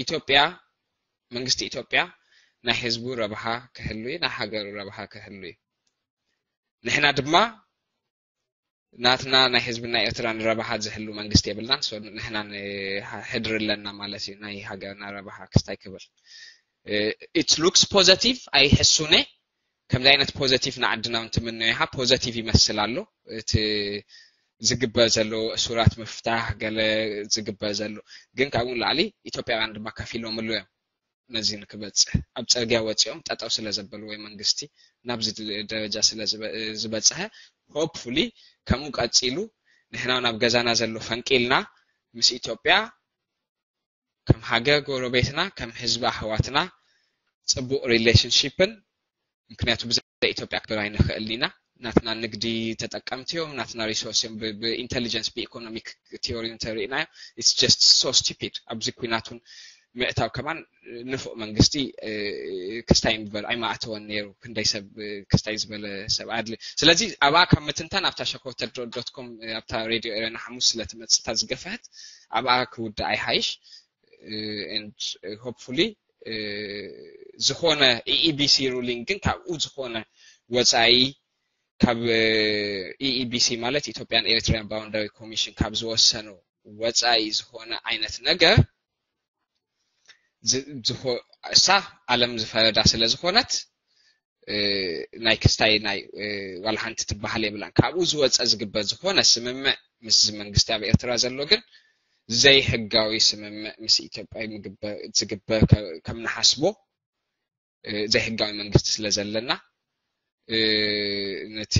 ኢትዮጵያ መንግስቲ ኢትዮጵያ ናይ ህዝቡ ረብሓ ክህሉ እዩ ናይ ሃገሩ ረብሓ ክህሉ እዩ ንሕና ድማ ናትና ናይ ህዝብና ኤርትራ ንረብሓ ዝህሉ መንግስቲ የብልናን። ንሕና ሕድሪ ኣለና ማለት እዩ፣ ናይ ሃገርና ረብሓ ክስታይ ክብል። It looks positive፣ ኣይሕሱነ። ከምዚ ዓይነት ፖዘቲቭ ንዓድና እውን ትምነዮ ኢኻ። ፖዘቲቭ ይመስል ኣሎ እቲ ዝግበር ዘሎ፣ እሱራት ምፍታሕ፣ ገለ ዝግበር ዘሎ። ግን ካብኡ ንላዕሊ ኢትዮጵያውያን ድማ ከፊሎምሉ እዮም። ነዚ ንክበፅሕ ኣብ ፅርግያ ወፂኦም ጠጠው ስለ ዘበልዎ መንግስቲ ናብዚ ደረጃ ስለ ዝበፅሐ፣ ሆፕፉሊ ከምኡ ቀፂሉ ንሕና ናብ ገዛና ዘሎ ፈንቂልና ምስ ኢትዮጵያ ከም ሃገር ጎረቤትና፣ ከም ህዝቢ ኣሕዋትና ፅቡቅ ሪሌሽንሽፕን፣ ምክንያቱ ብዘይ ኢትዮጵያ ክብር ኣይንኽእል ኢና። ናትና ንግዲ ተጠቀምቲ እዮም፣ ናትና ሪሶርስ እዮም። ብኢንቴሊጀንስ ብኢኮኖሚክ ቲዮሪ እንተሪእናዮ it's just so stupid። ኣብዚ ኩናቱን ምእታው ከማን ንፉዕ መንግስቲ ክስታይ ምበር ኣይማእተወን ነይሩ። ክንደይ ሰብ ክስታይ ዝበለ ሰብ ኣድሊ። ስለዚ ኣብኣ ካብ ምትንታን ኣብታ ሸኮተል ዶት ኮም ኣብታ ሬድዮ ኤረና ሓሙስ ስለትመፅታ ዝገፈሐት ኣብኣ ክውዳእ ኣይሓይሽ። And hopefully ዝኾነ ኢኢቢሲ ሩሊንግ ግን ካብኡ ዝኾነ ወፃኢ ካብ ኢኢቢሲ ማለት ኢትዮጵያን ኤሪትሪያን ባውንደሪ ኮሚሽን ካብ ዝወሰኑ ወፃኢ ዝኾነ ዓይነት ነገር እሳ ዓለም ዝፈረዳ ስለ ዝኾነት ናይ ክስታይ ናይ ዋላ ሓንቲ ትበሃል የብላን። ካብኡ ዝወፀ ዝግበር ዝኾነ ስምምዕ ምስ መንግስቲ ኣብ ኤርትራ ዘሎ ግን ዘይሕጋዊ ስምምዕ ምስ ኢትዮጵያ ዝግበር ከም ንሓስቦ ዘይሕጋዊ መንግስቲ ስለ ዘለና ነቲ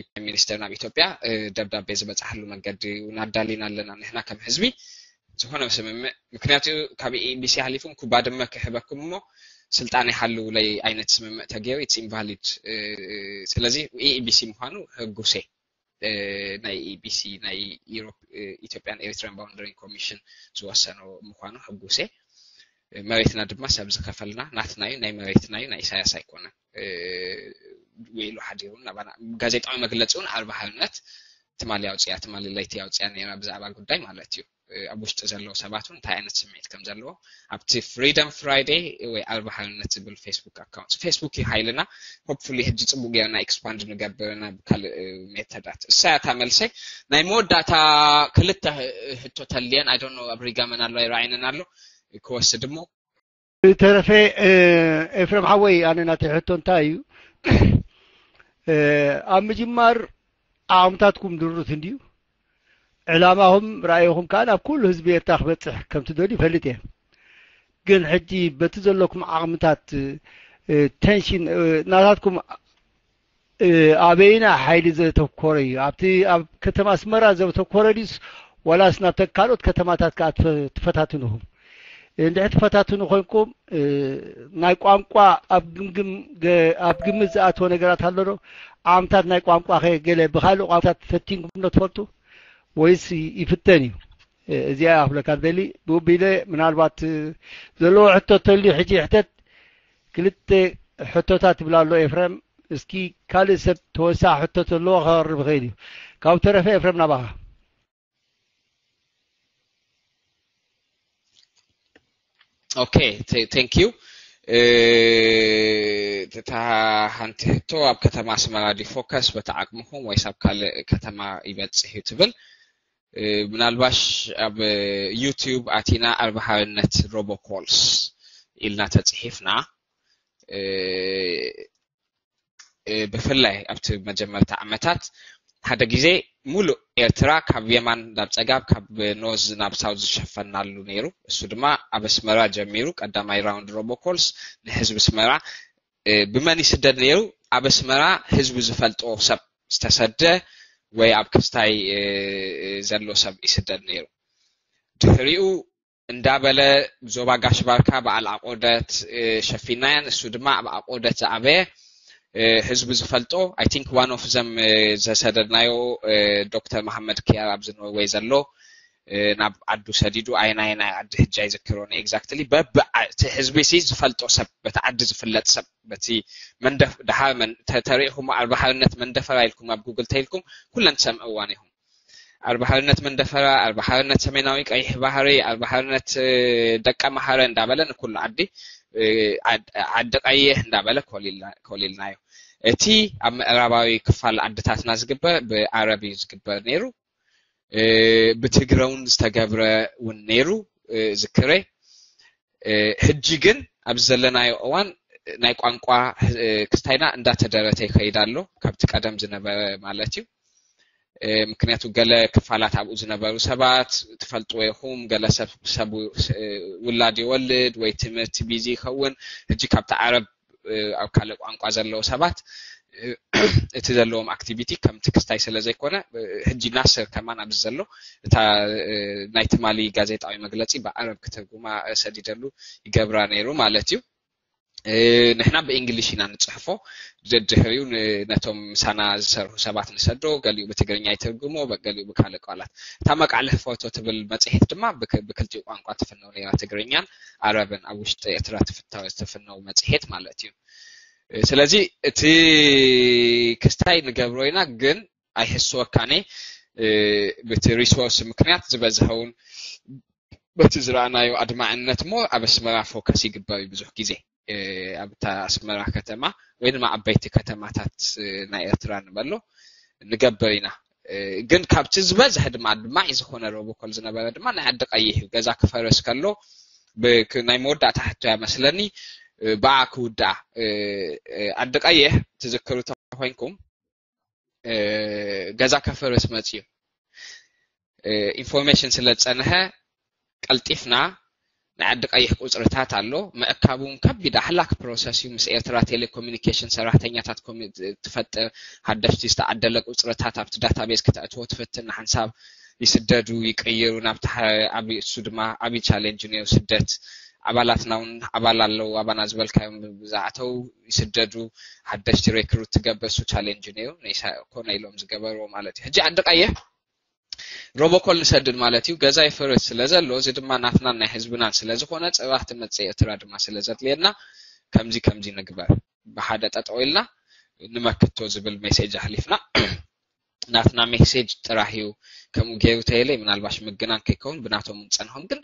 ፕራይም ሚኒስተር ናብ ኢትዮጵያ ደብዳቤ ዝበፅሓሉ መንገዲ እውን ኣዳሊና ኣለና። ንሕና ከም ህዝቢ ዝኾነ ስምምዕ፣ ምክንያቱ ካብ ኢኢቢሲ ሓሊፉ ኩባድመ ክህበኩም እሞ ስልጣን ይሓልውለይ ዓይነት ስምምዕ ተገይሩ it's invalid። ስለዚ ኢኢቢሲ ምዃኑ ህጉሴ ናይ ኢቢሲ ናይ ኢትዮጵያን ኤሪትሪያን ባውንደሪ ኮሚሽን ዝወሰኖ ምዃኑ ህጉሴ። መሬትና ድማ ሰብ ዝኸፈልና ናትና እዩ፣ ናይ መሬትና እዩ፣ ናይ ኢሳያስ ኣይኮነን። ውዒሉ ሓዲሩ ናባና ጋዜጣዊ መግለፂ እውን ኣርባ ሓርነት ትማሊ ኣውፅያ ትማሊ ለይቲ ኣውፅያ ነይራ ብዛዕባ ጉዳይ ማለት እዩ። ኣብ ውሽጢ ዘለዉ ሰባት እውን እንታይ ዓይነት ስምዒት ከም ዘለዎ ኣብቲ ፍሪደም ፍራይደይ ወይ ኣርባ ሓርነት ዝብል ፌስቡክ ኣካውንት፣ ፌስቡክ እዩ ሓይልና። ሆፕፉሊ ሕጂ ፅቡቅ ጌርና ኤክስፓንድ ንገብር ናብ ካልእ ሜተዳት። እሳ እታ መልሰይ። ናይ መወዳእታ ክልተ ህቶ ተልየን ኣይ ዶንት ኖ ኣብ ሪጋ መን ኣሎ ኣይረኣይንን ኣሎ ክወስድ እሞ ብተረፈ ኤፍረም ሓወይ ኣነ ናተይ ሕቶ እንታይ እዩ ኣብ ምጅማር ዓቕምታትኩም ድሩት እንድዩ ዕላማኹም ራእይኹም ከዓ ናብ ኩሉ ህዝቢ ኤርትራ ክበፅሕ ከም ትደልዩ ይፈልጥ እየ ግን ሕጂ በቲ ዘለኩም ዓቕምታት ቴንሽን ናታትኩም ኣበይና ሓይሊ ዘተኮረ እዩ ኣብቲ ኣብ ከተማ ኣስመራ ዘተኮረ ድዩስ ዋላስ ናብ ካልኦት ከተማታት ከዓ ትፈታትንኹም እንድሕር ትፈታትኑ ኮይንኩም ናይ ቋንቋ ኣብ ግምግም ኣብ ግምት ዝኣተወ ነገራት ኣሎ ዶ ዓቕምታት ናይ ቋንቋ ከ ገለ ብካልእ ቋንቋታት ፈቲንኩም ዶ ትፈልጡ ወይስ ይፍተን እዩ እዚኣ ክብለካ ደሊ ብኡቢለ ምናልባት ዘለዎ ሕቶ ተልዩ ሕጂ ሕተት ክልተ ሕቶታት ይብላ ኣሎ ኤፍረም እስኪ ካልእ ሰብ ተወሳኺ ሕቶ ዘለዎ ከቕርብ ይኽእል እዩ ካብ ተረፈ ኤፍረም ናባኻ ኦኬ ቴንክ ዩ እታ ሓንቲ ሕቶ ኣብ ከተማ ኣስመራ ዲ ፎከስ በቲ ዓቅምኹም ወይስ ኣብ ካልእ ከተማ ይበፅሕ እዩ ትብል ምናልባሽ ኣብ ዩቲዩብ ኣቲና ኣርባሃርነት ሮቦኮልስ ኢልና ተፅሒፍና ብፍላይ ኣብቲ መጀመርታ ዓመታት ሓደ ግዜ ሙሉእ ኤርትራ ካብ የማን ናብ ፀጋብ ካብ ኖዝ ናብ ሳውዝ ዝሸፈናሉ ነይሩ እሱ ድማ ኣብ ኣስመራ ጀሚሩ ቀዳማይ ራውንድ ሮቦኮልስ ንህዝቢ ኣስመራ ብመን ይስደድ ነይሩ ኣብ ኣስመራ ህዝቢ ዝፈልጦ ሰብ ዝተሰደ ወይ ኣብ ክስታይ ዘሎ ሰብ ይስደድ ነይሩ ድሕሪኡ እንዳበለ ዞባ ጋሽ ባርካ በዓል ኣቆደት ሸፊናየን እሱ ድማ ኣብ ኣቆደት ዝኣበየ ህዝቢ ዝፈልጦ I think one of them ዘሰደድናዮ ዶክተር መሓመድ ክያር ኣብዚ ኖርወይ ዘሎ ናብ ዓዱ ሰዲዱ ኣየናይ ናይ ዓዲ ህጂ ኣይዝክሮን exactly በቢ እቲ ህዝቢ ሲ ዝፈልጦ ሰብ በቲ ዓዲ ዝፍለጥ ሰብ በቲ መንደፍ ድሓር ተሪኢኹም ኣርባሓርነት መንደፈራ ኢልኩም ኣብ ጉግል ተይልኩም ኩለን ትሰምዕዋን ኢኹም ኣርባሓርነት መንደፈራ ኣርባሓርነት ሰሜናዊ ቀይሕ ባህሪ ኣርባሓርነት ደቀ መሓረ እንዳበለ ንኩሉ ዓዲ ዓዲ ቀይሕ እንዳበለ ኮሊልናዮ እቲ ኣብ ምዕራባዊ ክፋል ዓድታትና ዝግበር ብኣረብ እዩ ዝግበር ነይሩ። ብትግረ እውን ዝተገብረ እውን ነይሩ ዝክረ። ሕጂ ግን ኣብዚ ዘለናዮ እዋን ናይ ቋንቋ ክስታይና እንዳተደረተ ይኸይድ ኣሎ፣ ካብቲ ቀደም ዝነበረ ማለት እዩ። ምክንያቱ ገለ ክፋላት ኣብኡ ዝነበሩ ሰባት ትፈልጥዎ ኢኹም፣ ገለ ሰብ ውላድ ይወልድ ወይ ትምህርቲ ቢዚ ይኸውን። ሕጂ ካብቲ ዓረብ ኣብ ካልእ ቋንቋ ዘለዉ ሰባት እቲ ዘለዎም ኣክቲቪቲ ከምቲ ክስታይ ስለ ዘይኮነ፣ ሕጂ ናስር ከማን ኣብዚ ዘሎ እታ ናይ ትማሊ ጋዜጣዊ መግለጺ ብዓረብ ክትርጉማ ሰዲደሉ ይገብራ ነይሩ ማለት እዩ። ንሕና ብእንግሊሽ ኢና ንጽሕፎ። ድሕሪኡ ነቶም ምሳና ዝሰርሑ ሰባት ንሰዶ፣ ገሊኡ ብትግርኛ ይትርጉሞ፣ ገሊኡ ብካልእ ቃላት። እታ መቃልሕ ፎቶ ትብል መጽሔት ድማ ብክልቲኡ ቋንቋ ትፍነው ነይራ፣ ትግርኛን ዓረብን። ኣብ ውሽጢ ኤርትራ ትፍነው መጽሔት ማለት እዩ። ስለዚ እቲ ክስታይ ንገብሮ ኢና፣ ግን ኣይሕስወካኔ ብቲ ሪሶርስ ምክንያት ዝበዝሐውን በቲ ዝረኣናዮ ኣድማዕነት ሞ ኣብ ኣስመራ ፎከስ ይግበር እዩ። ብዙሕ ግዜ ኣብታ ኣስመራ ከተማ ወይ ድማ ዓበይቲ ከተማታት ናይ ኤርትራ ንበሎ ንገብር ኢና። ግን ካብቲ ዝበዝሐ ድማ ኣድማዒ ዝኾነ ሮቦኮል ዝነበረ ድማ ናይ ዓዲ ቀይሕ እዩ። ገዛ ክፈርስ ከሎ ናይ መወዳእታ ሕቶ እያ መስለኒ ብኣ ክውድኣ። ዓዲ ቀይሕ ትዝክሩ ተኮይንኩም ገዛ ከፈርስ መፅዩ ኢንፎርሜሽን ስለ ዝፀንሐ ቀልጢፍና ናይ ዓዲ ቀይሕ ቁፅርታት ኣሎ። ምእካቡ እውን ከቢድ ኣሕላክ ፕሮሰስ እዩ። ምስ ኤርትራ ቴሌኮሙኒኬሽን ሰራሕተኛታት ትፈጥር፣ ሓደሽቲ ዝተዓደለ ቁፅርታት ኣብቲ ዳታቤዝ ክተእትዎ ትፍትን። ሓንሳብ ይስደዱ፣ ይቅይሩ ናብቲ ኣብ እሱ ድማ ዓብዪ ቻሌንጅ ነይሩ ስደት። ኣባላትና እውን ኣባል ኣለዉ፣ ኣባና ዝበልካዮም ብዝኣተው ይስደዱ። ሓደሽቲ ሬክሩት ትገብር፣ እሱ ቻሌንጅ ነይሩ። ኮነ ኢሎም ዝገበርዎ ማለት እዩ። ሕጂ ዓዲ ቀይሕ ሮቦኮል ንሰድድ ማለት እዩ። ገዛ ይፈርስ ስለ ዘሎ፣ እዚ ድማ ናትናን ናይ ህዝብናን ስለ ዝኾነ ፅባሕ ትመፅእ ኤርትራ ድማ ስለ ዘድልየና ከምዚ ከምዚ ንግበር፣ ብሓደ ጠጠው ኢልና ንመክቶ ዝብል ሜሴጅ ኣሕሊፍና። ናትና ሜሴጅ ጥራሕ እዩ ከምኡ ገይሩ ተይለ ምናልባሽ ምግናን ከይከውን ብናቶም እውን ፀንሖም፣ ግን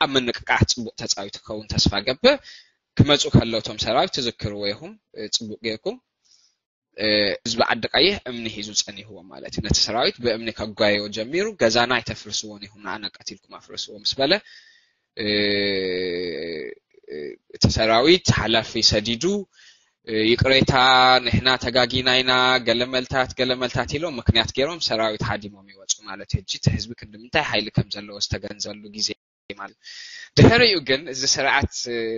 ኣብ ምንቅቃሕ ፅቡቅ ተፃዊቱ ክኸውን ተስፋ ገብር። ክመፁ ከለውቶም ሰራዊት ትዝክርዎ ኢኹም፣ ፅቡቅ ጌርኩም። ህዝቢ ዓዲ ቀይሕ እምኒ ሒዙ ጸኒሕዎ ማለት እዩ። ነቲ ሰራዊት ብእምኒ ከጓየዮ ጀሚሩ፣ ገዛና ኣይተፍርስዎን ኢኹም፣ ንኣና ቀቲልኩም ኣፍርስዎ ምስ በለ፣ እቲ ሰራዊት ሓላፊ ሰዲዱ፣ ይቅሬታ፣ ንሕና ተጋጊና ኢና፣ ገለመልታት ገለመልታት ኢሎም ምክንያት ገይሮም ሰራዊት ሃዲሞም ይወፁ ማለት እዩ። ሕጂ እቲ ህዝቢ ክንዲ ምንታይ ሓይሊ ከም ዘለዎ ዝተገንዘበሉ ግዜ ማለት። ድሕሪኡ ግን እዚ ስርዓት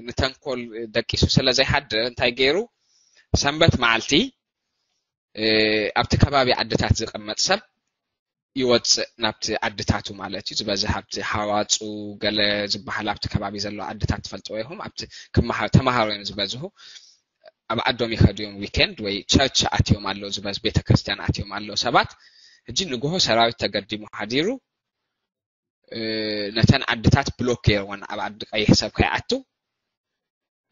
ንተንኮል ደቂሱ ስለ ዘይሓድር እንታይ ገይሩ? ሰንበት መዓልቲ ኣብቲ ከባቢ ዓድታት ዝቕመጥ ሰብ ይወፅእ ናብቲ ዓድታቱ ማለት እዩ። ዝበዝሕ ኣብቲ ሃዋፁ ገለ ዝበሃል ኣብቲ ከባቢ ዘሎ ዓድታት ትፈልጥዎ ኢኹም። ኣብቲ ተምሃሮ እዮም ዝበዝሁ። ኣብ ዓዶም ይኸዱ እዮም። ዊኬንድ ወይ ቸርች ኣትዮም ኣለዉ ዝበዝ ቤተክርስትያን ኣትዮም ኣለዉ ሰባት። ሕጂ ንግሆ ሰራዊት ተገዲሙ ሓዲሩ ነተን ዓድታት ብሎክ ገይርወን ኣብ ዓዲ ቀይሕ ሰብ ከይኣቱ።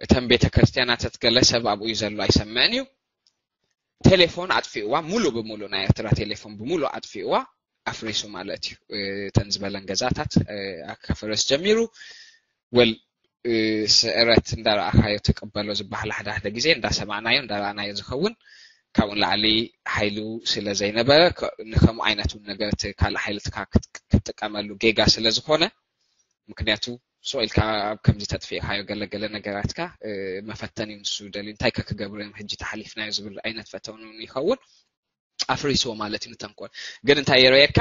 እተን ቤተ ክርስቲያናት ገለ ሰብ ኣብኡ እዩ ዘሎ ኣይሰምዕን እዩ። ቴሌፎን ኣጥፊእዋ፣ ሙሉ ብሙሉ ናይ ኤርትራ ቴሌፎን ብሙሉ ኣጥፊእዋ፣ ኣፍሪሱ ማለት እዩ። እተን ዝበለን ገዛታት ኣካፈረስ ጀሚሩ። ወል ስዕረት እንዳረኣኻዮ ትቅበሎ ዝበሃል ሓደ ሓደ ግዜ እንዳሰማዕናዮ እንዳረኣናዮ ዝኸውን ካብኡ ንላዕሊ ሓይሉ ስለ ዘይነበረ ንከምኡ ዓይነት እውን ነገር እቲ ካልእ ሓይልትካ ክትጥቀመሉ ጌጋ ስለ ዝኾነ ምክንያቱ ስቕ ኢልካ ኣብ ከምዚ ተጥፊእካዮ ገለገለ ነገራትካ መፈተን እዩ ንሱ ደልዩ እንታይ ከ ክገብሩ እዮም ሕጂ ተሓሊፍናዮ ዝብል ዓይነት ፈተውን እውን ይኸውን ኣፍሪስዎ ማለት እዩ ንተንኮል ግን እንታይ የረየካ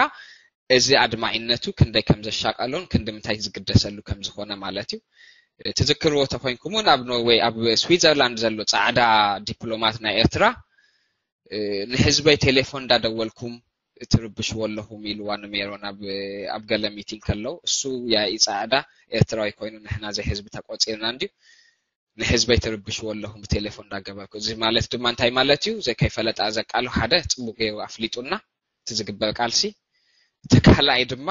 እዚ ኣድማዒነቱ ክንደይ ከም ዘሻቀሎን ክንዲ ምንታይ ዝግደሰሉ ከም ዝኾነ ማለት እዩ ትዝክርዎ ተኮይንኩም እውን ኣብ ኖርዌይ ኣብ ስዊዘርላንድ ዘሎ ፃዕዳ ዲፕሎማት ናይ ኤርትራ ንህዝበይ ቴሌፎን እንዳደወልኩም ትርብሽዎ ኣለኹም ኢልዋ ንሜሮን ኣብ ገለ ሚቲንግ ከለው እሱ ያኢ ፃዕዳ ኤርትራዊ ኮይኑ ንሕና ዘይ ህዝቢ ተቆፂርና እንድዩ ንህዝበይ ትርብሽዎ ኣለኹም ብቴሌፎን እንዳገበርኩ እዚ ማለት ድማ እንታይ ማለት እዩ ዘይ ከይፈለጣ ዘቃሉ ሓደ ፅቡቅ ገይሩ ኣፍሊጡና እቲ ዝግበር ቃልሲ እቲ ካልኣይ ድማ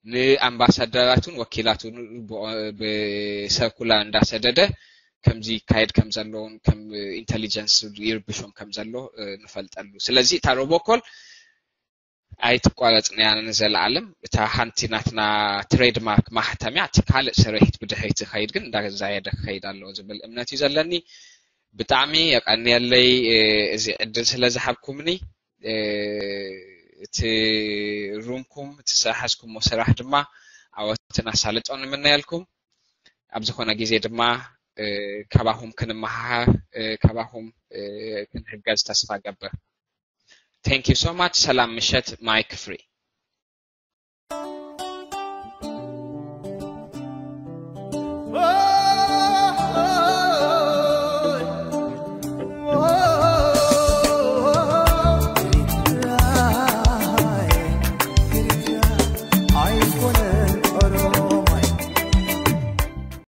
ንኣምባሳደራቱን ወኪላቱን ብሰርኩላር እንዳሰደደ ከምዚ ይካየድ ከም ዘለውን ከም ኢንተሊጀንስ ይርብሾም ከም ዘሎ ንፈልጠሉ ስለዚ እታ ሮቦኮል ኣይትቋረፅን እያ ንዘለኣለም እታ ሓንቲ ናትና ትሬድማርክ ማሕተም እያ እቲ ካልእ ስርሒት ብድሕሪት ዝኸይድ ግን እንዳዛየደ ክኸይድ ኣለዎ ዝብል እምነት እዩ ዘለኒ ብጣዕሚ የቀንየለይ እዚ ዕድል ስለ ዝሃብኩምኒ። እቲ ሩምኩም እቲ ዝሓዝኩሞ ስራሕ ድማ ዓወትን ኣሳልጦን ንምነየልኩም። ኣብ ዝኾነ ግዜ ድማ ካባኹም ክንመሃሃር፣ ካባኹም ክንሕገዝ ተስፋ ገብር። Thank you so much። ሰላም ምሸት። Mic free።